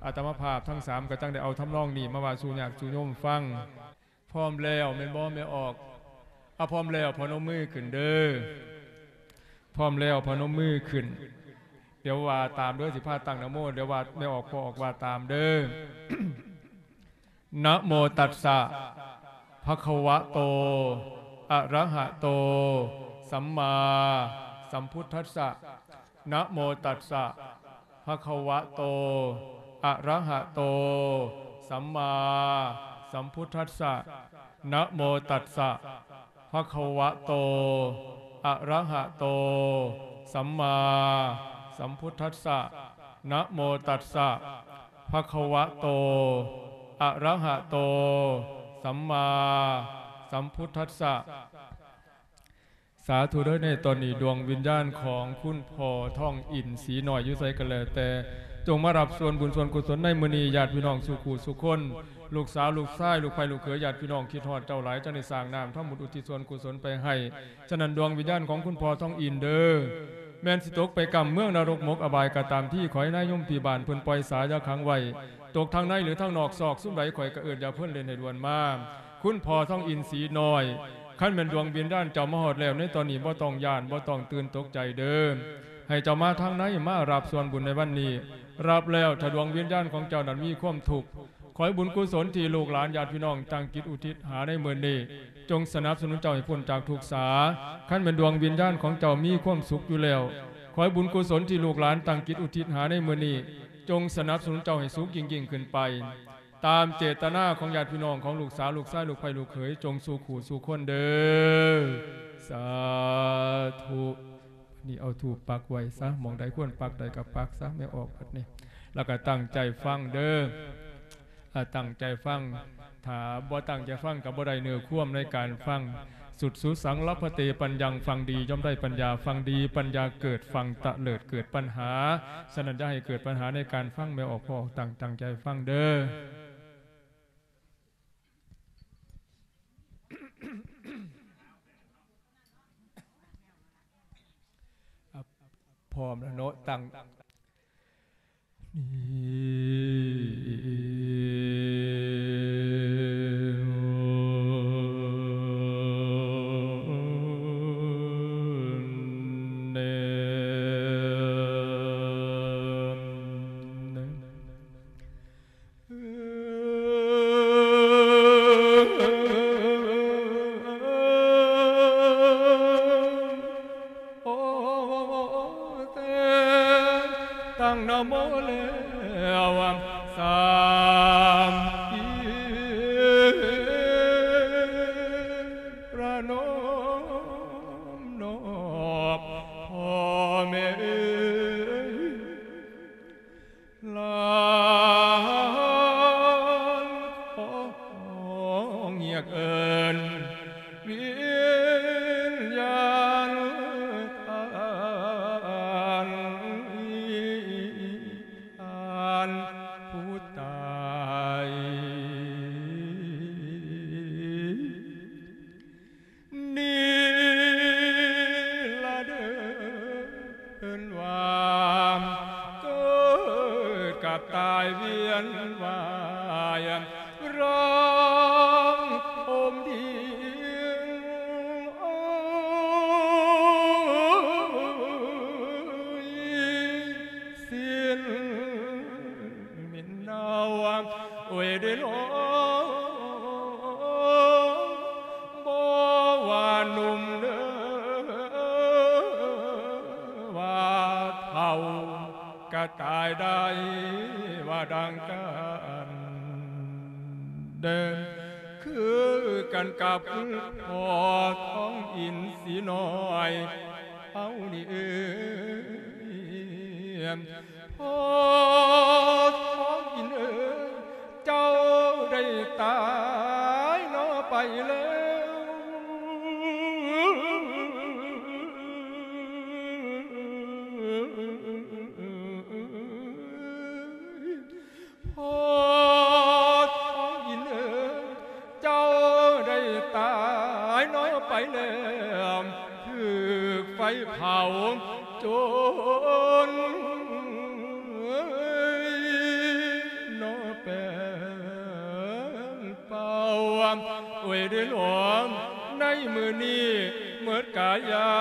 ອາດຕະມາພາບທັງສາມກໍຈັ່ງໄດ້ເອົາທຳນອງນີ້ມາວ່າສູ່ຍາດສູ່ໂຍມຟັງ. ພ້ອມແລ້ວແມ່ນບໍ່ແມ່ອອກ? ອາ ພ້ອມແລ້ວພະນົມມືຂຶ້ນເດີ້. ພ້ອມແລ້ວພະນົມມືຂຶ້ນ. ດຽວວ່າຕາມເດີ້ ຊິພາຕັ້ງນະໂມ ດຽວວ່າແມ່ອອກ ພໍ່ອອກວ່າຕາມເດີ້. ນະໂມຕັດສະ ພະຄະວະໂຕ ອະລະຫະໂຕ ສຳມາສຳພຸດທັດສະ. ນະໂມຕັດສະ ພະຄະວະໂຕ ອະລະຫະໂຕ ສຳມາສຳພຸດທັດສະ. ນະໂມຕັດສະ ພະຄະວະໂຕ ອະລະຫະໂຕ ສຳມາສຳພຸດທັດສະ. ນະໂມຕັດສະ ພະຄະວະໂຕ ອະລະຫະໂຕ ສຳມາສຳພຸດທັດສະ. ສາທຸເດີ້. ໃນຕອນນີ້ ດວງວິນຍານຂອງຄຸນພໍ່ທອງອິນສີນ້ອຍຢູ່ໃສກໍແລ້ວແຕ່ ຈົ່ງມາຮັບສ່ວນບຸນສ່ວນກຸສົນໃນມື້ນີ້. ຍາດພີ່ນ້ອງສູ່ຄູ່ສູ່ຄົນ ລູກສາວລູກຊາຍ ລູກໃພ້ລູກເຂີຍ ຍາດພີ່ນ້ອງຄິດຮອດເຈົ້າຫຼາຍ ຈັ່ງໄດ້ສ້າງນ້ຳທຳບຸນອຸທິດສ່ວນກຸສົນໄປໃຫ້. ສະນັ້ນ ດວງວິນຍານຂອງຄຸນພໍ່ທອງອິນເດີ້ ແມ່ນຊິຕົກໄປກຳເມືອງນະລົກໝົກອະບາຍກໍຕາມທີ ຂໍໃຫ້ນາຍົມທີ່ບ້ານເພິ່ນປ່ອຍສາຢ່າຂັງໄວ້ ຕົກທາງໃນຫຼືທາງນອກ ຊອກຊຸມໃດຂ້ອຍກໍເອີ້ນຢ່າເພິ່ນເລ່ນໃຫ້ດ່ວນມາ. ຄຸນພໍ່ທອງອິນສີນ້ອຍ ຄັນແມ່ນດວງວິນຍານເຈົ້າມາຮອດແລ້ວໃນຕອນນີ້ ບໍ່ຕ້ອງຢ້ານ ບໍ່ຕ້ອງຕື່ນຕົກໃຈເດີ້. ໃຫ້ເຈົ້າມາທາງໃນ ມາຮັບສ່ວນບຸນໃນວັນນີ້ ຮັບແລ້ວ ຖ້າດວງວິນຍານຂອງເຈົ້ານັ້ນມີຄວາມທຸກ ຂໍໃຫ້ບຸນກຸສົນທີ່ລູກຫຼານຍາດພີ່ນ້ອງຕັ້ງຈິດອຸທິດຫາໃນມື້ນີ້ ຈົ່ງສະໜັບສະໜູນເຈົ້າໃຫ້ພົ້ນຈາກທຸກສາ. ຄັນແມ່ນດວງວິນຍານຂອງເຈົ້າມີຄວາມສຸກຢູ່ແລ້ວ ຂໍໃຫ້ບຸນກຸສົນທີ່ລູກຫຼານຕັ້ງຈິດອຸທິດຫາໃນມື້ນີ້ ຈົ່ງສະໜັບສະໜູນເຈົ້າໃຫ້ສຸກຍິ່ງໆຂຶ້ນໄປ ຕາມເຈດຕະນາຂອງຍາດພີ່ນ້ອງ ຂອງລູກສາວ ລູກຊາຍ ລູກໃພ້ ລູກເຂີຍ ຈົ່ງສູ່ຄູ່ສູ່ຄົນເດີ້. ສາທຸ. ບັດນີ້ເອົາທູບປັກໄວ້ຊະ ໝ່ອງໃດຄວນປັກໄດ້ກໍປັກຊະ ແມ່ອອກບັດນີ້ ແລ້ວກໍຕັ້ງໃຈຟັງເດີ້. ອາ ຕັ້ງໃຈຟັງ ຖ້າບໍ່ຕັ້ງໃຈຟັງກໍບໍ່ໄດ້ເນື້ອຄວາມໃນການຟັງ. ສຸດສຸສັງລັບພະເຕປັນຍັງ ຟັງດີຍ່ອມໄດ້ປັນຍາ ຟັງດີປັນຍາເກີດ ຟັງຕະເລີດເກີດປັນຫາ. ສະນັ້ນ ຢ່າໃຫ້ເກີດປັນຫາໃນການຟັງ ແມ່ອອກ ພໍ່ອອກ ຕັ້ງ ຕັ້ງໃຈຟັງເດີ້. ພ້ອມແລ້ວເນາະ ຕັ້ງ ນີ້. ໂອເຕ ຕັ້ງນະໂມແລ້ວ ສາມປີ ປະນົມນອບພໍ່ແມ່ເອີຍ ຫຼານຂອງ ກັບຕາຍວຽນວ່າຍ ຮ້ອງໂຮມດິງ ໂອ້ຍ ສິ້ນເໝັນເນົ່າ ໂອ້ຍ ໄດ້ນ້ອງ ບໍ່ວ່າໜຸ່ມເດີ ວ່າເຖົ້າ ກະຕາຍໄດ້ວ່າດັ່ງກັນເດີ ຄືກັນກັບພໍ່ທອງອິນສີນ້ອຍເຮົານີ້ເອີຍ ພໍ່ທອງອິນເອີຍ ເຈົ້າໄດ້ຕາຍເນາະໄປແລ້ວ ພໍ່ທອງອິນເອີຍ ເຈົ້າໄດ້ຕາຍເນາະໄປແລ້ວ ຖືກໄຟເຜົາຈົນເນາະແປງເປົ່າ ໂອ້ຍ ເດີຫຼວງ ໃນມື້ນີ້ໝົດກາຍາ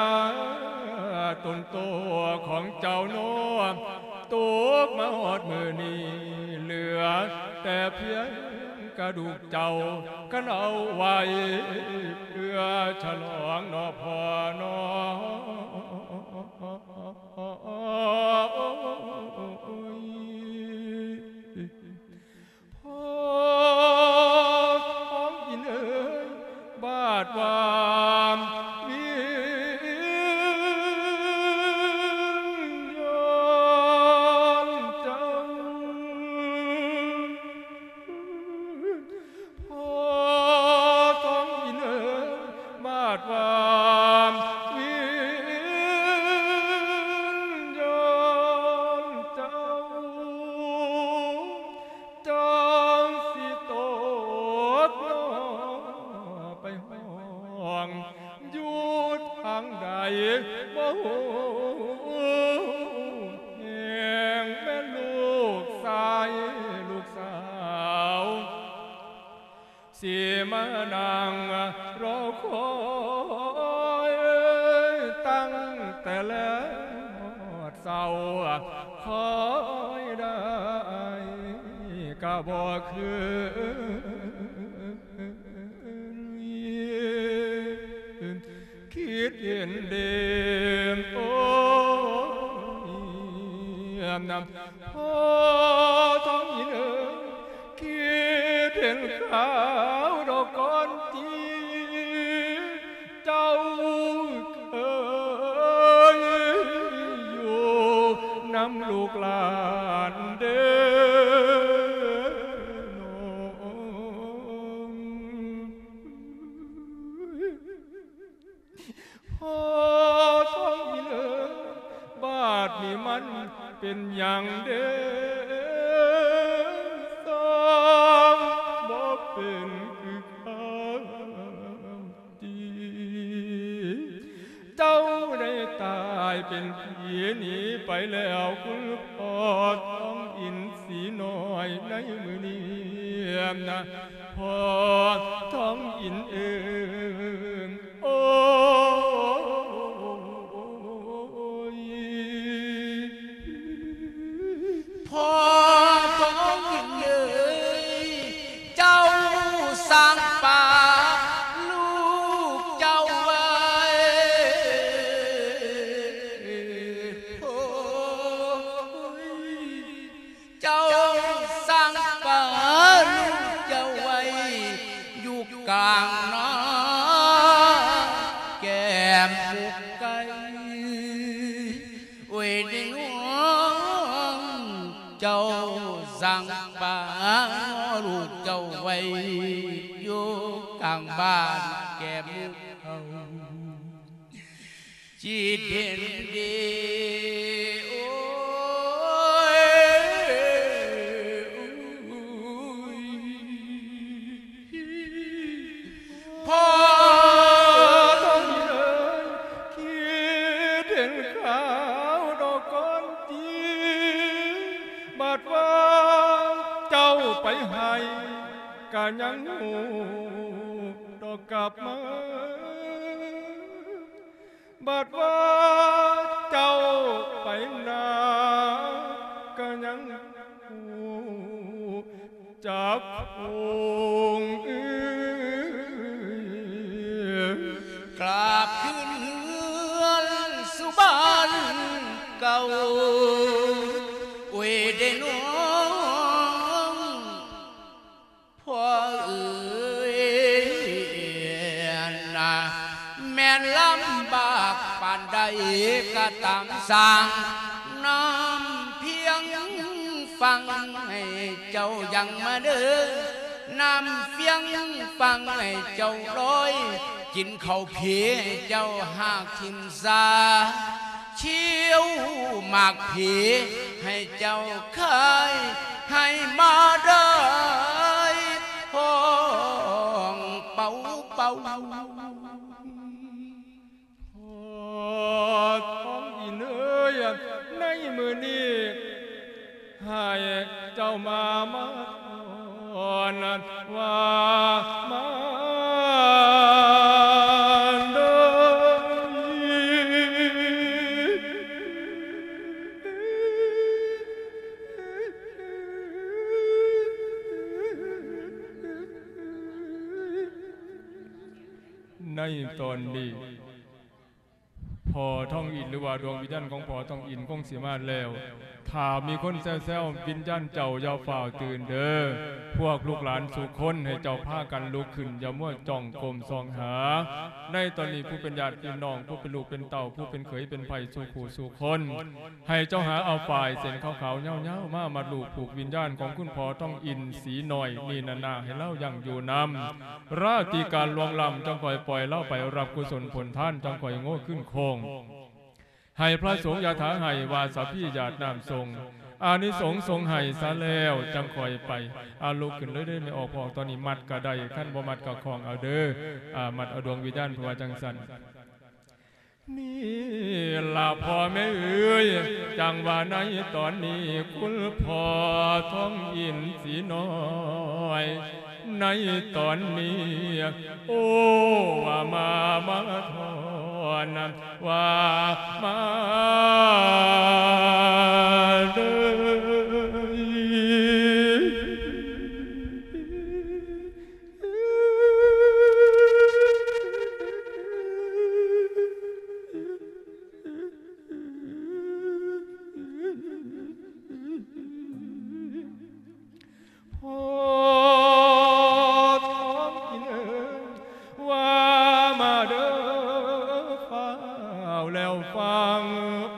ຕົນໂຕຂອງເຈົ້າເນາະ ຕົກມາຮອດມື້ນີ້ ເຫຼືອແຕ່ພຽງກະດູກເຈົ້າ ຄັນເອົາໄວ້ເພື່ອສະຫຼອງເນາະພໍ່ເນາະ ພໍ່ທອງອິນເອີຍ ບາດວ່າວິນຍານເຈົ້າ ພໍ່ທອງອິນເອີຍ ບາດວ່າວິນຍານເຈົ້າ ຈັກຊິຕົກເນາະໄປຫ້ອງ ຢູ່ທາງໃດບໍ່ຮູ້ແຮງ ແມ່ນລູກຊາຍລູກສາວ ຊິມານັ່ງລໍຄອຍ ຕັ້ງແຕ່ແລງຮອດເຊົ້າ ຄອຍໄດ້ກະບໍ່ຄືນ ຄິດເຫັນເດ ໂອ້ຍ ພໍ່ທອງອິນເອີຍ ຄິດເຫັນຄາວດອກກ່ອນຕິ ເຈົ້າເຄີຍຢູ່ນຳລູກຫຼານເດ ນ້ອງ ພໍ່ທອງອິນເອີຍ ບາດນີ້ມັນເປັນຫຍັງເດ ສາງບໍ່ເປັນຄືຄາວ ທີ່ເຈົ້າໄດ້ຕາຍເປັນຜີໜີໄປແລ້ວ ຄຸນພໍ່ທອງອິນສີນ້ອຍໃນມື້ນີ້ນະ ພໍ່ທອງອິນເອີຍ ໂອ້ຍ ພໍ່ທອງອິນເອີຍ ເຈົ້າສັ່ງປາລູກເຈົ້າໄວ້ ໂອ້ຍ ເຈົ້າສັ່ງປາລູກເຈົ້າໄວ້ ຢູ່ກາງນາແກ້ມໝູກໄກ່ ໂອ້ຍ ເດນ້ອງ ເຈົ້າສັ່ງປາລູກເຈົ້າໄວ້ ຢູ່ກາງບ້ານແກ້ມໝູກເຂົາ ຈິດເຫັນດີ ໂອ້ຍ ພໍ່ທອງອິນເອີຍ ຄິດເຫັນຄາວດອກກ່ອນຕິ ບາດວ່າ ໄປໃຫ້ກະຍັງຮູ້ດອກກັບມາ. ບັດວ່າເຈົ້າໄປນາກະຍັງຮູ້ຈັກຄົງ ກາບຄືນເຮືອນສູ່ບ້ານເກົ່າ ໂອຍເດນ້ອງ ພໍ່ເອີຍນະ ແມ່ນລຳບາກປານໃດກະຕາມຊ່າງ ນ້ຳພຽງຝັ່ງໃຫ້ເຈົ້າຍັງມາເດີ ນ້ຳພຽງຝັ່ງໃຫ້ເຈົ້າລອຍ ກິນເຂົ້າເພໃຫ້ເຈົ້າຫາກຖິ້ມຊາ ຂຽວໝາກເພໃຫ້ເຈົ້າຂາຍ ໃຫ້ມາໄດ້ຮ້ອງເປົ່າໆ. ພໍ່ທອງອິນເອີຍ ໃນມື້ນີ້ ໃຫ້ເຈົ້າມາ ມາ ວ່າມາເດີ. ໃນຕອນນີ້ ພໍ່ທອງອິນ ຫຼືວ່າດວງວິນຍານຂອງພໍ່ທອງອິນຄົງຊິມາແລ້ວ. ຖ້າມີຄົນແຊວໆ ວິນຍານເຈົ້າຢ່າຟ້າວຕື່ນເດີ. ພວກລູກຫຼານສູ່ຄົນໃຫ້ເຈົ້າພາກັນລຸກຂຶ້ນ ຢ່າມົວຈ້ອງກົ້ມສ່ອງຫາ. ໃນຕອນນີ້ຜູ້ເປັນຍາດພີ່ນ້ອງ ຜູ້ເປັນລູກເປັນເຕົ້າ ຜູ້ເປັນເຂີຍເປັນໃພ້ສູ່ຄູ່ສູ່ຄົນ ໃຫ້ເຈົ້າຫາເອົາຝ້າຍເສັ້ນຂາວໆຍາວໆ ມາມັດລູກຜູກວິນຍານຂອງຄຸນພໍ່ທອງອິນສີນ້ອຍນີ້ນານາ ໃຫ້ລາວຢັ້ງຢູ່ນຳ ລາຕິການລ່ວງລ້ຳ ຈັ່ງຄ່ອຍປ່ອຍລາວໄປຮັບກຸສົນຜົນທານ ຈັ່ງຄ່ອຍໂງ່ຄືນໂຄ້ງ ໃຫ້ພະສົງຢາຖາໃຫ້ວາສະພີຢາດນ້ຳສົງ ອານິສົງສົງໃຫ້ຊະແລ້ວ ຈັ່ງຄ່ອຍໄປ. ອາ ລຸກຂຶ້ນເລີຍເດີແມ່ອອກພໍ່ອອກ ຕອນນີ້ມັດກະໄດ້ ຄັນບໍ່ມັດກະຄ້ອງເອົາເດີ. ອາ ມັດເອົາດວງວິນຍານ ເພິ່ນວ່າຈັ່ງຊັ້ນ. ນີ້ລະພໍ່ແມ່ເອີຍ ຈັ່ງວ່າໃນຕອນນີ້ ຄຸນພໍ່ທອງອິນສີນ້ອຍ ໃນຕອນນີ້ ໂອ້ ວ່າມາ ມາທອນ ວ່າມາເດີ. ພໍ່ທອງອິນເອີຍ ວ່າມາເດີ ຟ້າວແລ້ວຟັງ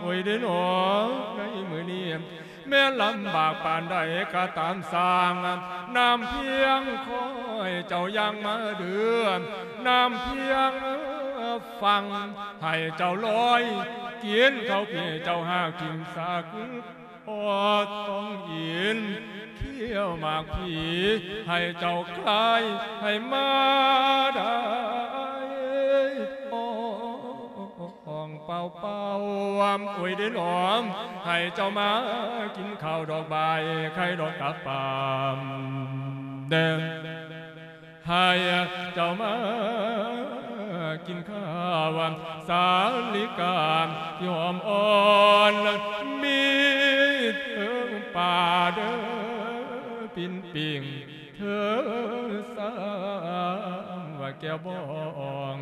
ໂອຍເດີນ້ອງ ໃນມື້ນີ້ ແມ່ນລຳບາກປານໃດກະຕາມຊ່າງ ນ້ຳພຽງຄ່ອຍເຈົ້າຢ່າງມາເດີ ນ້ຳພຽງຝັ່ງໃຫ້ເຈົ້າລອຍ ກິນເຂົ້າເພເຈົ້າຫາກຖິ້ມຊາກ ພໍ່ທອງອິນ ຂຽວໝາກພີ ໃຫ້ເຈົ້າຄາຍ ໃຫ້ມາໄດ້ ອອງເປົ່າໆ ໂອຍເດີນ້ອງ ໃຫ້ເຈົ້າມາກິນເຂົ້າດອກບາຍ ໄຂ່ດອກກະປາມແດງ ໃຫ້ເຈົ້າມາກິນຂ້າວ ສາລິກາທີ່ຫອມອ່ອນ ມີເທິງປາເດີ ປີ້ນປີ້ງ ເທີສາງວ່າແກ້ວບອງ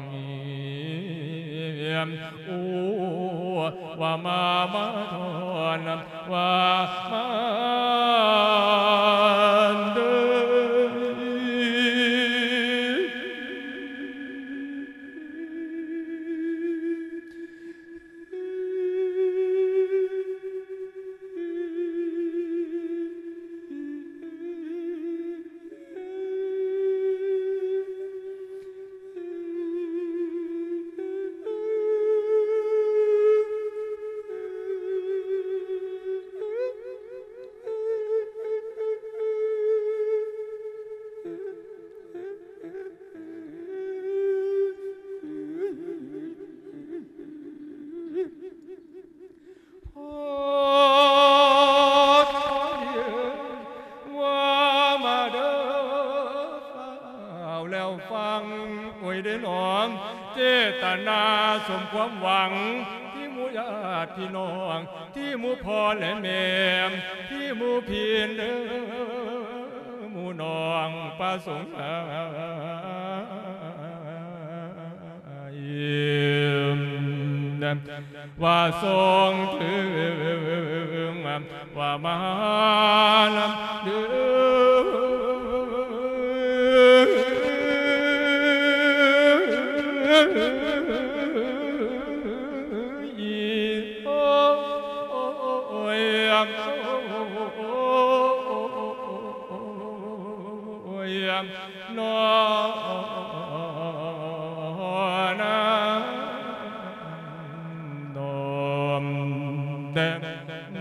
ໂອ້ ວ່າມາ ມາທອນ ວ່າມາເດີ. ຟັງ ໂອ້ຍເດ້ນ້ອງ ເຈດຕະນາສົມຄວາມຫວັງ ທີ່ໝູ່ຍາດພີ່ນ້ອງ ທີ່ໝູ່ພໍ່ແລະແມ່ ທີ່ໝູ່ພີ່ເດີ ໝູ່ນ້ອງປະສົງໃຫ້ ວ່າສົ່ງເຖິງ ວ່າມານຳເດີ ໂອ້ຍ ໂອ້ຍ ນອນາ ນອມແຕ່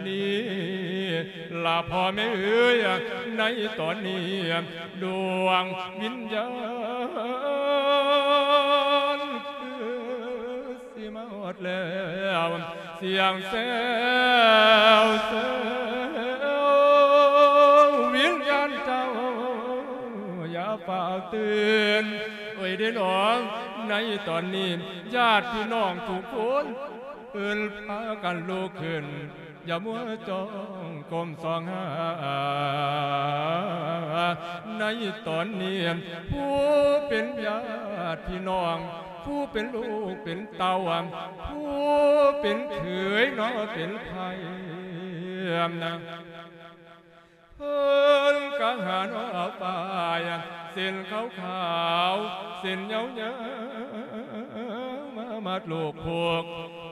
ນີ້ລະພໍ່ແມ່ເອີຍ ໃນຕອນນີ້ດວງວິນຍານຄື ຊິມາຮອດແລ້ວ ສຽງແຊວແຊວ ວິນຍານເຈົ້າ ຢ່າຟ້າວຕື່ນ ໂອ້ຍເດ້ນ້ອງ ໃນຕອນນີ້ ຍາດພີ່ນ້ອງທຸກຄົນ ເອີ້ນພາກັນລຸກຂຶ້ນ ຢ່າມົວຈ້ອງກົ້ມສ່ອງຫາ ໃນຕອນນີ້ ຜູ້ເປັນຍາດພີ່ນ້ອງ ຜູ້ເປັນລູກເປັນເຕົ້າ ຜູ້ເປັນເຂີຍເນາະເປັນໃຜນະ ເພິ່ນກະຫາເນາະປ້າຍ ເສັ້ນຂາວໆ ເສັ້ນຍາວໆ ມາມັດລູກຜູກ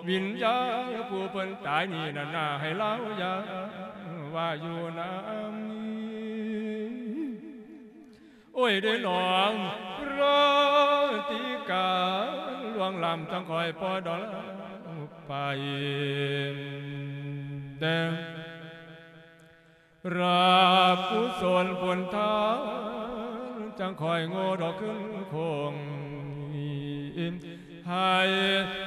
ວິນຍານຜູ້ເພິ່ນຕາຍນີ້ນັ້ນນາ ໃຫ້ລາວຢ່າວ່າຢູ່ນຳ ໂອ້ຍເດ້ນ້ອງ ລາຕີກາລ່ວງລ້ຳ ຈັ່ງຄ່ອຍປ່ອຍດອກລາວໄປ ແຕ່ ລາບກຸສົນບຸນທານ ຈັ່ງຄ່ອຍໂງ່ດອກຂຶ້ນຄົງ ໃຫ້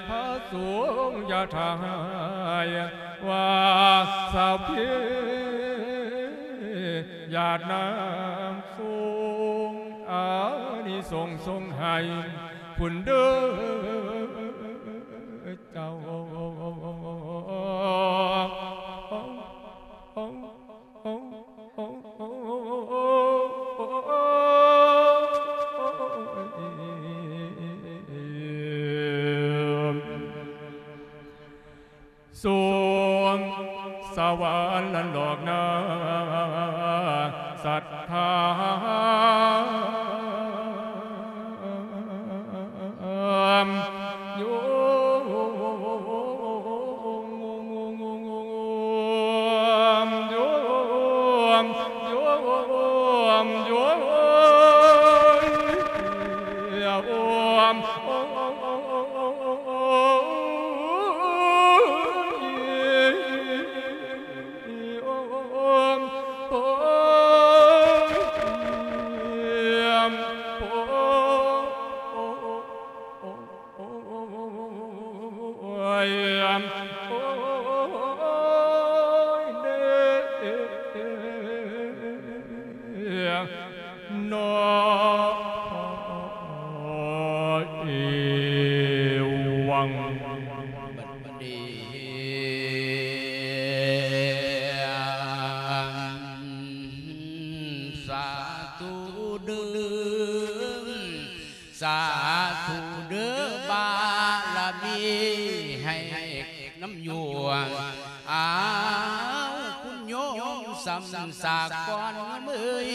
ພະສົງຢ່າຖ້າຮ້າຍ ວ່າຊາວເພຍາດນ້ຳສົງ ອານິສົງສົງໃຫ້ພຸ້ນເດີເຈົ້າ. ສວງສະຫວັນນັ້ນດອກນາ ສັດທາ ໂຍມ ໂຍມ ໂຍມ ໂຍມ ໂຍມ ໂອຍ ໂອ້ຍ ໂອ້ຍ ໂອ້ຍ ເດ້ ເນາະ ເອວັງ ບັດນີ້ ສາທຸເດີ້ ສາທຸເດີ້ ບາລະມີໃຫ້ນຳຢູ່ ອ້າວ ຄຸນໂຍມສຳສາກອນເອີຍ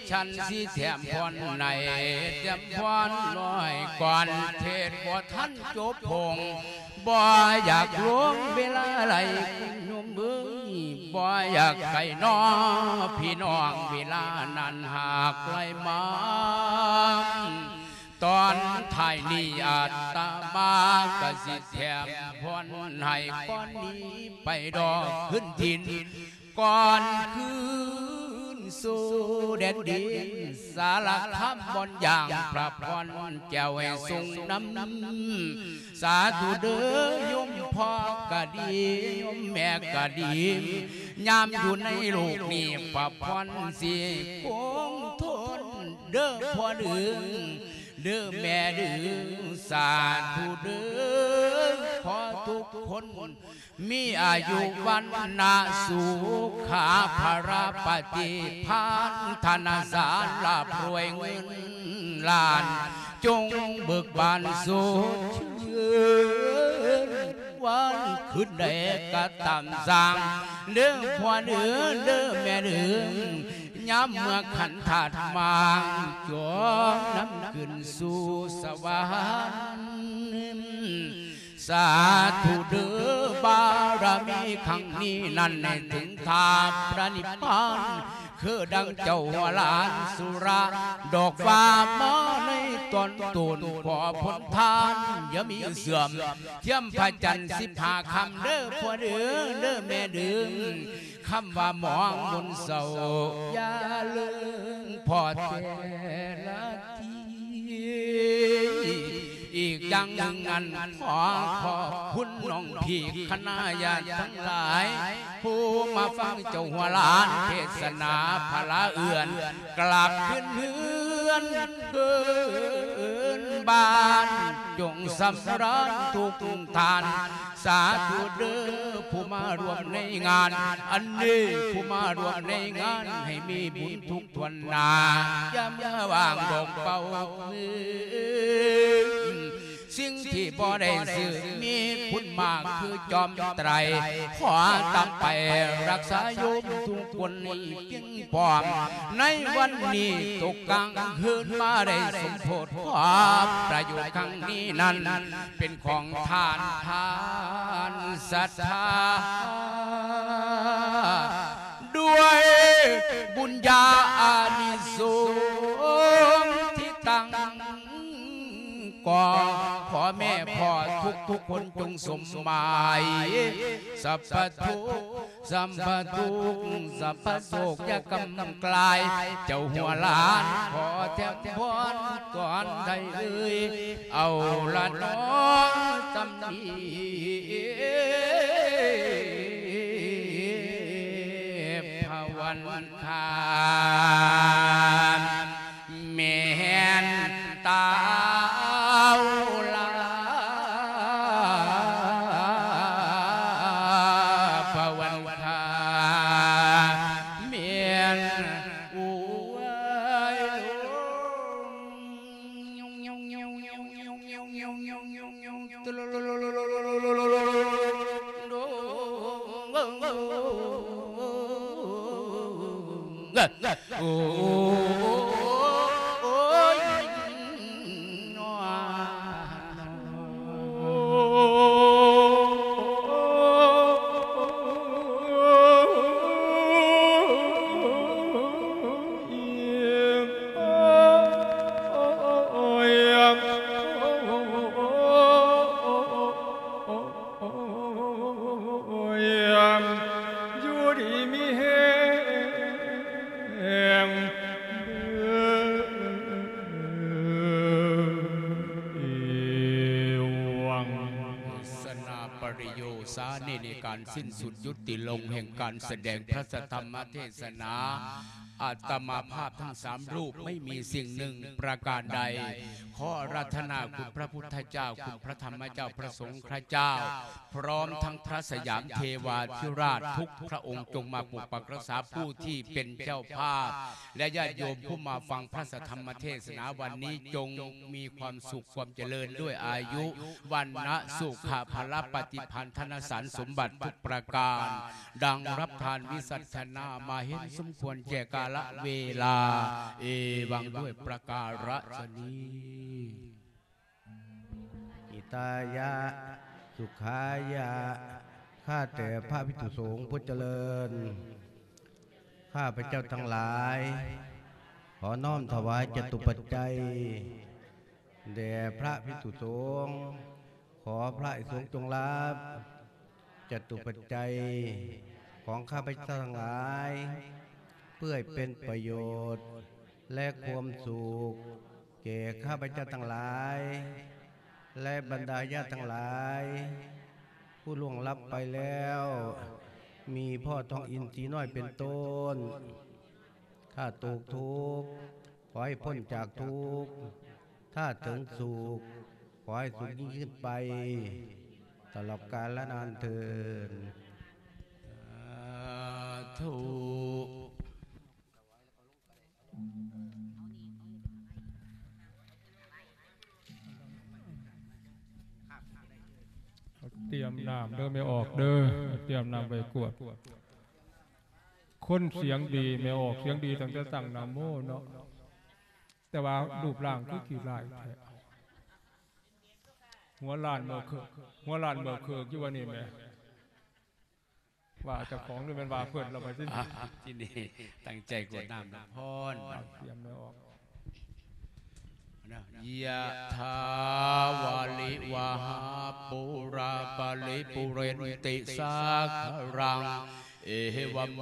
ສັນຊິແຖມພອນໃນ ແຖມພອນນ້ອຍກ່ອນ ເທດບໍ່ທັນຈົບພົງ ບໍ່ຢາກລ່ວງເວລາຫຼາຍ ໂຍມເອີຍ ບໍ່ຢາກໄກນໍ ພີ່ນ້ອງ ເວລານັ້ນຫາກໄຫຼມາ ຕອນທ້າຍນີ້ອາດຕະມາກະຊິແຖມພອນໃຫ້ ກ່ອນໜີໄປດອກຄືນຖິ່ນ ກ່ອນຄືນສູ່ແດນດິນສາລະຄາມ ບ່ອນຢ່າງພະພອນແກ້ວໃຫ້ຊົງນຳ ສາທຸເດີ້ ໂຍມພໍ່ກະດີ ໂຍມແມ່ກະດີ ຍາມຢູ່ໃນໂລກນີ້ ພະພອນຊິຄົງທົນເດີ້ພໍ່ເດີ້ ເດີແມ່ເດີ ສາທຸເດີ ຂໍທຸກຄົນມີອາຍຸວັນນະ ສຸຂະພະລະປະຕິພານ ທະນະສານ ລ່ຳລວຍເງິນລ້ານ ຈົ່ງເບີກບານສົດຊື່ນ ວັນຄືນໃດກະຕາມສ້າງ ເດີພໍ່ເດີ ເດີແມ່ເດີ ຍາມເມື່ອຂັນທາດມາງ ຈົ່ງນຳຂຶ້ນສູ່ສະຫວັນ ສາທຸເດີ ບາລະມີຄັ້ງນີ້ນັ້ນ ໃຫ້ເຖິງທ່າພະນິບພານ ຄືດັ່ງເຈົ້າຫົວຫຼານສຸລະ ດອກວ່າມາໃນຕອນຕົ້ນ ຂໍຜົນທານຢ່າມີເສື່ອມ ທຽມພະຈັນສິບຫ້າຄ່ຳເດີພໍ່ເດີ ເດີແມ່ເດີ ຄຳວ່າໝອງມົນເສົ້າ ຢ່າເລີງພໍແຕ່ລະທີ ອີກຢ່າງໜຶ່ງນັ້ນ ຂໍຂອບຄຸນນ້ອງພີ່ຄະນະຍາດທັງຫຼາຍ ຜູ້ມາຟັງເຈົ້າຫົວຫຼານເທດສະໜາ ພະລາເອື້ອນ ກັບຄືນເຮືອນຄືນບ້ານ ຈົ່ງສຳລານທຸກທ່ານ ສາທຸເດີ ຜູ້ມາຮ່ວມໃນງານອັນນີ້ ຜູ້ມາຮ່ວມໃນງານ ໃຫ້ມີບຸນທຸກຖ້ວນໜ້າ ຢ່າເມືອວ່າງດອກເປົ່າເອີຍ ສິ່ງທີ່ບໍ່ໄດ້ຊື້ມີຄຸນມາກຄືຈອມໄຕ ຂໍຕາມໄປຮັກສາໂຍມທຸກຄົນໃຫ້ພຽງພ້ອມ ໃນວັນນີ້ຕົກກາງຄືນມາໄດ້ສົມໂພດ ຂໍປະໂຫຍດຄັ້ງນີ້ນັ້ນ ເປັນຂອງທ່ານ ທ່ານສັດທາ ດ້ວຍບຸນຍາອານິສົງທີ່ຕັ້ງ ກໍຂໍແມ່ພໍ່ທຸກໆຄົນຈົ່ງສົມໝາຍ ສັບພະທຸກ ສັບພະທຸກ ສັບພະໂສກຢ່າກຳກລາຍ ເຈົ້າຫົວຫຼານຂໍແຖມພອນຕອນໃດເອີຍ ເອົາລະເນາະ ສ່ຳນີ້ພະວັນ ຂ້າແມ່ນຕາວລາ ພະວັນຂ້າແມ່ນ ໂອ້ຍ ໂອ້ຍ ຢູ່ດີມີແຮງເດີ ເອວັງ ສະນາປະລິໂຍສານີ້ ໃນການສິ້ນສຸດຍຸຕິລົງແຫ່ງການສະແດງພະສະທຳມະເທສະໜາ ອາດຕະມາພາບທັງສາມຮູບ ໄມ່ມີສິ່ງໜຶ່ງປະການໃດ ຂໍອາລາທະນາຄຸນພະພຸດທະເຈົ້າ ຄຸນພະທຳມະເຈົ້າ ພະສົງຄະເຈົ້າ ພ້ອມທັງພະສະຫຍາມເທວາທິລາດທຸກພະອົງ ຈົ່ງມາປົກປັກຮັກສາຜູ້ທີ່ເປັນເຈົ້າພາບ ແລະ ຍາດໂຍມຜູ້ມາຟັງພະສະທຳມະເທສະໜາວັນນີ້ ຈົ່ງມີຄວາມສຸກຄວາມຈະເລີນດ້ວຍອາຍຸ ວັນນະ ສຸຂະ ພະລະ ປະຕິພັນ ທະນະສານສົມບັດທຸກປະການ ດັ່ງຮັບທານວິສັດທະນາມາເຫັນສົມຄວນແກ່ກາລະເວລາ ເອວັງ ດ້ວຍປະກາລະຊະນີ. ຫິຕາຍະ ສຸຂາຍະ ຂ້າແຕ່ພະພິກຂຸສົງຜູ້ຈະເລີນ ຂ້າພະເຈົ້າທັງຫຼາຍ ຂໍນ້ອມຖວາຍຈະຕຸປັດໄຈ ແດ່ພະພິກຂຸສົງ ຂໍພະພິກຂຸສົງຈົ່ງຮັບຈະຕຸປັດໄຈຂອງຂ້າພະເຈົ້າທັງຫຼາຍ ເພື່ອໃຫ້ເປັນປະໂຫຍດ ແລະ ຄວາມສຸກແກ່ຂ້າພະເຈົ້າທັງຫຼາຍ ແລະ ບັນດາຍາດທັງຫຼາຍ ຜູ້ລ່ວງລັບໄປແລ້ວ ມີພໍ່ທອງອິນສີນ້ອຍເປັນຕົ້ນ ຖ້າຕົກທຸກ ຂໍໃຫ້ພົ້ນຈາກທຸກ ຖ້าถึงสุข ขอให้สุขยิ่งขึ้นไป ตลอดกาลนานเทอญ สาธุ เตรียมน้ำเด้อแม่ออกเด้อ เตรียมน้ำไว้กวด คนเสียงดี แม่ออกเสียงดีตั้งแต่ตั้งนะโมเนาะ แต่ว่ารูปร่างคือขี้ร้ายแท้ หัวล้านเมือเคิก หัวล้านเมือเคิกอยู่ว่านี่แหม ว่าเจ้าของหรือแม่นว่าเพิ่น เราไปสิ อ่ะ ที่นี่ตั้งใจกรวดน้ำพร เตรียมเนื้อออก ยะถาวาริวหาปูราปะริปูเรนติสาคารัง เอวะเม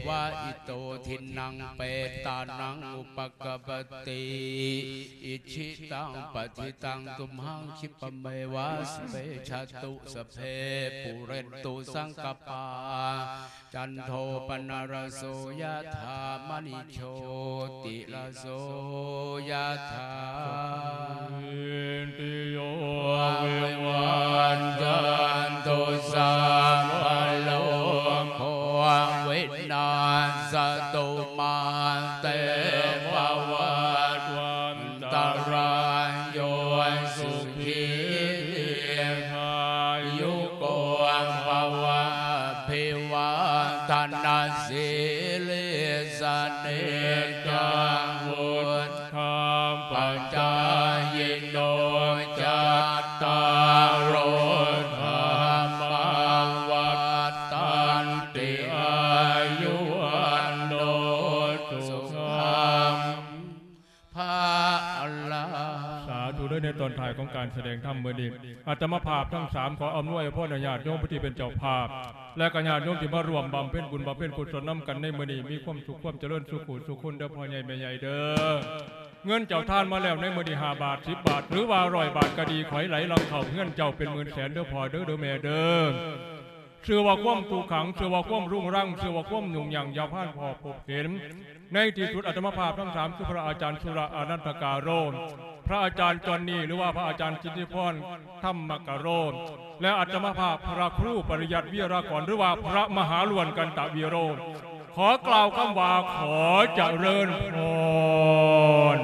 วะอิโตทินนังเปตานังอุปกัปปติ อิชิตังปัฏฐิตังตุมหังคิปะเมวะสะเปชะตุ สะเพปูเรนตุสังกปา จันโทปนรสโสยะถามะณิโชติรสโสยะถา ติโยวิวัชชันตุสัพพะโรโควินัสสะตุมาเตภวัตวันตะรายโยสุขีทีฆายุโกภะวะ อภิวาทะนะสีลิสสะเนจังวุฑฒาปะจายิโน จัตตาโรธัมมาวัฑฒันติ อายุวัณโณสุขัง พะลัง สาธุเด้อ ในตอนท้ายของการแสดงธรรมมื้อนี้ อาตมาภาพทั้งสามขออำนวยอวยพรให้ญาติโยมผู้ที่เป็นเจ้าภาพ และก็ญาติโยมที่มาร่วมบำเพ็ญบุญบำเพ็ญกุศลนำกันในมื้อนี้ มีความสุขความเจริญสุขุสุขคนเด้อพ่อใหญ่แม่ใหญ่เด้อ เงินเจ้าทานมาแล้วในมื้อนี้ห้าบาท สิบบาท หรือว่าร้อยบาทก็ดี ขอให้ไหลหลั่งเข้าเฮือนเจ้าเป็นหมื่นแสนเด้อพ่อเด้อ เด้อแม่เด้อ ชื่อว่าความทุกขัง ชื่อว่าความรุงรัง ชื่อว่าความยุ่งยาก อย่าผ่านพ่อพบเห็น ในที่สุดอาตมาภาพทั้งสาม คือพระอาจารย์สุระอานันทกาโร พระอาจารย์จอนนี่ หรือว่าพระอาจารย์สิทธิพรธรรมกาโร และอาตมาภาพพระครูปริยัติวีรากร หรือว่าพระมหาล้วนกันตะวีโร ขอกล่าวคำว่าขอเจริญพร